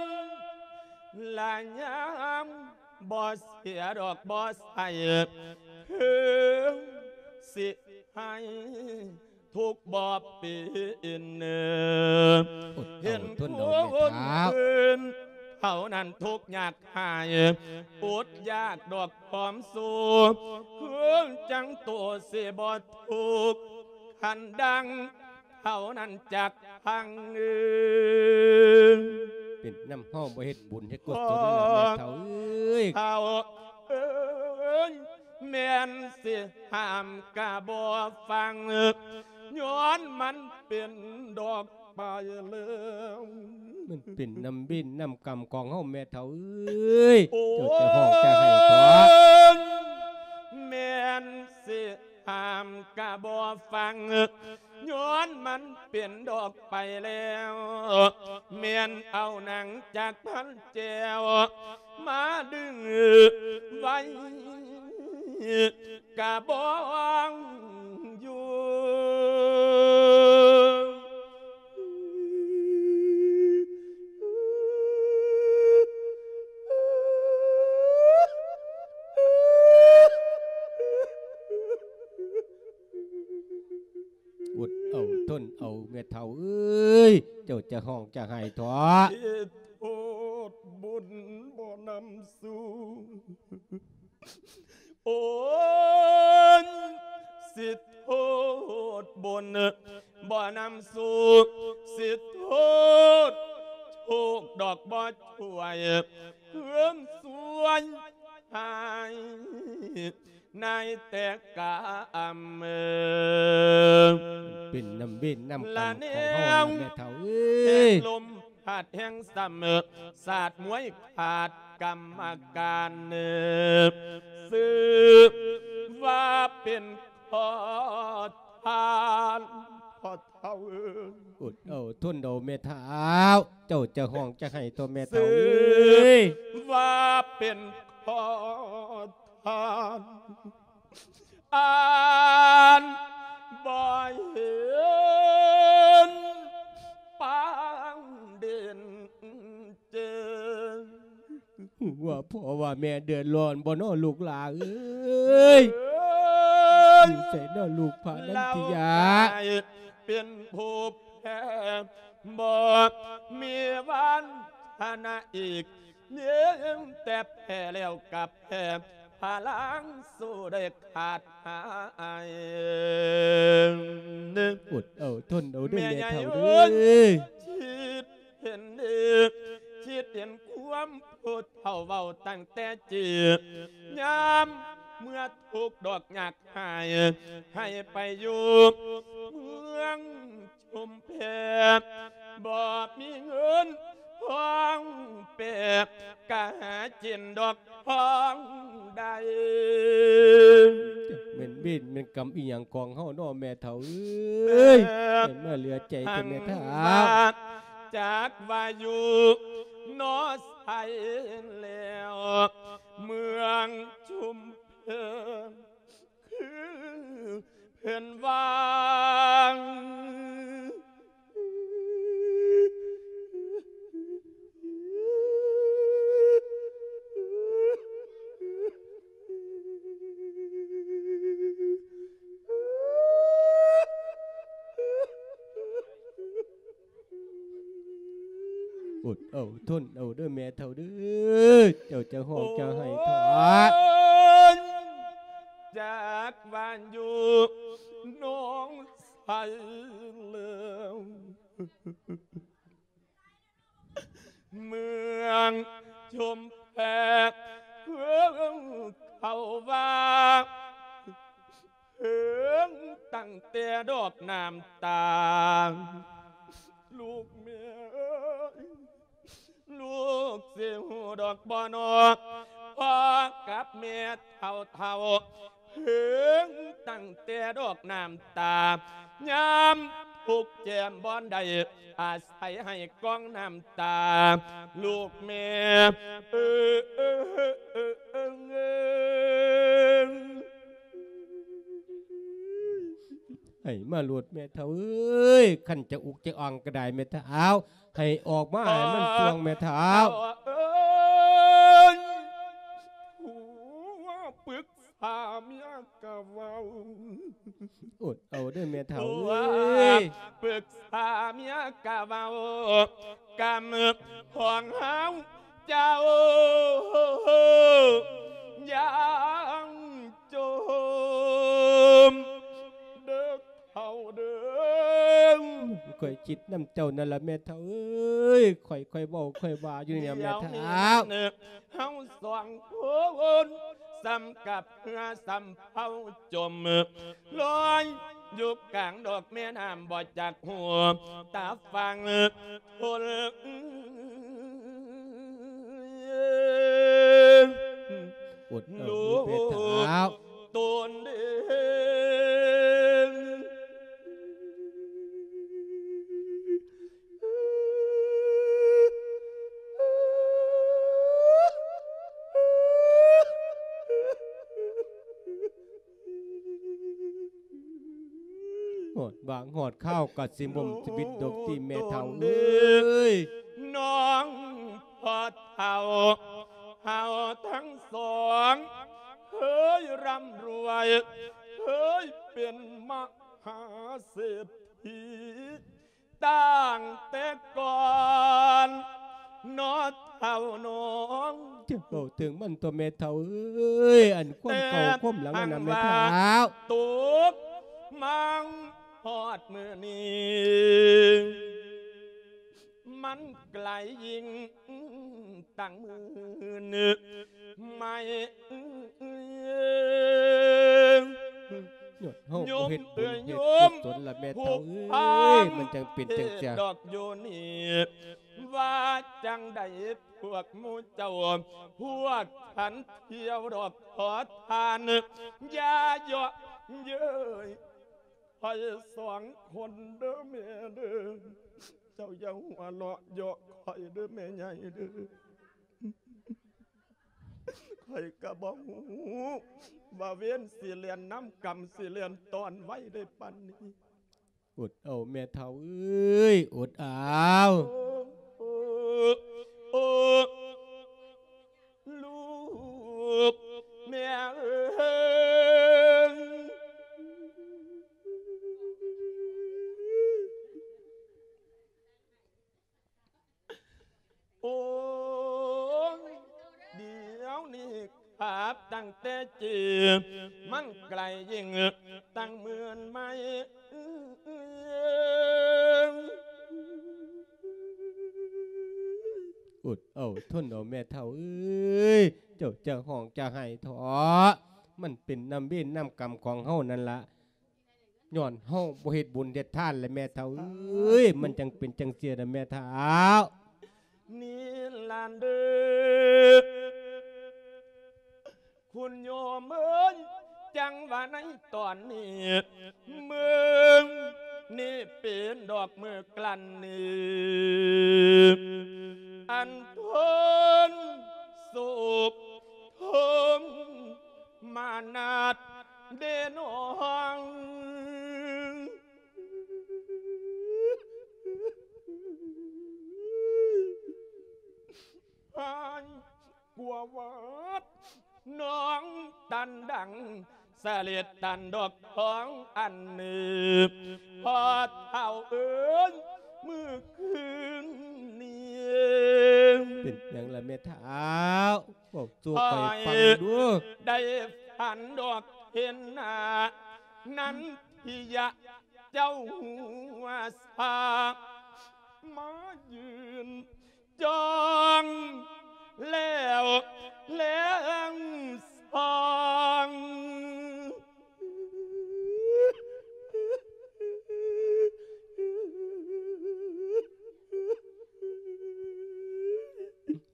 ລະຍາມບໍ່ເສຍດອກບໍ່ໃສ່ ເພິ່ນຊິໃຫ້ ທຸກບໍ່ເປັນ ອົດເອົາ ເຫັນຜູ້ອື່ນເທົ່ານັ້ນທຸກຍາກຫາຍ ອົດຢາກດອກຄວາມສຸກ ເພິ່ນຈັ່ງໂຕຊິບໍ່ທຸກ ຄັນດັ່ງເທົ່ານັ້ນຈັກພັງເອີຍ. ເປັນນຳເຮົາບໍ່ເຮັດບຸນເຮັດກຸສົນແລ້ວແມ່ເຖົ້າເອີຍ ເຖົ້າເອີຍ ແມ່ນຊິຫ້າມກະບໍ່ຟັງ ຍ້ອນມັນເປັນດອກໄປແລ້ວ ມັນເປັນນຳເວນນຳກຳຂອງເຮົາແມ່ເຖົ້າເອີຍ ໂອ້ຍ ເຈົ້າຈະຮ້ອງຈະໄຫ້ເຖາະ ແມ່ນຊິຫ້າມກະບໍ່ຟັງ ຍ້ອນມັນເປັນດອກໄປແລ້ວ ແມ່ນເອົາໜັງຈາກພັນແຈວ ມາດຶງໄວ້ກະບອງຢູ່. ອົດເອົາທົນເອົາແມ່ເຖົ້າເອີຍ ເຈົ້າຈະຮ້ອງຈະໄຫ້ເຖາະ ເຮັດໂທດບຸນບໍ່ນຳສູ່ ໂອ້ຍ ຊິໂທດບຸນບໍ່ນຳສູ່ ຊິໂທດໂຊກດອກບໍ່ຊ່ວຍ ເພີ່ມຊ່ວຍໃຫ້ ໃນແຕ່ກຳ ເປັນນຳເວນນຳກຳຂອງເຮົາແມ່ເຖົ້າເອີຍ ແຮງລົມພັດແຮງຊ້ຳ ສາດມວຍຂາດກຳມະການ ຊື່ວ່າເປັນຂໍທານ ພໍ່ເຖົ້າເອີຍ ອົດເອົາທົນເອົາແມ່ເຖົ້າ ເຈົ້າຈະຮ້ອງຈະໄຫ້ຕົວແມ່ເຖົ້າເອີຍ ວ່າເປັນຂໍທານ ອານບໍ່ເຫັນປາງເດັ່ນ ເຈີ ຮູ້ວ່າພໍ່ວ່າແມ່ເດືອດຮ້ອນບໍ່ນໍລູກຫຼ້າເອີຍ ຢູ່ໃສນໍລູກພານັນທິຍາ ເປັນຜູ້ແພ້ບໍ່ມີວັນທະນາອີກ ມີແຕ່ແພ້ແລ້ວກັບແພ້ ພະລັງສູ້ໄດ້ຂາດຫາຍ ອົດເອົາທົນເອົາເດີແມ່ເຖົ້າເດີ ຄິດເຫັນດີ ຄິດເຫັນຄວາມຜູ້ເຖົ້າເວົ້າຕັ້ງແຕ່ກີ້ ຍາມເມື່ອທຸກດອກຍາກຫາຍ ໃຫ້ໄປຢູ່ເມືອງ ຊຸມແພ ບໍ່ມີເງິນທອງແປ ກະຫາກິນດອກທອງໄດ້ ຈັກແມ່ນເວນແມ່ນກຳອີ່ຫຍັງຂອງເຮົາເນາະແມ່ເຖົ້າເອີຍ ແມ່ນມາເຫຼືອໃຈແຕ່ແມ່ເຖົ້າ ຈັກວ່າຢູ່ນອໃສແລ້ວ ເມືອງຊຸມແພ ຄືເພິ່ນວ່າ ອົດເອົາທົນເອົາເດີແມ່ເຖົ້າເດີ ເຈົ້າຈະຮ້ອງຈະໄຫ້ເຖາະ ຈັກວ່າຢູ່ໜອງໃສແລ້ວ ເມືອງຊຸມແພ ເຂົາວ່າ ຖິງຕັ້ງແຕ່ດອກນ້ຳຕາ ລູກແມ່ເອີຍ ລູກຊິຮູ້ດອກບໍ່ນໍ ພໍ່ກັບແມ່ເຖົ້າໆ ເຖິງຕັ້ງແຕ່ດອກນ້ຳຕາ ຍາມທຸກແຈມບ່ອນໃດ ອາໄສໃຫ້ກອງນ້ຳຕາ ລູກແມ່ເອີຍ. ໃຫ້ມາໂລດແມ່ເຖົ້າເອີຍ ຄັນຈະອຸກຈະອອງກໍໄດ້ແມ່ເຖົ້າ ໃຫ້ອອກມາໃຫ້ມັນຊ່ວງແມ່ເຖົ້າ. ເອີຍ ຜົວປຶກສາເມຍກະເວົ້າ ອົດເອົາເດີແມ່ເຖົ້າເອີຍ ປຶກສາເມຍກະເວົ້າ ກຳຂອງເຮົາເຈົ້າ ຢ່າງ ຈົມເດີເຖົ້າເດີ ຂ້ອຍຄິດນຳເຈົ້ານັ້ນລະແມ່ເຖົ້າເອີຍ ຂ້ອຍ ຂ້ອຍເວົ້າ ຂ້ອຍວ່າຢູ່ນີ້ແຫຼະແມ່ເຖົ້າ ເຮົາສອງຄົນສ່ຳກັບເຮືອສຳເພົາຈົມ ລອຍຢູ່ກາງດອກແມ່ນ້ຳບໍ່ຈັກຮູ້ຕາຝັ່ງ ຄົນ ອົດເອົາລູກແມ່ເຖົ້າ ໂຕນເດ້ ຮອດຫວ່າງຮອດຄາວກໍຊິໝົດຊີວິດດອກຕິແມ່ເຖົ້າເອີຍ ນ້ອງພໍ່ເຖົ້າ ເຮົາທັງສອງເຄີຍຮ່ຳລວຍ ເຄີຍເປັນມະຫາເສດຖີ ຕັ້ງແຕ່ກ່ອນເນາະເຖົ້ານ້ອງ ຈະເວົ້າເຖິງມັນຕົວະແມ່ເຖົ້າເອີຍ ອັນຄວາມເກົ່າຄວາມຫຼັງນັ້ນນະແມ່ເຖົ້າ ແຕ່ຫາກວ່າຕົກມາຮອດມື້ນີ້ ມັນໄກລຍິ່ງຕັ້ງໝື່ນໄມລ ຍ້ອນເຮົາບໍ່ເຮັດບຸນເຮັດກຸສົນລະແມ່ເຖົ້າເອີຍ ມັນຈັ່ງເປັນຈັ່ງຊີ້ດອກຢູ່ນີ້ ວ່າຈັ່ງໃດພວກໝູ່ເຈົ້າ ພວກທ່ານທ່ຽວດອກຂໍທານ ຢ່າເຍາະເຍີ້ຍ ຂ້ອຍສອງຄົນເດີແມ່ເດີ ເຈົ້າຢ່າຫົວເລາະເຍາະຂ້ອຍເດີແມ່ໃຫຍ່ເດີ ຂ້ອຍກະບໍ່ຮູ້ວ່າເວນຊິແລ່ນນຳກຳ ຊິແລ່ນຕ້ອນໄວໄດ້ປານນີ້ ອົດເອົາແມ່ເຖົ້າເອີຍ ອົດເອົາ ໂອ້ ໂອ້ ລູກແມ່ເອີຍ ໂອ້ຍ ດຽວນີ້ຂາບຕັ້ງແຕ່ຈີ ມັນໄກລຍິ່ງຕັ້ງໝື່ນໄມລ ອົດເອົາ ທົນເອົາແມ່ເຖົ້າເອີຍ ເຈົ້າຈະຮ້ອງຈະໄຫ້ເຖາະ ມັນເປັນນຳເວນນຳກຳຂອງເຮົານັ້ນລະ ຍ້ອນເຮົາບໍ່ເຮັດບຸນເຮັດທານແຫຼະແມ່ເຖົ້າເອີຍ ມັນຈັ່ງເປັນຈັ່ງຊີ້ນະແມ່ເຖົ້າ ນີ້ລະເດີ ຄຸນໂຍມເອີຍ ຈັ່ງວ່າໃນຕອນນີ້ ມື້ນີ້ເປັນດອກມື້ກລັ້ນນີ້ ອັນທົນໂສກ ທົນມານາດເດນ້ອງ ຫາຍກວ່າວາດ ນ້ອງຕັນດັງ ສະເລັດຕັນດອກທອງອັນນີ້ ພໍ່ເຖົ້າເອີຍ ມື້ຄືນນີ້ ເປັນຫຍັງລະແມ່ເຖົ້າ? ເວົ້າສູ່ຂ້ອຍຟັງດູ. ໄດ້ຝັນດອກເຫັນໜ້າ ນັນທິຍະເຈົ້າຫົວສາ ມາຢືນ ຈ້ອງແລ້ວແລງສ່ອງ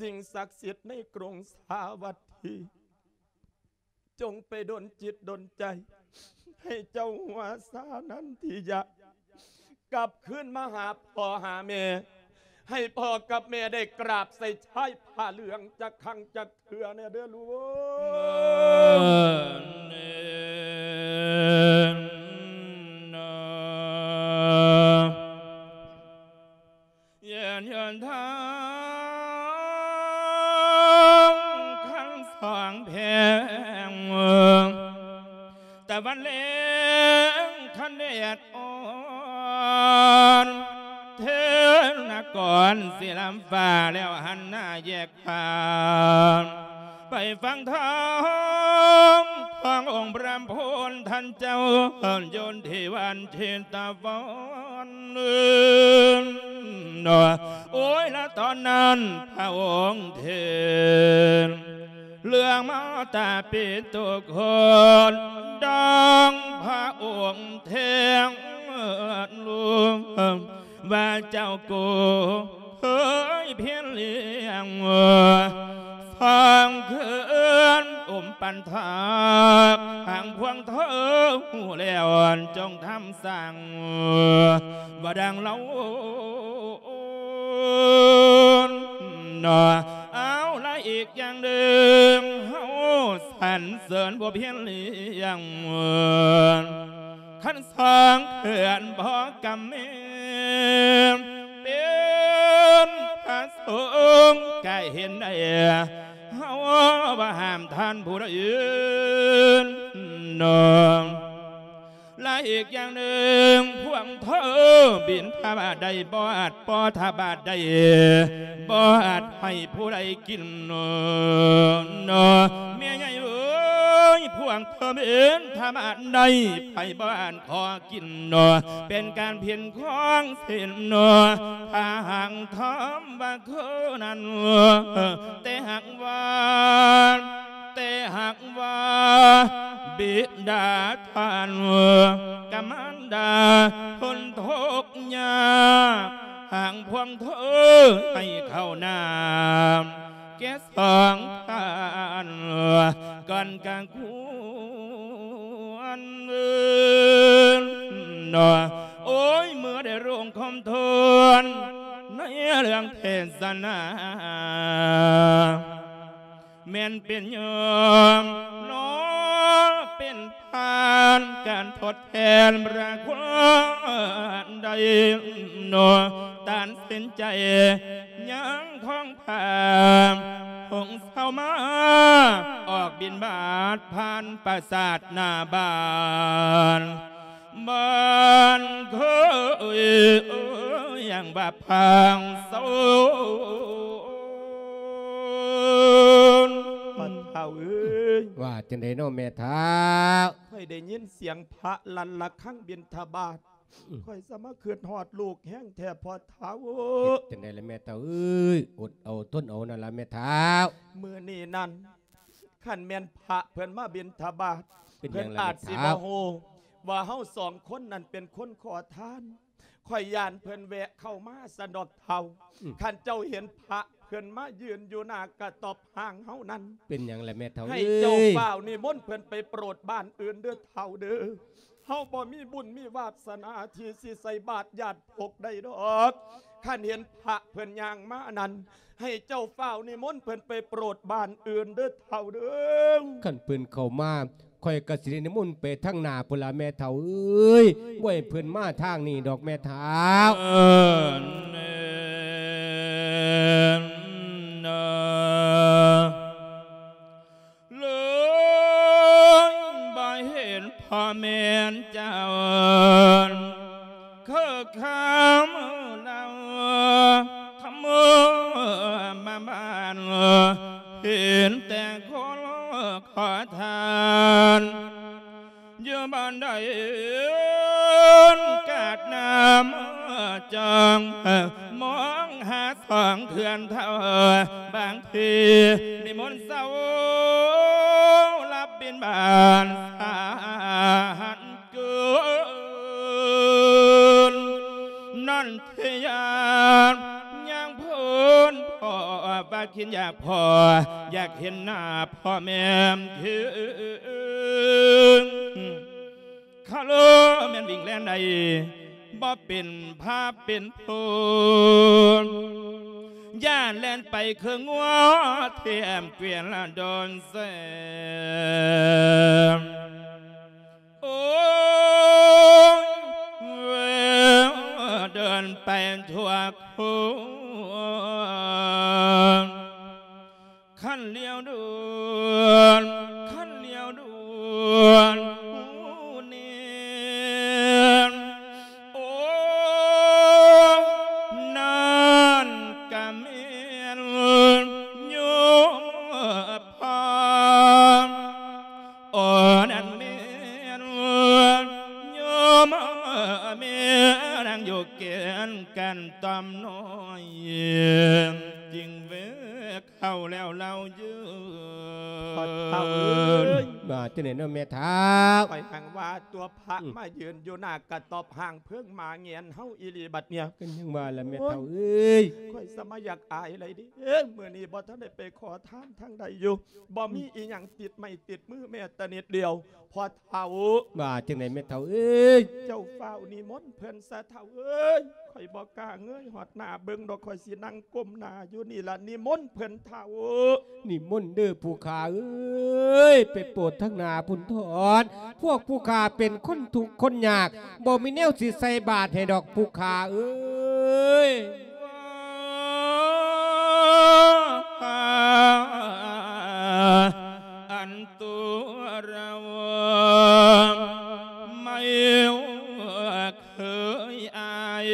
ສິ່ງສັກສິດໃນກຸງສາວັດຖີ ຈົ່ງໄປດົນຈິດດົນໃຈ ໃຫ້ເຈົ້າຫົວສານັນທິຍະ ກັບຄືນມາຫາພໍ່ຫາແມ່ ໃຫ້ພໍ່ກັບແມ່ໄດ້ກາບໃສ່ຊາຍຜ້າເຫຼືອງຈັກຄັ້ງຈັກເທື່ອແດ່ເດີລູກເອີຍ. ຍືນທາງຄັນສອງແພງ ຕາວັນແລງຄັນແດດອ່ອນ ເທີນນະກອນສີລຳຟ້າ ແລ້ວຫັນໜ້າແຍກ ຂ້າມໄປຝັ່ງທາງຂອງອົງພະລຳໂພນ ທ່ານເຈົ້າຢູ່ທີ່ວັນເຊຕະວັນ. ໂອ້ຍ ລະຕອນນັ້ນພະອົງເທນເລື່ອງມາຕາປິຕຸຄົນ ດັ່ງພະອົງເທນລວງ ວ່າເຈົ້າກູເຄີຍພຽນລ້ຽງ ສາງເຂື່ອນອຸມປັນທາກ ຫາງພວງເທີຮູ້ແລ້ວຈົ່ງທຳສ້າງ ວ່າດັ່ງເລົ່າເນາະ. ເອົາລະອີກຢ່າງໜຶ່ງ ເຮົາສັນເສີນຜູ້ພຽນລ້ຽງ ຄັນສາງເຂື່ອນບໍ່ກຳແມ່ນ ເປັນພະສົງກະເຫັນໄດ້ ເຮົາບໍ່ຫ້າມທ່ານຜູ້ໃດເນາະ. ລະອີກຢ່າງໜຶ່ງ ພວງເທີບິນທະບາດໄດ້ບໍ່ອາດ ປໍທະບາດໄດ້ ບໍ່ອາດໃຫ້ຜູ້ໃດກິນເນາະ ເນາະ. ແມ່ໃຫຍ່ເອີຍ ພວງເທີບິນທະບາດໄດ້ ໃຜບໍ່ອາດຂໍກິນເນາະ ເປັນການຜິດຂອງສິນເນາະ ຖ້າຫາກທຳວ່າຄືນັ້ນ ແຕ່ຫາກວ່າ ແຕ່ຫາກວ່າບິດາທ່ານກະມານດາທົນທຸກຍາກ ຫາກພວງເທີໃຫ້ເຂົ້ານ້ຳແກ່ສອງທ່ານກ່ອນກະຄວນເນາະ. ໂອ້ຍ ເມື່ອໄດ້ລົງຄວາມທວນໃນເລື່ອງເທດສະໜາ ແມ່ນເປັນຍອມເນາະ ເປັນທ່ານການທົດແທນພະຄຸນໃດເນາະ ຕັດສິນໃຈຍັງຂອງພາ ຫົງເຊົາມາອອກບິນບາດຜ່ານປາສາດໜ້າບ້ານ ບ້ານເຄີຍ ເອີຍ ຢ່າງວ່າພັງເຊົາ ພໍ່ເຖົ້າເອີຍ. ວ່າຈັ່ງໃດເນາະແມ່ເຖົ້າ? ຂ້ອຍໄດ້ຍິນສຽງພະລັ່ນລະຄັງບິນທະບາດ ອືມ ຂ້ອຍສະມາຄຶດຮອດລູກແຮງແທ້ພໍ່ເຖົ້າ. ເຮັດຈັ່ງໃດລະແມ່ເຖົ້າເອີຍ ອົດເອົາທົນເອົານັ້ນລະແມ່ເຖົ້າ. ມື້ນີ້ນັ້ນ ຄັນແມ່ນພະເພິ່ນມາບິນທະບາດ ເພິ່ນອາດຊິບໍ່ຮູ້ວ່າເຮົາສອງຄົນນັ້ນເປັນຄົນຂໍທານ. ຂ້ອຍຢ້ານເພິ່ນແວະເຂົ້າມາຊັ້ນດອກເຖົ້າ. ອືມ ຄັນເຈົ້າເຫັນພະເພິ່ນມາຢືນຢູ່ໜ້າກະຕ໊ອບຮ່າງເຮົານັ້ນ ເປັນຫຍັງລະແມ່ເຖົ້າເອີຍ? ໃຫ້ເຈົ້າຟ້າວນິມົນເພິ່ນໄປໂປດບ້ານອື່ນເດີເຖົ້າເດີ. ເຮົາບໍ່ມີບຸນມີວາດສະໜາທີ່ຊິໃສ່ບາດຍາດ ປົກໄດ້ດອກ. ຄັນເຫັນພະເພິ່ນຍ່າງມານັ້ນ ໃຫ້ເຈົ້າຟ້າວນິມົນເພິ່ນໄປໂປດບ້ານອື່ນເດີເຖົ້າເດີ. ຄັນເພິ່ນເຂົ້າມາ ຂ້ອຍກະຊິໄດ້ນິມົນໄປທາງໜ້າພຸ້ນລະແມ່ເຖົ້າເອີຍ. ບໍ່ໃຫ້ເພິ່ນມາທາງນີ້ດອກແມ່ເຖົ້າ. ເອີ ເອີ ເອີ ເລີຍບໍ່ເຫັນພໍ່ແມ່ນເຈົ້າ ຄືຄຳລາວທຳມະບ້ານ ເຫັນແຕ່ຄົນຂໍທານ ຢູ່ບ້ານໃດກາດນ້ຳຈອງ ມອງຫາສອງເທື່ອນເທົ່າ ບາງທີນິມົນເຊົ້າ ລັບບິນບາດສາຫັນເກີນ ນັ້ນເທຍານຍ່າງເພິ່ນພໍວ່າ ຄິດຢາກພໍ້ ຢາກເຫັນໜ້າພໍ່ແມ່ຄື ຄາໂລແມ່ນວິ່ງແລ່ນໄດ້ ບໍ່ເປັນພາບເປັນໂພນ ຢ້ານແລ່ນໄປຄືງົວ ແຖມເກວຽນລະດອນແສງ ໂອ້ຍ ເດີນໄປທົ່ວໂຄນ ຄັນຫຼຽວດ່ວນ ຄັນຫຼຽວດ່ວນ ຮູ້ແນ່ ໂອ້ ນັ້ນກະແມ່ນໂຍມພໍ່ ໂອ້ ນັ້ນແມ່ນໂຍມແມ່ ນັ່ງຢູ່ແກ່ນກັນຕ່ອມນ້ອຍ ຈຶ່ງເວກ ເຂົ້າແລ້ວລາວຢືນ ພໍ່ເຖົ້າເອີຍ ວ່າຈັ່ງໃດເນາະແມ່ເຖົ້າ? ຂ້ອຍຮັ່ງວ່າຕົວພະ ອືມ ມາຢືນຢູ່ໜ້າກະຕອບຮ່າງເພິ່ງ ມາແງນເຮົາອີ່ຫຼີບັດເນີ້ຍ ກໍຍັງວ່າລະແມ່ເຖົ້າເອີຍ ໂອ້ຍ ຂ້ອຍສະມາຢາກອາຍໄຫຼເດ້ ມື້ນີ້ບໍ່ທັນໄດ້ໄປຂໍທານທາງໃດຢູ່ ບໍ່ມີອີ່ຫຍັງຕິດໄມ້ຕິດມືແມ້ແຕ່ນິດດຽວ ພໍ່ເຖົ້າ ວ່າຈັ່ງໃດແມ່ເຖົ້າເອີຍ? ເຈົ້າຟ້າວນິມົນເພິ່ນຊະເຖົ້າເອີຍ ຂ້ອຍບໍ່ກ້າເງີຍຮອດໜ້າເບິ່ງດອກ ຂ້ອຍຊິນັ່ງກົ້ມໜ້າຢູ່ນີ້ລະ ນິມົນເພິ່ນເຖົ້າ. ນິມົນເດີຜູ້ຂ້າເອີຍ ໄປໂປດທາງໜ້າພຸ້ນເຖີ້ນ ພວກຜູ້ຂ້າເປັນຄົນທຸກຄົນຍາກ ບໍ່ມີແນວຊິໃສ່ບາດໃຫ້ດອກຜູ້ຂ້າເອີຍ. ອັນຕົວເຮົາໄມ່ເຄີຍອາຍ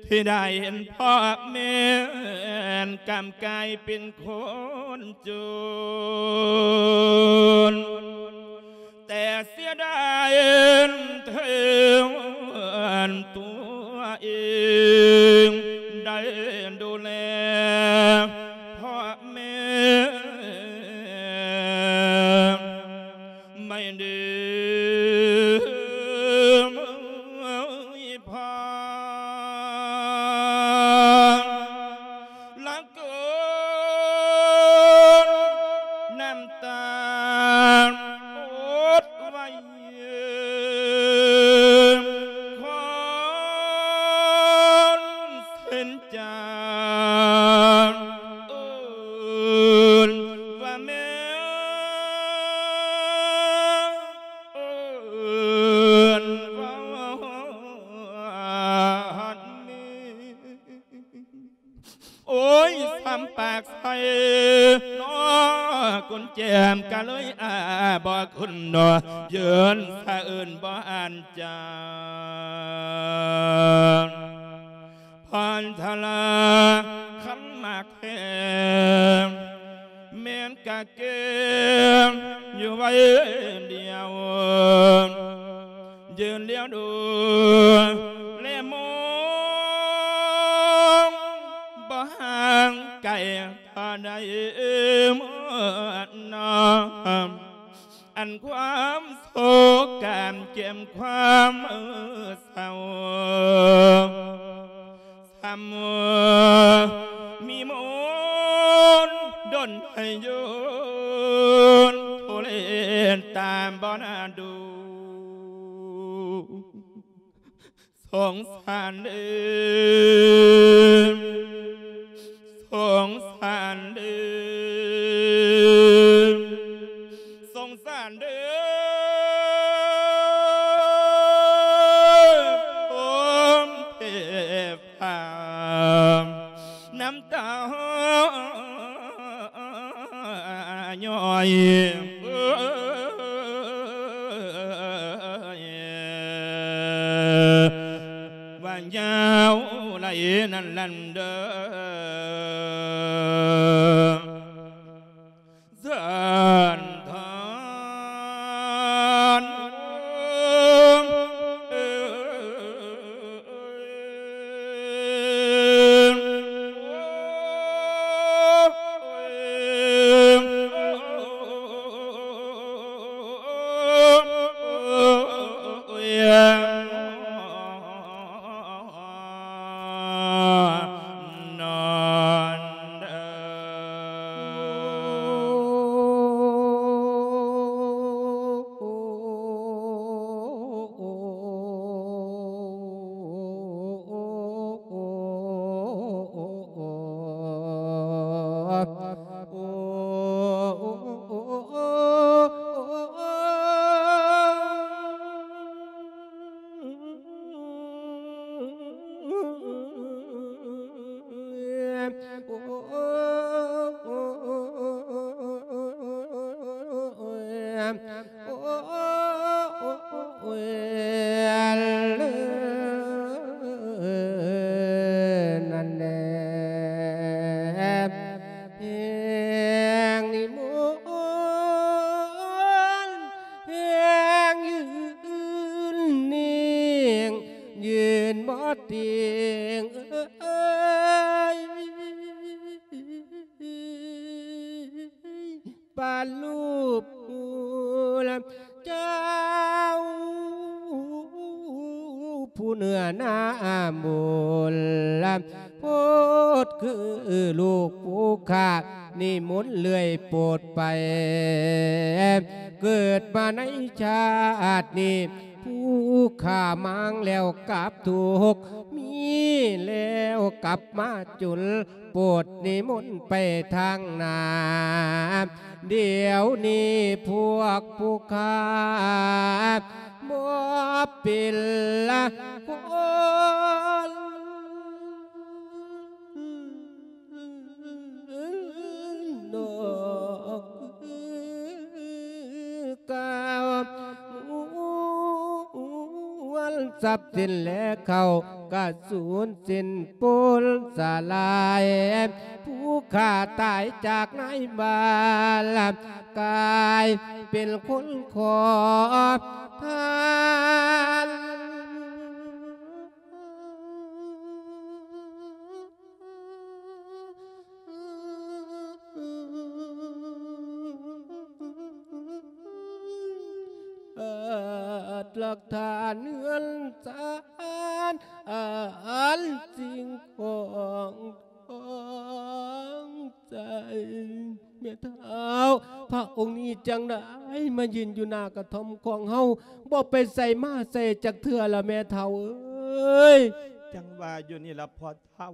ທີ່ໄດ້ເຫັນພໍ່ແມ່ນກຳກາຍເປັນຄົນຈົນ ແຕ່ເສຍດາຍແທນຕົວເອງ ໄດ້ດູແລພໍ່ແມ່ໄມ່ເດີ ພໍ່ ລະ ກືນນ້ຳຕາ ອົດໄວ້ ຄວນເສັ້ນຈາ ເອີ້ນວ່າແມ່ ເອີ້ນວ່າຮອດແມ່. ໂອ້ຍ ຊ້ຳປາກໃສ່ເນາະ ກຸນແຈມກະເລີຍອ້າບໍ່ຂຶ້ນເນາະ ເຢິນສະເອີ້ນບໍ່ອ່ານຈາ ພອນທະລາຄັນມາແຄມ ແມ່ນກະເກັບຢູ່ໄວ້ດຽວ ຢືນລຽວດູແລມອງ ບໍ່ຫ່າງໄກເທົ່າໃດເມື່ອນອນ ອັນຄວາມໂສກກາມເຈັບຄວາມເສົ້າ ຊ້ຳມີມົນດົນໃຫ້ຢູ່ທຸເລນຕາມບໍ່ໜ້າດູ ສົງສານເດີ ສົງສານເດີ ສົງສານເດີ ໂອມເທບ ພາມນ້ຳຕາຍ້ອຍ ເອີຍ ວ່າຍາວໄຫຼນັ້ນນັ້ນເດີ ສານທານ ໂອ້ ໂອ້ຍ ນັ້ນແຫຼະ ແຮງນິມົນ ແຮງຢືນນິ່ງ ຢືນບໍ່ຕິງເອີຍ. ປາລູບເຈົ້າ ຜູ້ເໜືອໜ້າບຸນ ໂພດຄືລູກຜູ້ຂ້າ ນິມົນເລື້ອຍໂປດໄປ ເກີດມາໃນຊາດນີ້ ຜູ້ຂ້າມາງແລ້ວກັບທຸກ ມີແລ້ວກັບມາຈົນ ໂປດນິມົນໄປທາງໜ້າ ດຽວນີ້ພວກຜູ້ຂ້າບໍ່ເປັນລະຄົນດອກ ກາວ ມວນຊັບສິນແລເຂົ້າກະສູນສິ້ນປຸນສະຫຼາຍ ຜູ້ຂ້າຕາຍຈາກໃນບ້ານ ກາຍເປັນຄົນຂໍທານ. ອາດຫຼັກຖານເຮືອນຊານ ອັນສິ່ງຂອງຂອງໃຈ ແມ່ທ້າວ ພະອົງນີ້ຈັ່ງໄດ້ມາຢືນຢູ່ໜ້າກະທ່ອມຂອງເຮົາ ບໍ່ໄປໃສມາໃສຈັກເທື່ອລະແມ່ທ້າວເອີຍ. ຈັ່ງວ່າຢູ່ນີ້ລະພໍ່ ທ້າວ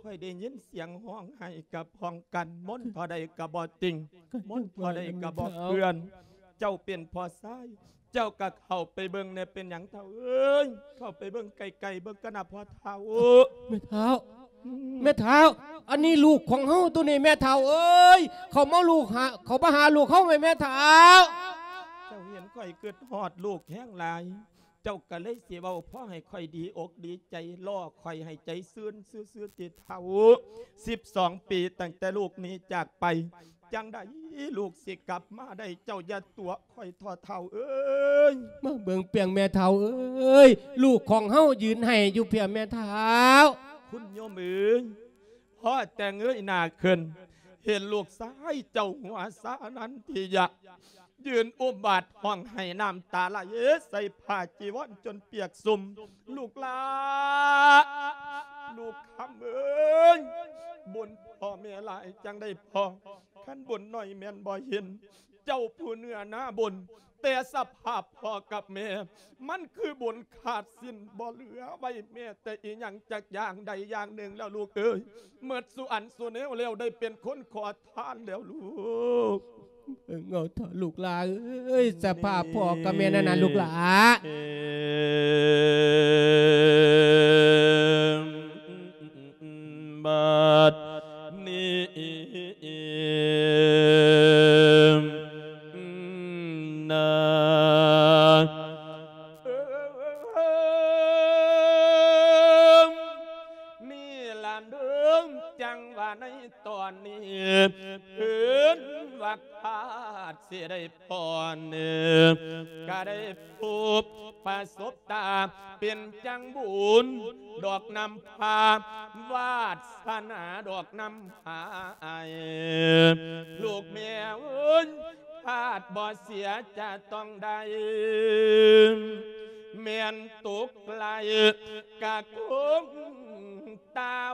ຂ້ອຍໄດ້ຍິນສຽງຮ້ອງໄຫ້ກັບຮ້ອງກັນ ມົນເທົ່າໃດກະບໍ່ຕິງ ມົນເທົ່າໃດກະບໍ່ເຄື່ອນ. ເຈົ້າເປັນພໍ່ຊາຍ ເຈົ້າກະເຂົ້າໄປເບິ່ງແດ່ ເປັນຫຍັງທ້າວເອີຍ? ເຂົ້າໄປເບິ່ງໃກ້ໆເບິ່ງກັນນະພໍ່ທ້າວ. ແມ່ທ້າວ ອືມ ແມ່ທ້າວ ອັນນີ້ລູກຂອງເຮົາໂຕນີ້ແມ່ທ້າວເອີຍ ເຂົາມາລູກຫາ ເຂົາມາຫາລູກເຮົາແມ່ ແມ່ທ້າວ. ເຈົ້າເຫັນຂ້ອຍຄຶດຮອດລູກແຮງຫຼາຍ ເຈົ້າກະເລີຍຊິເວົ້າພໍໃຫ້ຂ້ອຍດີອົກດີໃຈ ລໍ້ຂ້ອຍໃຫ້ໃຈຊື່ນຊື່ໆຕິທ້າວ. ສິບສອງປີຕັ້ງແຕ່ລູກໜີຈາກໄປ ຈັ່ງໃດລູກຊິກັບມາໄດ້ ເຈົ້າຢ່າຕົວະຂ້ອຍທໍ້ທ້າວເອີຍ. ມາເບິ່ງປຽງແມ່ທ້າວເອີຍ ລູກຂອງເຮົາຢືນໄຫ້ຢູ່ເພຍແມ່ທ້າວ. ຄຸນໂຍມເອີຍ ພໍແຕ່ເງີຍໜ້າຂຶ້ນ ເຫັນລູກຊາຍເຈົ້າຫົວຊານັນທິຍະ ຢືນອຸບບາດຮ້ອງໄຫ້ນ້ຳຕາໄຫຼໃສ່ຜ້າຈີວອນຈົນປຽກຊຸ່ມ. ລູກຫຼ້າ ລູກຄຳເອີຍ ບຸນພໍ່ແມ່ຫຼາຍຈັ່ງໄດ້ພໍ່ ຄັນບຸນໜ້ອຍແມ່ນບໍ່ເຫັນ ເຈົ້າຜູ້ເໜືອໜ້າບຸນ ແຕ່ສະພາບພໍ່ກັບແມ່ ມັນຄືບຸນຂາດສິ້ນ ບໍ່ເຫຼືອໄວ້ແມ້ແຕ່ອີ່ຫຍັງຈັກຢ່າງໃດຢ່າງໜຶ່ງແລ້ວລູກເອີຍ. ໝົດສູ່ອັນສູ່ແນວແລ້ວ ໄດ້ເປັນຄົນຂໍທານແລ້ວລູກ. ເບິ່ງເອົາເຖາະລູກຫຼ້າເອີຍ ສະພາບພໍ່ກັບແມ່ນັ້ນນະລູກຫຼ້າ. ບັດນີ້ນາ ນີ້ລະເດີ ຈັ່ງວ່າໃນຕອນນີ້ ເພິ່ນວ່າຄາດຊິໄດ້ ພອນ ກະໄດ້ພົບປະສົບຕາ ເປັນຈັ່ງບຸນດອກນຳພາ ວາດສະໜາດອກນຳພາອ້າຍ ລູກແມ່ເອີຍ ຄາດບໍ່ເສຍຈະຕ້ອງໄດ້ ແມ່ນຕົກໄລ່ກະຄົງ ເຕົ້າ.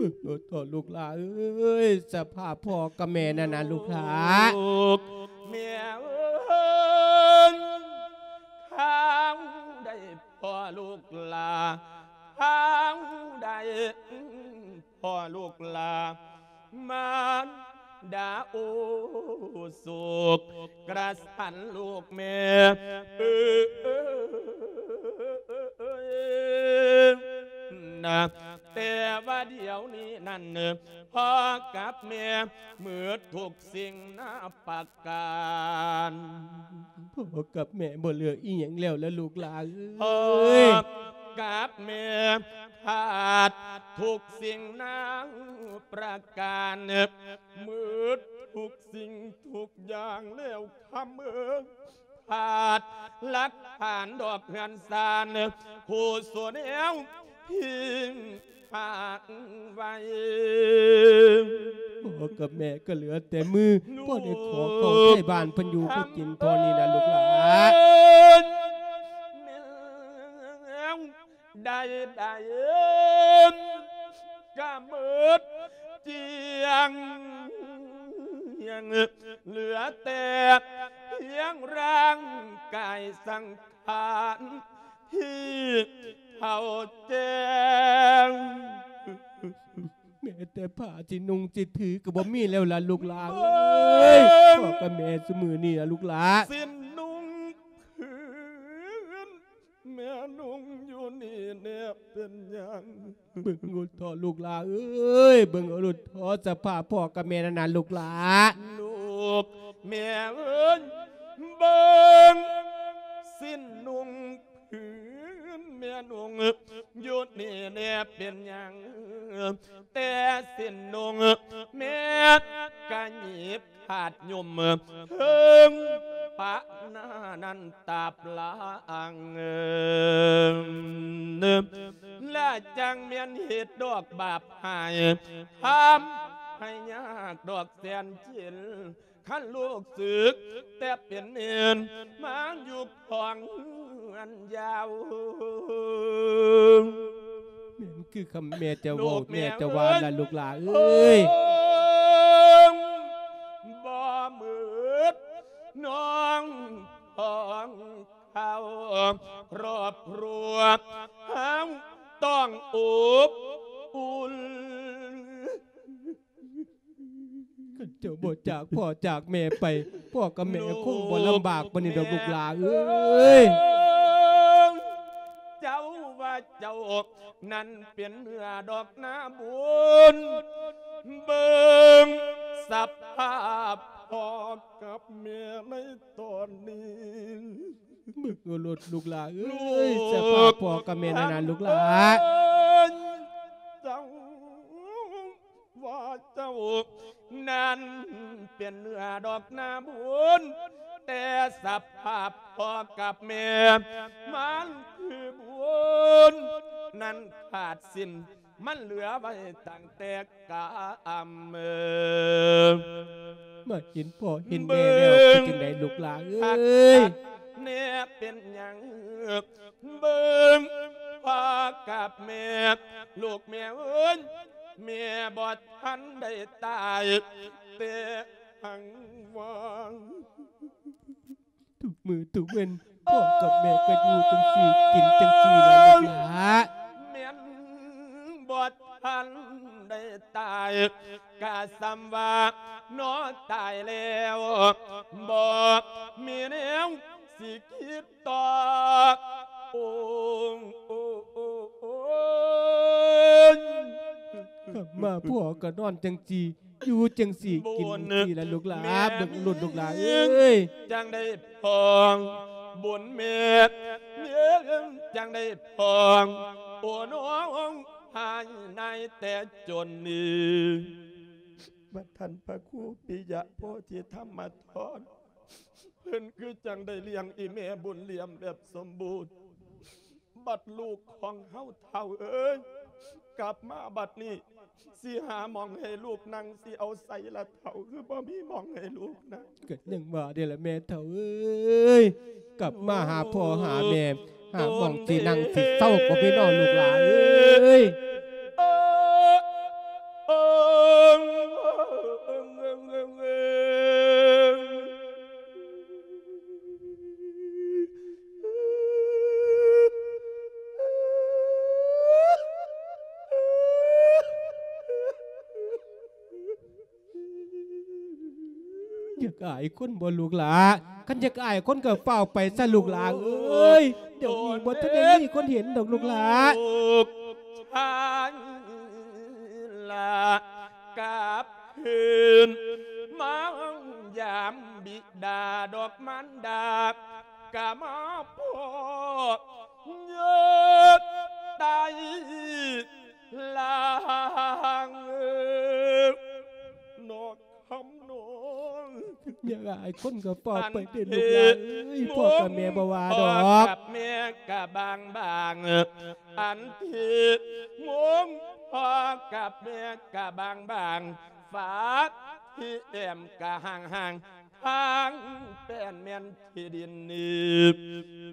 ເບິ່ງໂລດເຖາະລູກຫຼ້າເອີຍ ສະພາບພໍ່ກັບແມ່ນັ້ນນະລູກຫຼ້າ. ລູກແມ່ເອີຍ ເຮົາໄດ້ພໍ່ລູກຫຼ້າ ເຮົາໄດ້ພໍ່ລູກຫຼ້າ ມານດາໂອ້ໂສກກະສັນລູກແມ່ເອີຍນະ. ແຕ່ວ່າດຽວນີ້ນັ້ນ ພໍ່ກັບແມ່ໝົດທຸກສິ່ງນາປະການ. ພໍ່ກັບແມ່ບໍ່ເຫຼືອອີ່ຫຍັງແລ້ວລະລູກຫຼ້າເອີຍ. ພໍ່ກັບແມ່ຂາດທຸກສິ່ງນາປະການ ໝົດທຸກສິ່ງທຸກຢ່າງແລ້ວຄຳເອີຍ. ຂາດຫຼັກຖານດອກເຮືອນຊານ ຄູ່ໂສແນວທີ່ຝາກໄວ້. ພໍ່ກັບແມ່ກໍເຫຼືອແຕ່ມື ພໍ່ໄດ້ຂໍເຂົ້າໃຊ້ບ້ານເພິ່ນຢູ່ເພິ່ນກິນເທົ່ານີ້ນະລູກຫຼ້າ. ແມ່ນ ໃດໆກະໝົດຈຽງ ເຫຼືອແຕ່ພຽງຮ່າງກາຍສັງຂານທີ່ເຖົ້າແກ່. ແມ້ແຕ່ຜ້າຊິນຸ່ງຊິຖືກໍບໍ່ມີແລ້ວລະລູກຫຼ້າເອີຍ. ເບິ່ງ ພໍ່ກັບແມ່ຊຸມື້ນີ້ລະລູກຫຼ້າ ສິ້ນນຸ່ງຜືນ ແມ່ນຸ່ງຢູ່ນີ້ແນ່ເປັນຫຍັງ? ເບິ່ງໂລດເຖາະລູກຫຼ້າເອີຍ ເບິ່ງເອົາໂລດເຖາະສະພາບພໍ່ກັບແມ່ນັ້ນນະລູກຫຼ້າ. ລູກແມ່ເອີຍ ເບິ່ງສິ້ນນຸ່ງຜືນແມ່ນຸ່ງຢູ່ນີ້ແນ່ເປັນຫຍັງ? ແຕ່ສິ້ນນຸ່ງແມ່ກະຫຍິບ ຂາດຫຍຸ່ມເທິງປະໜ້ານັ້ນຕາບລາງ ລະຈັ່ງແມ່ນເຮັດດອກບາບຫາຍ ທຳໃຫ້ຍາກດອກແສນເຈັນ ຄັນລູກສຶກແຕ່ເປັນເນນ ມາຢູ່ຂອງເຮືອນຍາວ. ແມ່ນຄືຄຳແມ່ເຈົ້າເວົ້າ ແມ່ເຈົ້າວ່າລະລູກຫຼ້າເອີຍ. ບໍ່ໝົດນ້ອງຂອງເຂົາ ຄອບຄົວເຮົາຕ້ອງອົບອຸ່ນ. ຄັນເຈົ້າບໍ່ຈາກພໍ່ຈາກແມ່ໄປ ພໍ່ກັບແມ່ຄົງບໍ່ລຳບາກປານນີ້ດອກລູກຫຼ້າເອີຍ. ເຈົ້າວ່າເຈົ້ານັ້ນເປັນເນື້ອດອກນາບຸນ ເບິ່ງສະພາບພໍ່ກັບແມ່ໃນຕອນນີ້. ເບິ່ງເອົາໂລດລູກຫຼ້າເອີຍ ສະພາບພໍ່ກັບແມ່ນັ້ນນະລູກຫຼ້າ. ເຈົ້າວ່າເຈົ້ານັ້ນເປັນເນື້ອດອກນາບຸນ ແຕ່ສະພາບພໍ່ກັບແມ່ມັນຄືບຸນນັ້ນຂາດສິ້ນ ມັນເຫຼືອໄວ້ຕັ້ງແຕ່ກຳ. ມາເຫັນພໍ່ເຫັນແມ່ແລ້ວເປັນຈັ່ງໃດລູກຫຼ້າເອີຍ? ແນ່ເປັນຫຍັງ ເບິ່ງພໍ່ກັບແມ່ ລູກແມ່ເອີຍ ແມ່ບໍ່ທັນໄດ້ຕາຍແຕ່ຫາງວ່າງ. ທຸກມື້ທຸກເວັນ ພໍ່ກັບແມ່ກໍຢູ່ຈັ່ງຊີ້ ກິນຈັ່ງຊີ້ລະລູກຫຼ້າ. ແມ່ນບໍ່ທັນໄດ້ຕາຍ ກະສ່ຳວ່າໜໍຕາຍແລ້ວ ບໍ່ມີແນວຊິຄິດຕໍ່. ໂອ້ ໂອ້ ໂອ້ ໂອ້ຍ ກັບມາພໍ່ກໍນອນຈັ່ງຊີ້ ຢູ່ຈັ່ງຊີ້ ກິນຈັ່ງຊີ້ລະລູກຫຼ້າ. ເບິ່ງລຸ້ນລູກຫຼ້າເອີຍ ຈັ່ງໄດ້ພໍບຸນແມ່ ຈັ່ງໄດ້ພໍ ໂອ້ ນ້ອງຫາຍນາຍແຕ່ຈົນນີ້. ບັດທ່ານພະຄູປິຍະໂພທິທຳມະທອນ ເພິ່ນຄືຈັ່ງໄດ້ລ້ຽງອີ່ແມ່ບຸນຫຼຽມແບບສົມບູນ. ບັດລູກຂອງເຮົາເຖົ້າເອີຍ ກັບມາບັດນີ້ ຊິຫາໝ່ອງໃຫ້ລູກນັ່ງ ຊິເອົາໃສລະເຖົ້າ ຄືບໍ່ມີໝ່ອງໃຫ້ລູກນັ່ງ? ກໍຍັງວ່າເດ້ລະແມ່ເຖົ້າເອີຍ ກັບມາຫາພໍ່ຫາແມ່ ຫາໝ່ອງຊິນັ່ງຊິເຊົາກໍມີເນາະລູກຫຼ້າເອີຍ. ຢາກອາຍຄົນບໍ່ລູກຫຼ້າ? ຄັນຢາກອາຍຄົນກໍຟ້າວໄປຊະລູກຫຼ້າເອີຍ, ດຽວນີ້ບໍ່ທັນໄດ້ມີຄົນເຫັນດອກລູກຫຼ້າ. ລູກຊາຍລະກັບຄືນມາຢາມບິດາດອກມານດາ ກະມາພໍ້ເຍືດໄຕລາງເອີ ນອກຄຳນ້ອງ ຢ່າຫຼາຍຄົນກໍເວົ້າໄປເດ້ລູກຫຼ້າເອີຍ, ພໍ່ກັບແມ່ບໍ່ວ່າດອກ. ກັບແມ່ກະບາງບາງ ອັນທີ່ໂມງພໍ່ກັບແມ່ກະບາງບາງ ຝາທີ່ແອ້ມກະຫ່າງໆ ທາງແປ້ນແມ່ນທີ່ດິນນີ້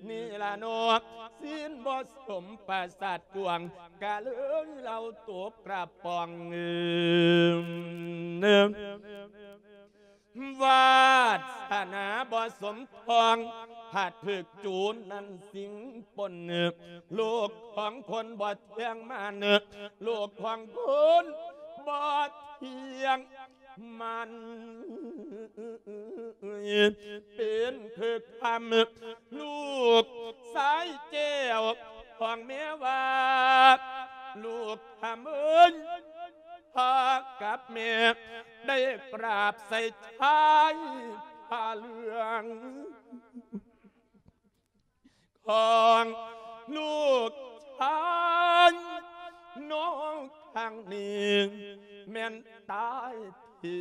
ນີ້ລະເນາະ ຊີ້ນບໍ່ສົມປະສາດກວາງ ກະເລີຍເລົ່າຕົກກະປ໋ອງ. ວາດສະໜາບໍ່ສົມທອງ ຫາກຖືກຈູນນັ້ນສິ່ງປົນ ລູກຂອງຄົນບໍ່ທ່ຽງມັນ ລູກຂອງຄົນບໍ່ທ່ຽງ ມັນເປັນຄືຄຳ ລູກຊາຍແກ້ວຂອງແມ່ວ່າ ລູກຄຳເອີຍ ພໍ່ກັບແມ່ໄດ້ກາບໃສ່ຊາຍຜ້າເຫຼືອງ ຂອງລູກຊາຍນ້ອງຄັ້ງນີ້ແມ່ນຕາຍທີ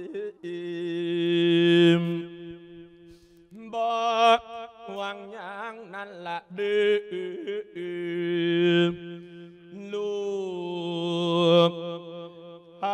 ມ ບໍ່ຫວັງຫຍັງນັ້ນລະເດີ ລູກ ເ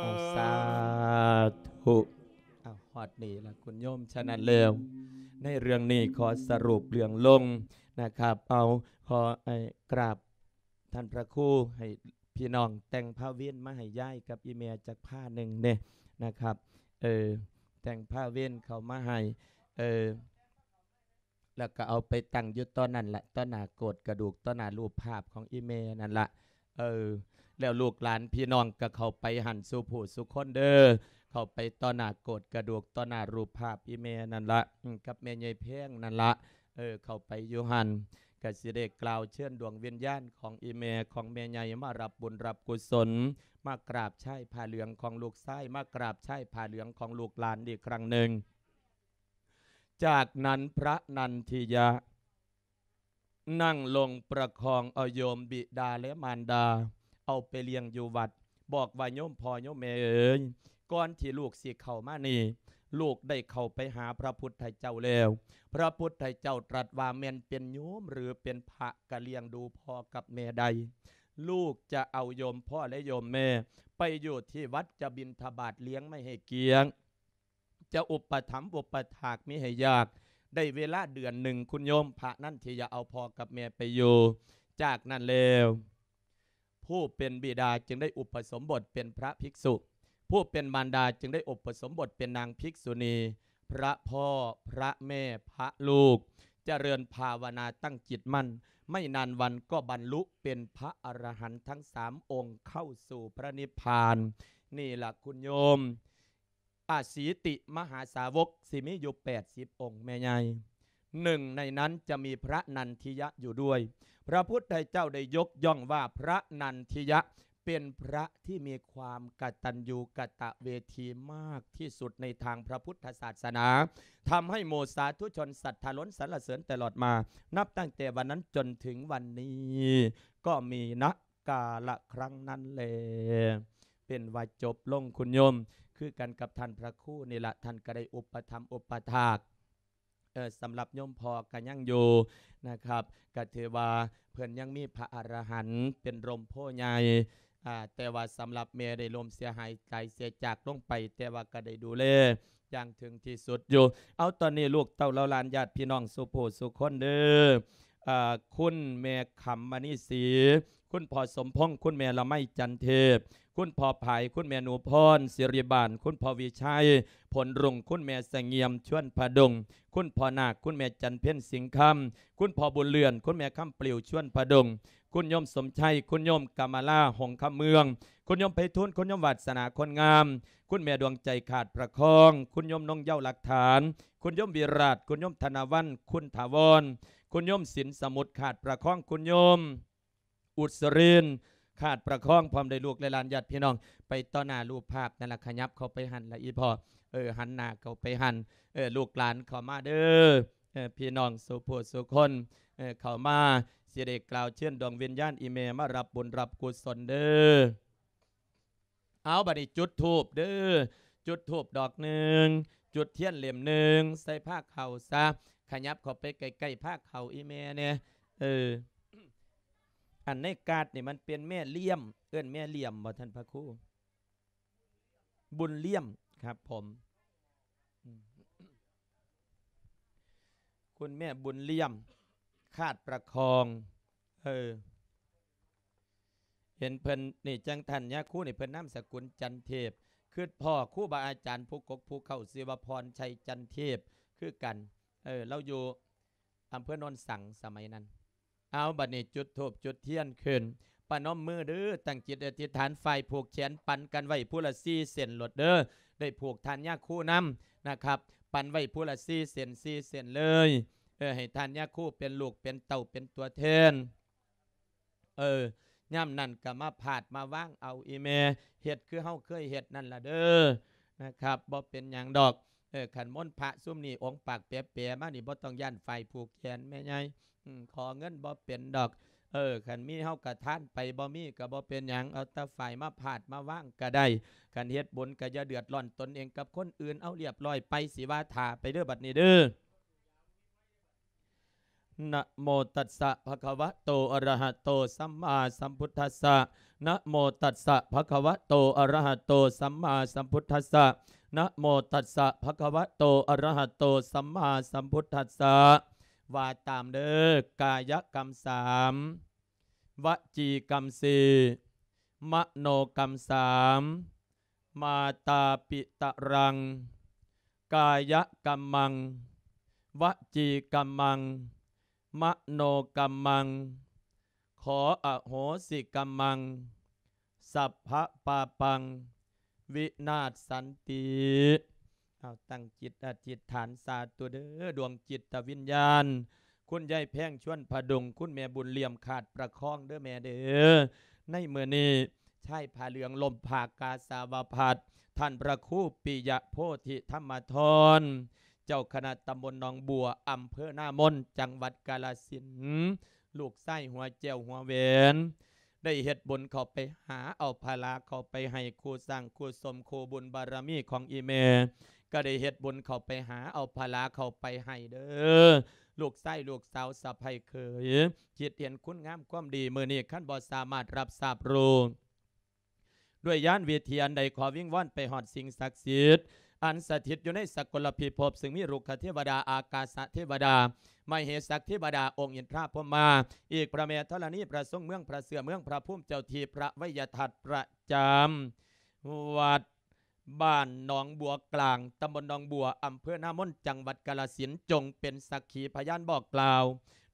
ອົາ ສາທຸ ເອົາ ຮອດນີ້ລະຄຸນໂຍມ. ສະນັ້ນແລ້ວ ໃນເລື່ອງນີ້ຂໍສະຫຼຸບເລື່ອງລົງນະຄັບ. ເອົາ ຂໍ ເອີ ກາບທ່ານພະຄູ ໃຫ້ພີ່ນ້ອງແຕ່ງພາເວັນມາໃຫ້ຍາຍກັບອີ່ແມ່ຈັກພາໜຶ່ງແດ່ນະຄັບ. ເອີ ແຕ່ງພາເວັນເຂົ້າມາໃຫ້ ເອີ ແລ້ວກໍເອົາໄປຕັ້ງຢູ່ຕໍ່ນັ້ນລະ ຕໍ່ໜ້າໂກດກະດູກ ຕໍ່ໜ້າຮູບພາບຂອງອີ່ແມ່ນັ້ນລະ. ເອີ ແລ້ວລູກຫຼານພີ່ນ້ອງກໍເຂົ້າໄປຫັ້ນສູ່ຜູ້ສູ່ຄົນເດີ, ເຂົ້າໄປຕໍ່ໜ້າໂກດກະດູກ ຕໍ່ໜ້າຮູບພາບອີ່ແມ່ນັ້ນລະ ອືມ ກັບແມ່ໃຫຍ່ແພງນັ້ນລະ. ເອີ ເຂົ້າໄປຢູ່ຫັ້ນ ກໍຊິໄດ້ກ່າວເຊີນດວງວິນຍານຂອງອີ່ແມ່ ຂອງແມ່ໃຫຍ່ມາຮັບບຸນຮັບກຸສົນ ມາກາບຊາຍຜ້າເຫຼືອງຂອງລູກຊາຍ ມາກາບຊາຍຜ້າເຫຼືອງຂອງລູກຫຼານອີກຄັ້ງໜຶ່ງ. ຈາກນັ້ນພະນັນທິຍະ ນັ່ງລົງປະຄອງເອົາໂຍມບິດາ ແລະ ມານດາ ເອົາໄປລ້ຽງຢູ່ວັດ, ບອກວ່າ ໂຍມພໍ່ໂຍມແມ່ເອີຍ, ກ່ອນທີ່ລູກຊິເຂົ້າມານີ້ ລູກໄດ້ເຂົ້າໄປຫາພະພຸດທະເຈົ້າແລ້ວ. ພະພຸດທະເຈົ້າຕລັດວ່າ ແມ່ນເປັນໂຍມ ຫຼື ເປັນພະ ກະລ້ຽງດູພໍ່ກັບແມ່ໄດ້. ລູກຈະເອົາໂຍມພໍ່ ແລະ ໂຍມແມ່ ໄປຢູ່ທີ່ວັດ ຈະບິນທະບາດລ້ຽງໄມ້ໃຫ້ກຽງ ຈະອຸປະຖຳອຸປະຖາກມິໃຫ້ຍາກ. ໄດ້ເວລາເດືອນໜຶ່ງ ຄຸນໂຍມ ພະນັນທິຍະເອົາພໍ່ກັບແມ່ໄປຢູ່. ຈາກນັ້ນແລ້ວ ຜູ້ເປັນບິດາຈຶ່ງໄດ້ອຸປະສົມບົດເປັນພະພິກສຸ, ຜູ້ເປັນມານດາຈຶ່ງໄດ້ອຸປະສົມບົດເປັນນາງພິກສຸນີ. ພະພໍ່ ພະແມ່ ພະລູກ ຈະເລີນພາວະນາຕັ້ງຈິດໝັ້ນ, ໄມ່ນານວັນກໍບັນລຸເປັນພະອະລະຫັນທັງສາມອົງ ເຂົ້າສູ່ພະນິບພານ. ນີ້ລະຄຸນໂຍມ ອະສີຕິມະຫາສາວົກຊິມີຢູ່ແປດສິບອົງແມ່ໃຫຍ່. หนึ่งในนั้นจะมีพระนันทิยะอยู่ด้วย พระพุทธเจ้าได้ยกย่องว่าพระนันทิยะเป็นพระที่มีความกตัญญูกตเวทีมากที่สุดในทางพระพุทธศาสนา ทำให้หมู่สาธุชนศรัทธาล้นสรรเสริญตลอดมา นับตั้งแต่วันนั้นจนถึงวันนี้ ก็มี ณ กาละครั้งนั้นแล เป็นว่าจบลงคุณโยม คือกันกับท่านพระครูนี่ละ ท่านก็ได้อุปถัมภ์อุปถาก เอ่อ สำหรับโยมพ่อก็ยังอยู่นะครับ ก็ถือว่าเพิ่นยังมีพระอรหันต์เป็นร่มโพธิ์ใหญ่ อ่า แต่ว่าสำหรับแม่ได้ล้มเสียหายตายเสียจากลงไป แต่ว่าก็ได้ดูแลอย่างถึงที่สุดอยู่ เอา ตอนนี้ลูกเต้าเหล่าหลานญาติพี่น้องสู่ผู้สู่คนเด้อ อ่า คุณแม่คำมณีศรี คุณพ่อสมพงษ์ คุณแม่ละไมจันเทพ คุณพ่อผาย คุณแม่หนูพร ศิริบาน คุณพ่อวิชัย ผลรุ่ง คุณแม่เสงี่ยม ชวนผดง คุณพ่อนาค คุณแม่จันเพ็ญ สิงห์คำ คุณพ่อบุญเรือน คุณแม่คำปลิว ชวนผดง คุณโยมสมชัย คุณโยมกำมะลา หงส์คำเมือง คุณโยมไพฑูรย์ คุณโยมวาสนา คนงาม คุณแม่ดวงใจ ขาดประคอง คุณโยมนงเย้า หลักฐาน คุณโยมวิราช คุณโยมธนวัลย์ คุณถาวร คุณโยมสินสมุทร ขาดประคอง คุณโยม อุสริน ขาดประคอง พร้อมด้วยลูกและหลานญาติพี่น้อง ไปต่อหน้ารูปภาพนั่นล่ะ ขยับเข้าไปหั่นล่ะอีพ่อ เออ หันหน้าเข้าไปหั่น เออ ลูกหลานเข้ามาเด้อ เออ พี่น้องสู่ผู้สู่คน เออ เข้ามา สิได้กล่าวเชิญดวงวิญญาณอีแม่มารับบุญรับกุศลเด้อ เอา บัดนี้จุดธูปเด้อ จุดธูปดอกหนึ่ง จุดเทียนเล่มหนึ่ง ใส่ผ้าขาวซะ ขยับเข้าไปใกล้ๆ ผ้าขาวอีแม่แหน่ เออ อันในการ์ดนี่มันเป็นแม่เลี่ยม เอิ้นแม่เลี่ยมบ่ท่านพระครู บุญเลี่ยมครับผม อืม คุณแม่บุญเลี่ยม ขาดประคอง เออ เห็นเพิ่นนี่ จั่งท่านยาคูนี่ เพิ่นนามสกุลจันเทพ คิดพ้อครูบาอาจารย์ผู้กกผู้เค้า ชื่อว่าพรชัยจันเทพคือกัน เออ ลาวอยู่อำเภอโนนสังสมัยนั้น เอา บัดนี้จุดธูปจุดเทียนขึ้น ประนมมือเด้อ ตั้งจิตอธิษฐาน ฝ่ายผูกแขนปันกันไว้ผู้ละสี่เส้นโลดเด้อ ได้ผูกท่านยาคูนำนะครับ ปันไว้ผู้ละสี่เส้น สี่เส้นเลย เออ ให้ท่านยาคูเป็นลูกเป็นเต้าเป็นตัวแทน เออ ยามนั้นก็มาพาดมาวางเอาอีแม่ เฮ็ดคือเฮาเคยเฮ็ดนั่นล่ะเด้อ นะครับ บ่เป็นหยังดอก เออ คันมนต์พระซุมนี้องค์ปากแป๋ๆ มานี่ บ่ต้องย้านฝ่ายผูกแขนแม่ใหญ่ อืม ขอเงินบ่เป็นดอก เออ คันมีเฮาก็ทานไป บ่มีก็บ่เป็นหยัง เอาแต่ฝ่ายมาพาดมาวางก็ได้ คันเฮ็ดบุญก็อย่าเดือดร้อนตนเองกับคนอื่น เอาเรียบร้อยไป สิว่าถ่าไปเด้อบัดนี้เด้อ นะโมตัสสะ ภะคะวะโต อะระหะโต สัมมาสัมพุทธัสสะ นะโมตัสสะ ภะคะวะโต อะระหะโต สัมมาสัมพุทธัสสะ นะโมตัสสะ ภะคะวะโต อะระหะโต สัมมาสัมพุทธัสสะ ว่าตามเด้อ กายกรรมสาม วจีกรรมสี่ มโนกรรมสาม มาตาปิตะรัง กายกรรมัง วจีกรรมัง มโนกรรมัง ขออโหสิกรรมัง สัพพะปาปัง วินาศสันติ เอาตั้งจิตอธิษฐานสาธุเด้อ ดวงจิตวิญญาณ คุณยายแพง ชวนผดุง คุณแม่บุญเลี่ยม ขาดประคองเด้อแม่เด้อ ในมื้อนี้ ชายผ้าเหลืองล่มผ้ากาสาวพัสตร์ ท่านพระครูปิยะโพธิธรรมธร เจ้าคณะตำบลหนองบัว อำเภอนามน จังหวัดกาฬสินธุ์ ลูกชายหัวแจ้วหัวแหวน ได้เฮ็ดบุญเข้าไปหาเอาผลาเข้าไปให้คู่สร้างคู่สมคู่บุญบารมีของอีแม่ ก็ได้เฮ็ดบุญเข้าไปหาเอาผลาเข้าไปให้เด้อ ลูกชายลูกสาวสะใภ้เขย คิดเห็นคุณงามความดี มื้อนี้คันบ่สามารถรับทราบรู้ ด้วยญาณวิธีอันใด ขอวิงวอนไปฮอดสิ่งศักดิ์สิทธิ์ อันสถิตอยู่ในสกลพิภพ ซึ่งมีรุกขเทวดา อากาสะเทวดา มเหสักเทวดา องค์อินทราพรหมา อีกพระแม่ธรณี พระทรงเมือง พระเสื้อเมือง พระภูมิเจ้าที่ พระไวยทัตตร์ประจำวัดบ้านหนองบัวกลาง ตำบลหนองบัว อำเภอนามน จังหวัดกาฬสินธุ์ จงเป็นสักขีพยานบอกกล่าว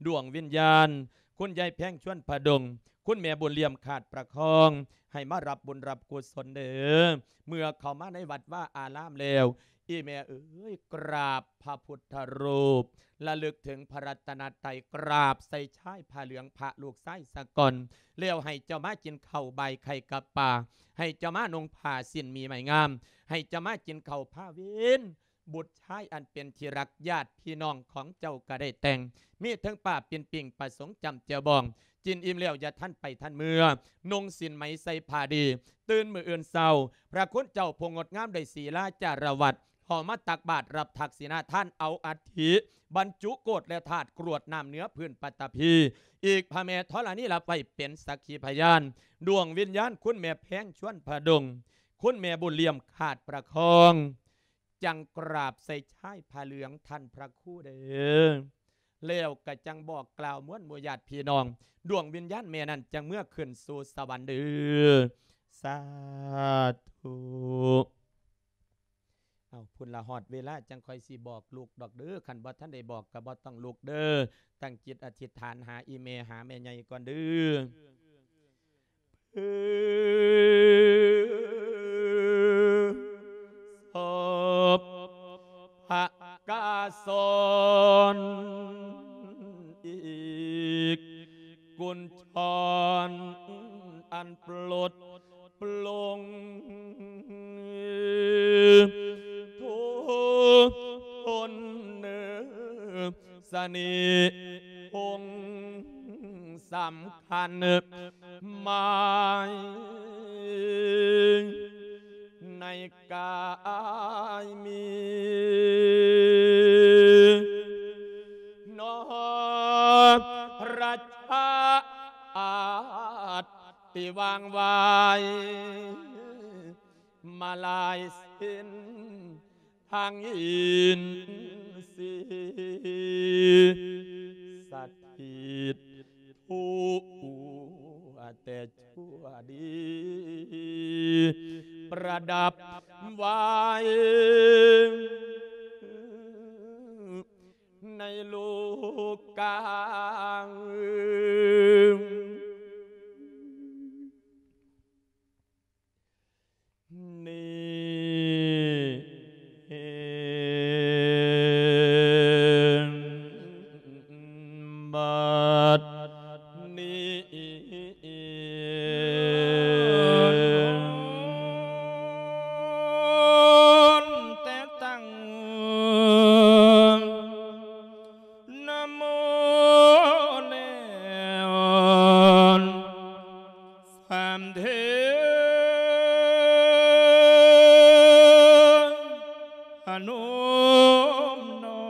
ดวงวิญญาณ คุณยายแพง ชวนผดุง คุณแม่บุญเลี่ยม ขาดประคอง ให้มารับบุญรับกุศลเด้อ เมื่อเข้ามาในวัดวาอารามแล้ว ອີ່ແມ່ເອີຍ ກາບພະພຸດທະຮູບ ລະລຶກເຖິງພະລັດຕະນະໄຕ ກາບໃສ່ຊາຍຜ້າເຫຼືອງພະລູກຊາຍສາກ່ອນ ແລ້ວໃຫ້ເຈົ້າມາກິນເຂົ້າບາຍໄຂ່ກັບປາ ໃຫ້ເຈົ້າມານຸ່ງຜ້າສິ້ນມີໄມ້ງາມ ໃຫ້ເຈົ້າມາກິນເຂົ້າພາເວັນ ບຸດຊາຍອັນເປັນທີ່ຮັກ ຍາດພີ່ນ້ອງຂອງເຈົ້າກໍໄດ້ແຕ່ງ ມີເຖິງປ້າປິ່ນປີ້ງ ປາສົງຈ້ຳແຈ່ວບອງ ກິນອີ່ມແລ້ວຢ່າທັນໄປທັນເມືອ ນຸ່ງສິ້ນໄໝໃສ່ຜ້າດີ ຕື່ນມື້ອື່ນເຊົ້າ ພະຄຸນເຈົ້າຜູ້ງົດງາມໄດ້ສີລາຈາລະວັດ ເຂົ້າມາຕັກບາດຮັບທັກສິນາທານ ເອົາອັດຖິບັນຈຸໂກດ ແລະ ທາດກຣວດນ້ຳເໜືອພື້ນປັດຕະພີ ອີກພະແມ່ທໍລະນີຮັບໄວ້ເປັນສັກຂີພະຍານ ດວງວິນຍານຄຸນແມ່ແພງ ຊວນຜະດົງ ຄຸນແມ່ບຸນລຽມ ຂາດປະຄອງ ຈັ່ງກາບໃສ່ຊາຍຜ້າເຫຼືອງທ່ານພະຄູເດີ ແລ້ວກະຈັ່ງບອກກ່າວມວນໝູ່ຍາດພີ່ນ້ອງ ດວງວິນຍານແມ່ນັ້ນຈັ່ງເມືອຂຶ້ນສູ່ສະຫວັນເດີ ສາທຸ. ເອົາ ພຸ້ນລະຮອດເວລາຈັ່ງຄ່ອຍຊິບອກລຸກດອກເດີ ຄັນບໍ່ທັນໄດ້ບອກກະບໍ່ຕ້ອງລຸກເດີ ຕັ້ງຈິດອະທິດຖານຫາອີ່ແມ່ ຫາແມ່ໃຫຍ່ກ່ອນເດີ. ສົບພະກາສອນອີກ ກຸນຊອນອັນປົດ ປລົງ ທຸກຄົນເນີ ສະເໜ່ຫົງສຳຄັນ ໝາຍໃນກາຍມີ ນອກລະຊາດ ທີ່ວາງວາຍມາຫຼາຍເສັ້ນທາງອິນຊີ ສະຖິດທົ່ວແຕ່ຊົ່ວດີ ປະດັບໄວ້ໃນໂລກາ ນີ້ບັດນີ້ ແຕ່ຕັ້ງ ນະໂມແລ້ວສາມເທື່ອ ພະນົມນ້ອ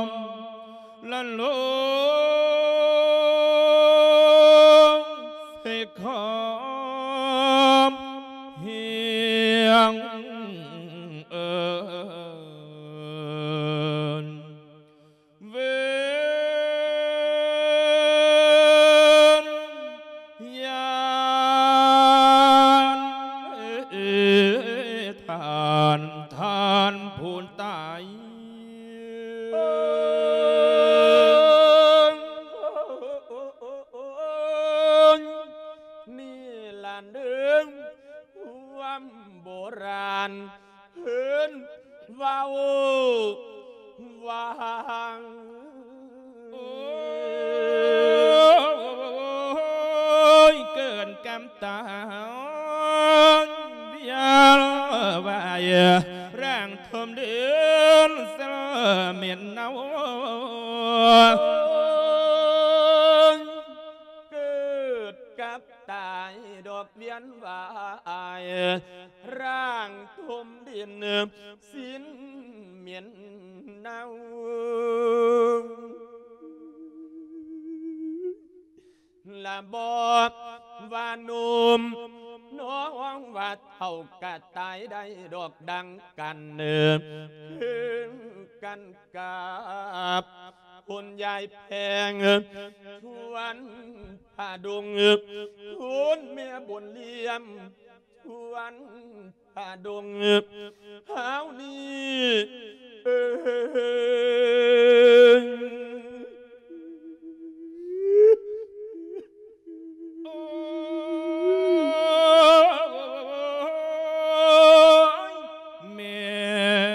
ມລະລົງໃສ່ຄວາມຮຽງເອີນ ເວນຍານ ເອີ ທ່ານ ທ່ານຜູ້ຕາຍ ເອີ ນີ້ລະເດີ ຄວາມໂບລານ ເພິ່ນເວົ້າວ່າ ໂອ້ຍ ເກີນກຳຕາ ວຽນວ່າຍ ຮ່າງຖົມດິນ ເໝັນເນົາ ເກີດກັບ ຕາຍດອກວຽນວ່າຍ ຮ່າງຖົມດິນ ສິ້ນເໝັນເນົາ ລະບອກວ່າໜຸ່ມ ນ້ອງວ່າເຖົ້າກະຕາຍໄດ້ດອກດັ່ງກັນ ຄືກັນກັບ ຄຸນຍາຍແພງ ຊວນຜາດົງ ຄຸນແມ່ບຸນລຽມ ຊວນຜາດົງ ເຮົານີ້ ເອີຍ. ໂອ້ຍ ແມ່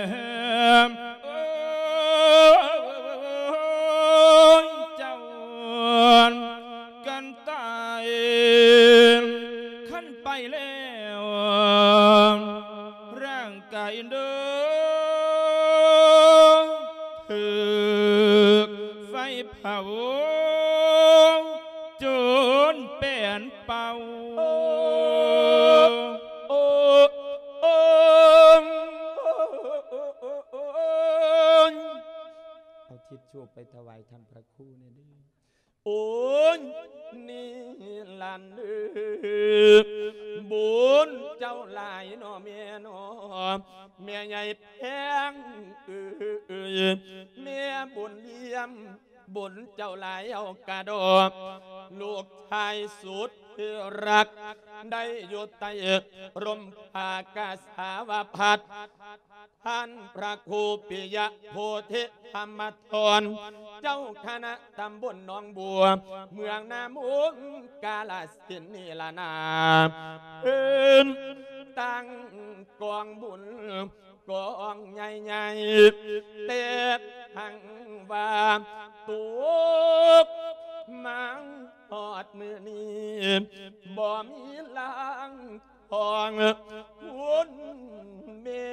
ເຜົາຈົນແປ້ນເປົ່າ. ເອົາທິດທູບໄປຖວາຍທ່ານພະຄູແດ່ເດີ. ໂອ້ຍ ນີ້ຫຼານເອີຍ ບຸນເຈົ້າຫຼາຍນໍແມ່ນໍ ແມ່ໃຫຍ່ແພງເອີຍ ແມ່ບຸນລຽມ ບຸນເຈົ້າຫຼາຍເອົາກະດອກ ລູກຊາຍສຸດທີ່ຮັກ ໄດ້ຢູ່ໃຕ້ຮົ່ມຜ້າກາສາວະພັດ ທ່ານພະຄູປິຍະໂພທິທຳມະທອນ ເຈົ້າຄະນະຕຳບົນໜອງບົວ ເມືອງນາມຸງ ກາລະສິນນີ້ລະນາ ເພິ່ນຕັ້ງກອງບຸນກອງໃຫຍ່ໆ ແຕ່ທັງວ່າຕົກມາຮອດມື້ນີ້ ບໍ່ມີລາງ ຂອງຄຸນແມ່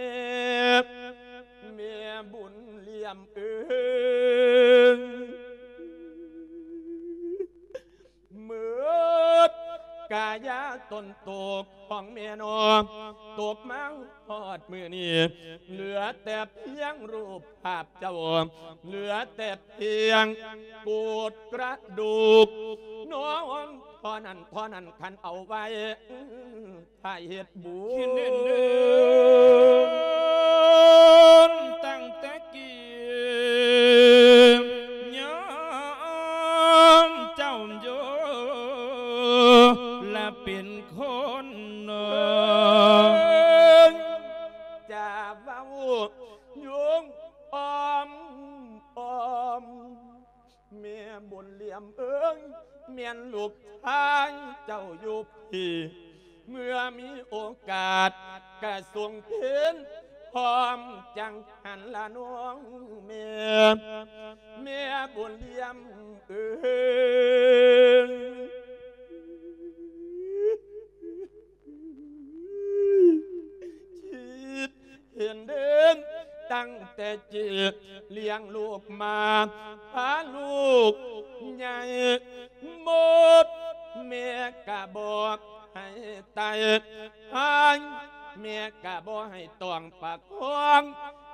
ແມ່ບຸນລຽມເອີຍ ໝົດກາຍາຕົນໂຕຂອງແມ່ນ້ອງ ຕົກມາຮອດມື້ນີ້ ເຫຼືອແຕ່ພຽງຮູບພາບເຈົ້າ ເຫຼືອແຕ່ພຽງໂກດກະດູກ ນ້ອງເທົ່ານັ້ນ ເທົ່ານັ້ນ ຄັນເອົາໄວ້ ຖ້າເຮັດບຸນ ເຫັນເດີ ຕັ້ງແຕ່ກີ້ ຍາມເຈົ້າຢູ່ລະເປັນຄົນ ຈະເວົ້າໂຍງອ້ອມ ອ້ອມ ແມ່ບຸນລຽມເອີຍ ແມ່ນລູກຊາຍເຈົ້າຢູ່ພີ້ ເມື່ອມີໂອກາດກະສົ່ງເພນພ້ອມຈັງຫັ້ນລະນ້ອງແມ່ ແມ່ບຸນລຽມເອີຍ ຄິດ ເຫັນເດີ ຕັ້ງແຕ່ຈີບລ້ຽງລູກມາ ພາລູກໃຫຍ່ໝົດ ແມ່ກະບໍ່ໃຫ້ໄຕ້ ຫາຍ ແມ່ກະບໍ່ໃຫ້ຕ້ອງປະຄອງ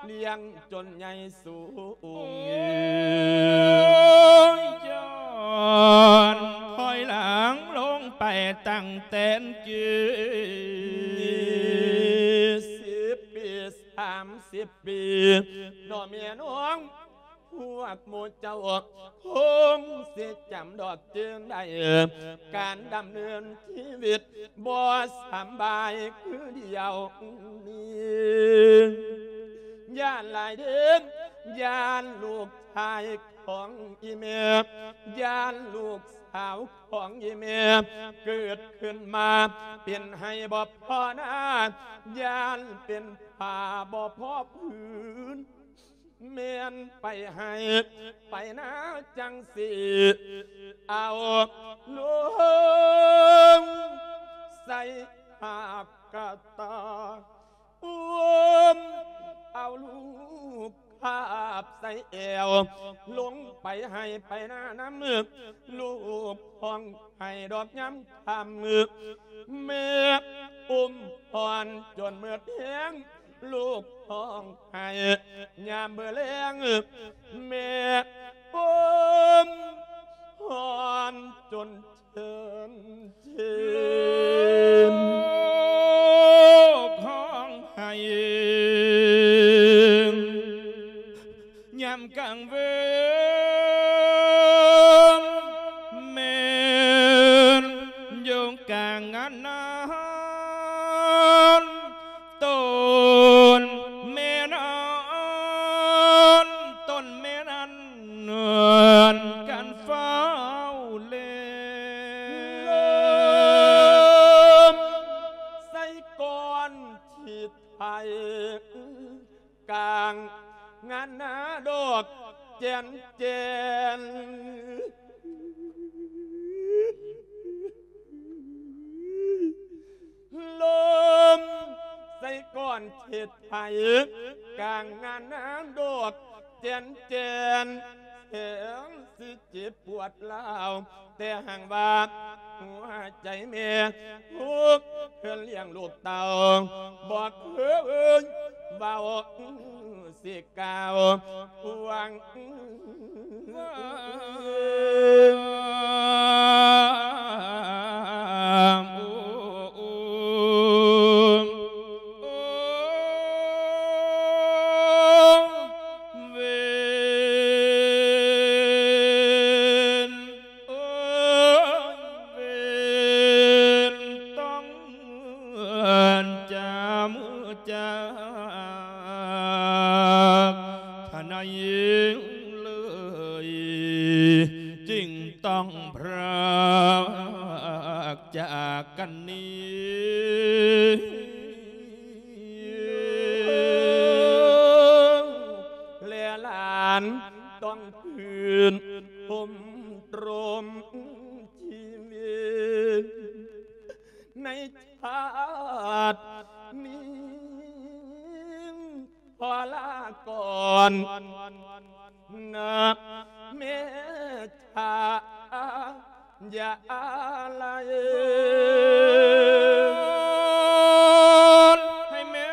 ລ້ຽງຈົນໃຫຍ່ສູງ ຍ້ອນຖອຍຫຼັງລົງໄປຕັ້ງແຕ່ກີ້ ສິບປີ ສາມສິບປີ ນ້ອງແມ່ນ້ອງ ພວກໝູ່ເຈົ້າຄົງຊິຈຳດອກຈຶ່ງໄດ້ ການດຳເນີນຊີວິດບໍ່ສຳບາຍຄືດຽວນີ້ ຢ້ານຫຼາຍເດີ ຢ້ານລູກຊາຍຂອງອີ່ແມ່ ຢ້ານລູກສາວຂອງອີ່ແມ່ ເກີດຂຶ້ນມາເປັນໄຮ່ບໍ່ພໍນາ ຢ້ານເປັນຜ້າບໍ່ພໍຜືນ ແມ່ນໄປໄຮ່ໄປນາຈັ່ງຊີ້ ເອົາລົງໃສ່ຫາບກະຕ່າ ອຸ້ມເອົາລູກຄາບໃສ່ແອວ ລົງໄປໄຮ່ໄປນານຳ ລູກຮ້ອງໄຫ້ດອກຍາມຄ່ຳ ແມ່ອຸ້ມອ່ອນຈົນເໝິດແຮງ ລູກຮ້ອງໄຫ້ຍາມມື້ແລງ ແມ່ອຸ້ມອ່ອນຈົນເທີນເທີນ ລູກຮ້ອງໄຫ້ຍາມກາງເວັນ ແມ່ນຢູ່ກາງງານນານ ຕົ້ນແມ່ນອນ ຕົ້ນແມ່ນອນ ກັນຟ້າວແລ ລົມໃສ່ກ້ອນທີ່ໄທ ກາງງານນາດອກແຈນແຈນ ລົມໃສ່ກ້ອນເຂດໄພ ກາງງານນາດອກແຈນແຈນ ແຮງຊິເຈັບປວດລາວ ແຕ່ຫາກວ່າຫົວໃຈແມ່ທຸກ ເພື່ອລ້ຽງລູກເຕົ້າ ບໍ່ເຄີຍເວົ້າຊິກ່າວຫວັງ ແລະຫຼານຕ້ອງຜືນພົມລົມຊີວິດໃນຊາດນີ້ ຂໍລາກ່ອນນະແມ່ ຢ່າອາໄລ ໃຫ້ແມ່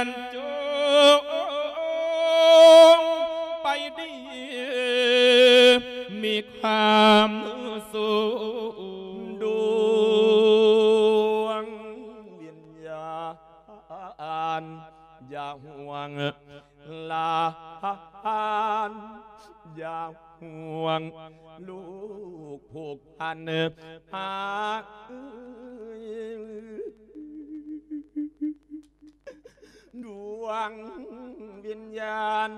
ນຈົ່ງໄປດີ ມີຄວາມສຸກ ດວງວິນຍານ ຢ່າຫ່ວງ ຫຼານ ຢ່າຫ່ວງ ລູກຜູກພັນຫາ ດວງວິນຍານ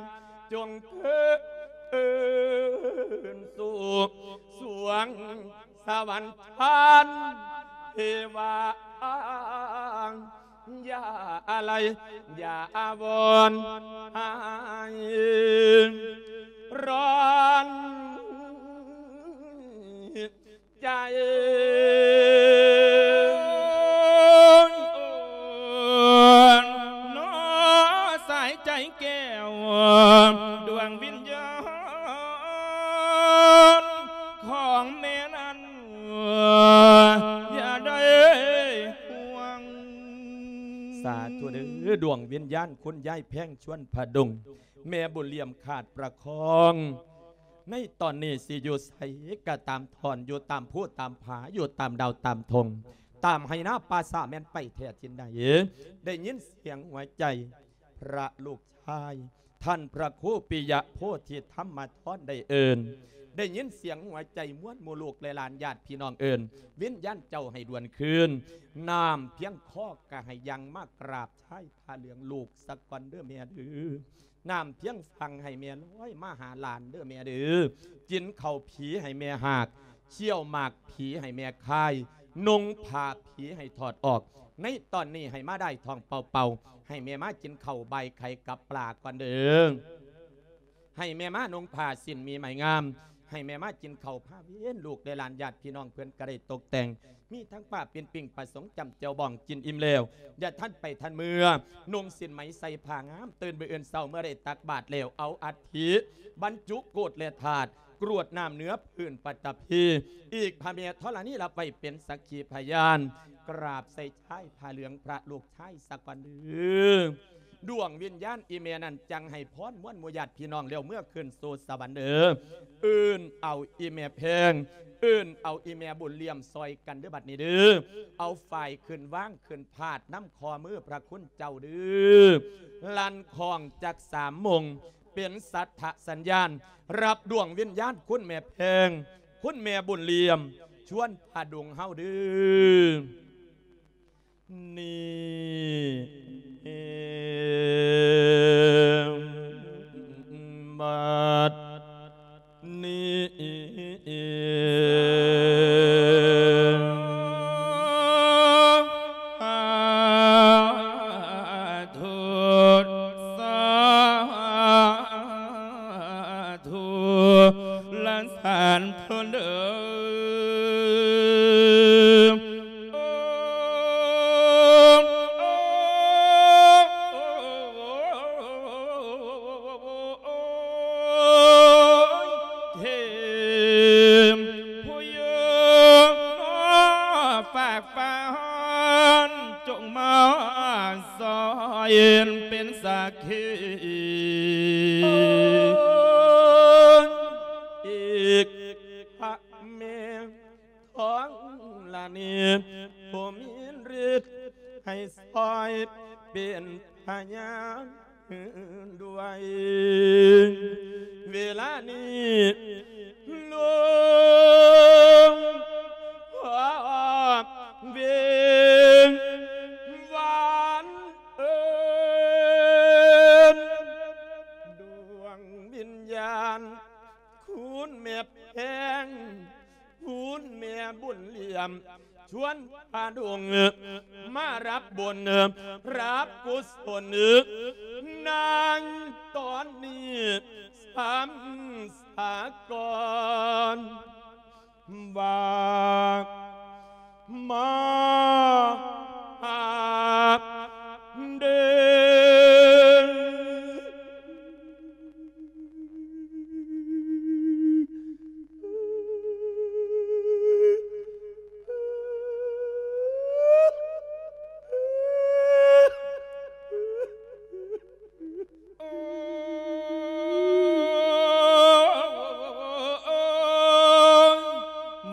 ຈົ່ງເທີນສູ່ສວງສະຫວັນຊັ້ນເທວາ ຢ່າອາໄລ ຢ່າອາວອນ ໃຫ້ຮ້ອນໃຈ ນອສາຍໃຈແກ້ວ ດວງວິນຍານຂອງແມ່ນັ້ນ ຢ່າໄດ້ຫ່ວງ. ສາທຸເດີ້ ດວງວິນຍານຄຸນຍາຍແພງ ຊວນຜະດົງ ແມ່ບຸນຫຼຽມຂາດປະຄອງ ໃນຕອນນີ້ຊິຢູ່ໃສກໍຕາມ ທ່ອນຢູ່ຕາມພູຕາມຜາ ຢູ່ຕາມດາວຕາມທົ່ງ ຕາມໄຮ່ນາປ່າຊ້າ ແມ່ນໄປແທ້ຖິ່ນໃດ ໄດ້ຍິນສຽງຫົວໃຈພະລູກຊາຍ ທ່ານພະຄູປິຍະໂພທິທຳມະທອນໄດ້ເອີ້ນ ໄດ້ຍິນສຽງຫົວໃຈມວນໝູ່ລູກແລະຫຼານຍາດພີ່ນ້ອງເອີ້ນ ວິນຍານເຈົ້າໃຫ້ດວນຄືນ ນ້ຳພຽງຄໍກໍໃຫ້ຍັ່ງມາກາບຊາຍຜ້າເຫຼືອງລູກສາກ່ອນເດີ້ແມ່ເດີ້ ນ້ຳພຽງຝັ່ງໃຫ້ແມ່ລອຍມາຫາຫຼານເດີ້ແມ່ເດີ້ ກິນເຂົ້າຜີໃຫ້ແມ່ຫາກ ຄ້ຽວໝາກຜີໃຫ້ແມ່ຄາຍ ນຸ່ງຜ້າຜີໃຫ້ຖອດອອກ ໃນຕອນນີ້ໃຫ້ມາໄດ້ທ້ອງເປົ່າໆ ໃຫ້ແມ່ມາກິນເຂົ້າບ່າຍໄຂ່ກັບປາກ່ອນເດີ້ ໃຫ້ແມ່ມານຸ່ງຜ້າສິ້ນມີໄມ້ງາມ ໃຫ້ແມ່ມາກິນເຂົ້າພາເວັນ ລູກແລະຫຼານຍາດພີ່ນ້ອງເພິ່ນກໍໄດ້ຕົກແຕ່ງ ມີທັງປ້າປີ້ນປີ້ງປາສົງຈ້ຳແຈ່ວບອງ ກິນອີ່ມແລ້ວ ຢ່າທັນໄປທັນເມືອ ນຸ່ງສິ້ນໄໝໃສ່ຜ້າງາມ ຕື່ນມື້ອື່ນເຊົ້າເມື່ອໄດ້ຕັກບາດແລ້ວ ເອົາອັດຖິບັນຈຸໂກດແລະທາດ ກຣວດນ້ຳເໜືອພື້ນປະຕະພີ ອີກພະແມ່ທໍລະນີຮັບໄວ້ເປັນສັກຂີພະຍານ ກາບໃສ່ຊາຍຜ້າເຫຼືອງພະລູກຊາຍສາກ່ອນເດີ້ ດວງວິນຍານອີ່ແມ່ນັ້ນຈັ່ງໃຫ້ພອນມວນໝູ່ຍາດພີ່ນ້ອງແລ້ວເມືອຄືນສູ່ສະຫວັນເດີ້ ເອີ້ນເອົາອີ່ແມ່ແພງ ເອີ້ນເອົາອີ່ແມ່ບຸນຫຼຽມຊ່ອຍກັນເດີ້ ບັດນີ້ເດີ້ ເອົາຝ້າຍຂຶ້ນວາງຂຶ້ນພາດນຳຂໍ້ມືພະຄຸນເຈົ້າເດີ້ ລັ່ນຄ້ອງຈັກສາມໂມງ ເປັນສັດຖະສັນຍານ ຮັບດວງວິນຍານຄຸນແມ່ແພງ ຄຸນແມ່ບຸນຫຼຽມ ຊວນຜະດົງເຮົາເດີ້ ນີ້ບັດ ນີ້ ສາທຸ ສາທຸ ລະສາທຸເດີ້ ເຂດ ອີກພະແມ່ທອງລະນີ ຜູ້ມີລິດໃຫ້ຊ່ອຍເປັນພະຍານ ດ້ວຍເວລານີ້ ຫຼວງພໍ່ເວງວານເອີນ ດວງວິນຍານ ຄຸນແມ່ແພງ ຄຸນແມ່ບຸນຫຼຽມ ຊວນພະດົງມາຮັບບຸນ ຮັບກຸສົນ ໃນຕອນນີ້ສຳສາກ່ອນ ວ່າມາຫາເດີ.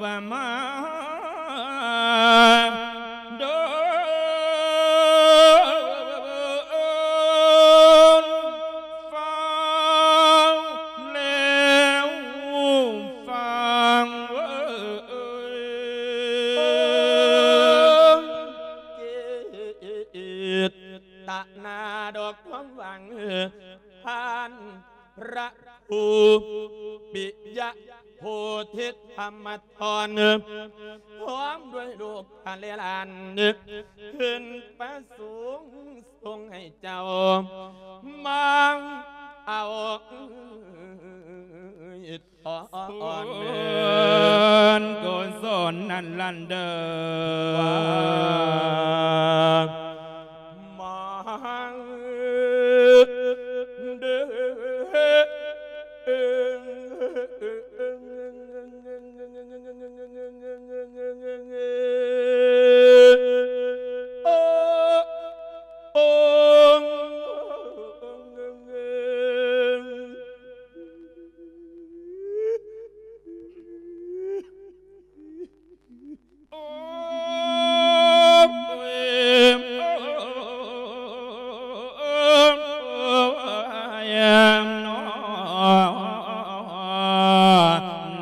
ວ່າມາໂດນ ຟັງແລ້ວຟັງເອີຍ ເຈດຕະນາດອກຄວາມຫວັງ ທ່ານພະຄູປິຍະໂພທິທຳມະທອນ ພ້ອມດ້ວຍລູກຫຼານ ເພິ່ນປະສົງສົ່ງໃຫ້ເຈົ້າ ມາເອົາ ອອນ ບຸນກຸສົນນັ້ນລັນເດີ ວ່າມາເດີ.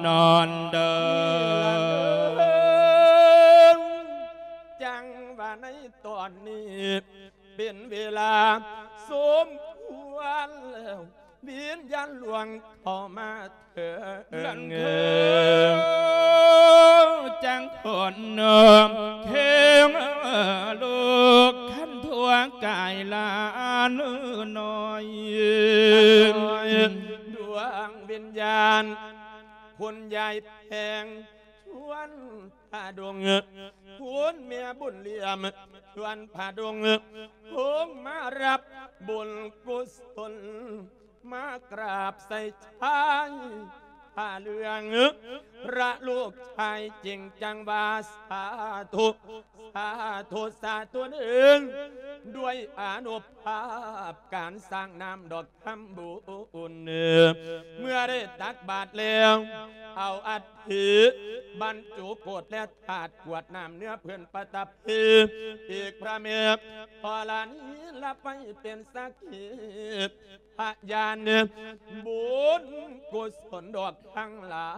ນອນເດີ ຈັ່ງວ່າໃນຕອນນີ້ ເປັນເວລາສົມຄວນແລ້ວ ວິນຍານຫຼວງເຂົ້າມາເຖິງ ນັ້ນຄືຈັງຄົນເຄງລູກ ຄັນທົ່ວກາຍຫຼານນ້ອຍ ດວງວິນຍານຄຸນຍາຍແພງ ຊວນ ພະດົງ ຄຸນແມ່ບຸນຫຼຽມ ຊວນພະດົງ ລົງມາຮັບບຸນກຸສົນ ມາກາບໃສ່ຊາຍຜ້າເຫຼືອງ ພະລູກຊາຍຈຶ່ງຈັ່ງວ່າ ສາທຸ ສາທຸ ສາທຸເດີ ດ້ວຍອານຸພາບການສ້າງນ້ຳດອກ ທຳບຸນ ເມື່ອໄດ້ຕັກບາດແລ້ວ ເອົາອັດຖິບັນຈຸໂກດ ແລະ ທາດກວດນ້ຳເນື້ອເພິ່ນປະທັບທີ່ ອີກພະແມ່ທໍລະນີ ລະໄປເປັນສັກຂີພະຍານ ບຸນກຸສົນດອກທັງຫຼາ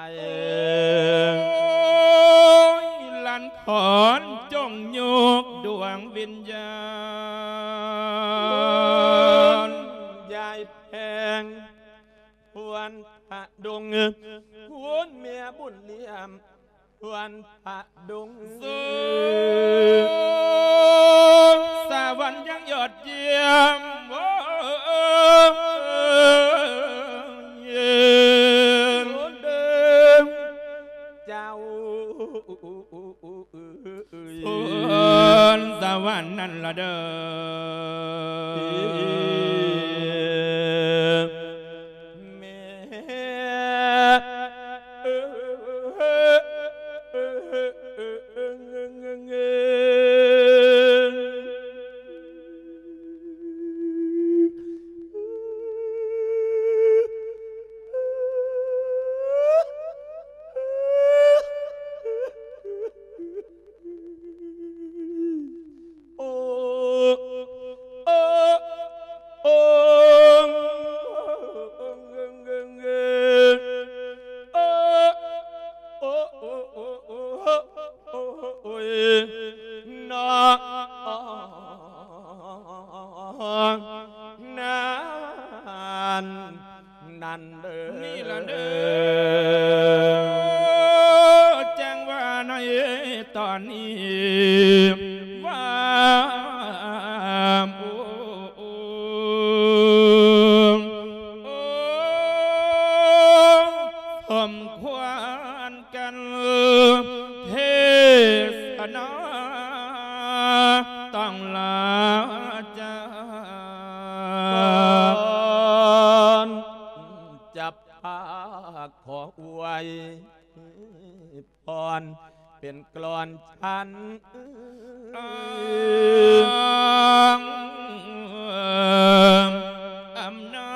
ຍ ໂອ້ຍ ລັນຂອນ ຈົ່ງຍົກດວງວິນຍານ ຍາຍ ແພງ ຄວນພະດົງ ຄວນແມ່ບຸນຫຼຽມ ຄວນພະດົງ ສະຫວັນຍັງຍອດຢ້ຽມ ໂອ້ຍ ເຈົ້າ ເອີຍ ສະຫວັນນັ້ນລະເດີ ແມ່ເອີຍ ນັ້ນເດີ ນີ້ລະເດີ ແຈ້ງວ່າໃນຕອນນີ້ວ່າ ໂອ້ ໂອ້ ສົມຄວນ ກັນເທສະນາ ຕ້ອງລາຈາ ກ່ອນຈະພາຂໍອວຍພອນ ເປັນກລອນສັນ ອ້າງອຳນາ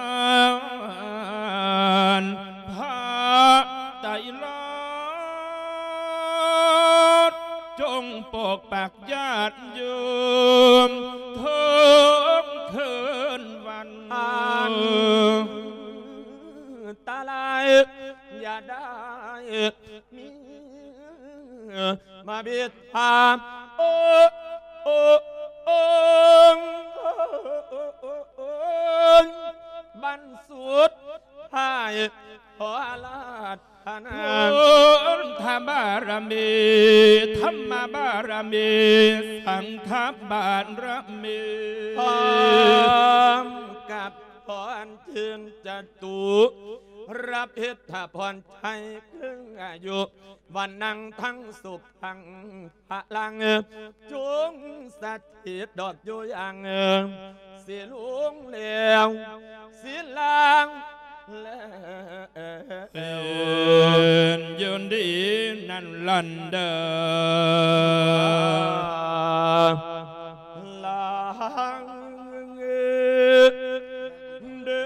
ດພະໄຕລະ ຈົ່ງປົກປັກຍາດໂຍມທຸກຄືນວັນ ອັນຕະລາຍ ຢ່າໄດ້ມີມາບິດພາ ໂອ ໂອ ໂອ ບັນສຸດທ້າຍ ຂໍອາລາທະນາ ພຸດທະບາລະມີ ທຳມະບາລະມີ ສັງຄະບາລະມີ ພ້ອມກັບພອນຈິນຈະຕຸ ຮັບເຮັດຖາພອນໄທ ເຄິ່ງອາຍຸ ວັນນັງທັງສຸຂັງພະລັງ ຈົ່ງສະຖິດດອກຢູ່ຢ່າງ ຊິລຸງແລ້ວ ຊິລາງແລ້ວ ເປັນຢູ່ດີນັນລັນເດີ ລາງເດີ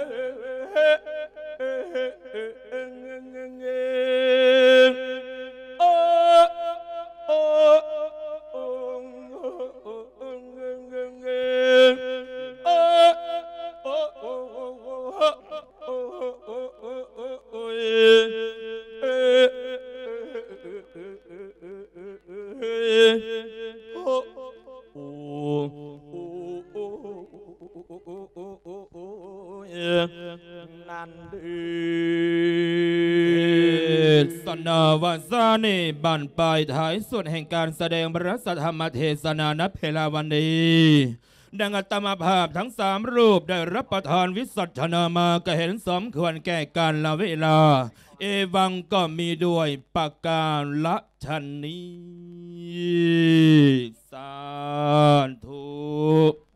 ໂອ ໂອ ໂອ ນັ້ນເດີ ເທສະນາວາສານີ້ ບັ້ນປາຍທ້າຍສຸດແຫ່ງການສະແດງພະລະສັດທຳມະເທສະນາ ນະເວລາວັນນີ້ ດັ່ງອາດຕະມາພາບທັງສາມຮູບໄດ້ຮັບປະທານວິສັດຊະນາມາ ກະເຫັນສົມຄວນແກ່ການລະເວລາ ເອວັງກໍມີດ້ວຍປະການຊະນີ້ ສາທຸ.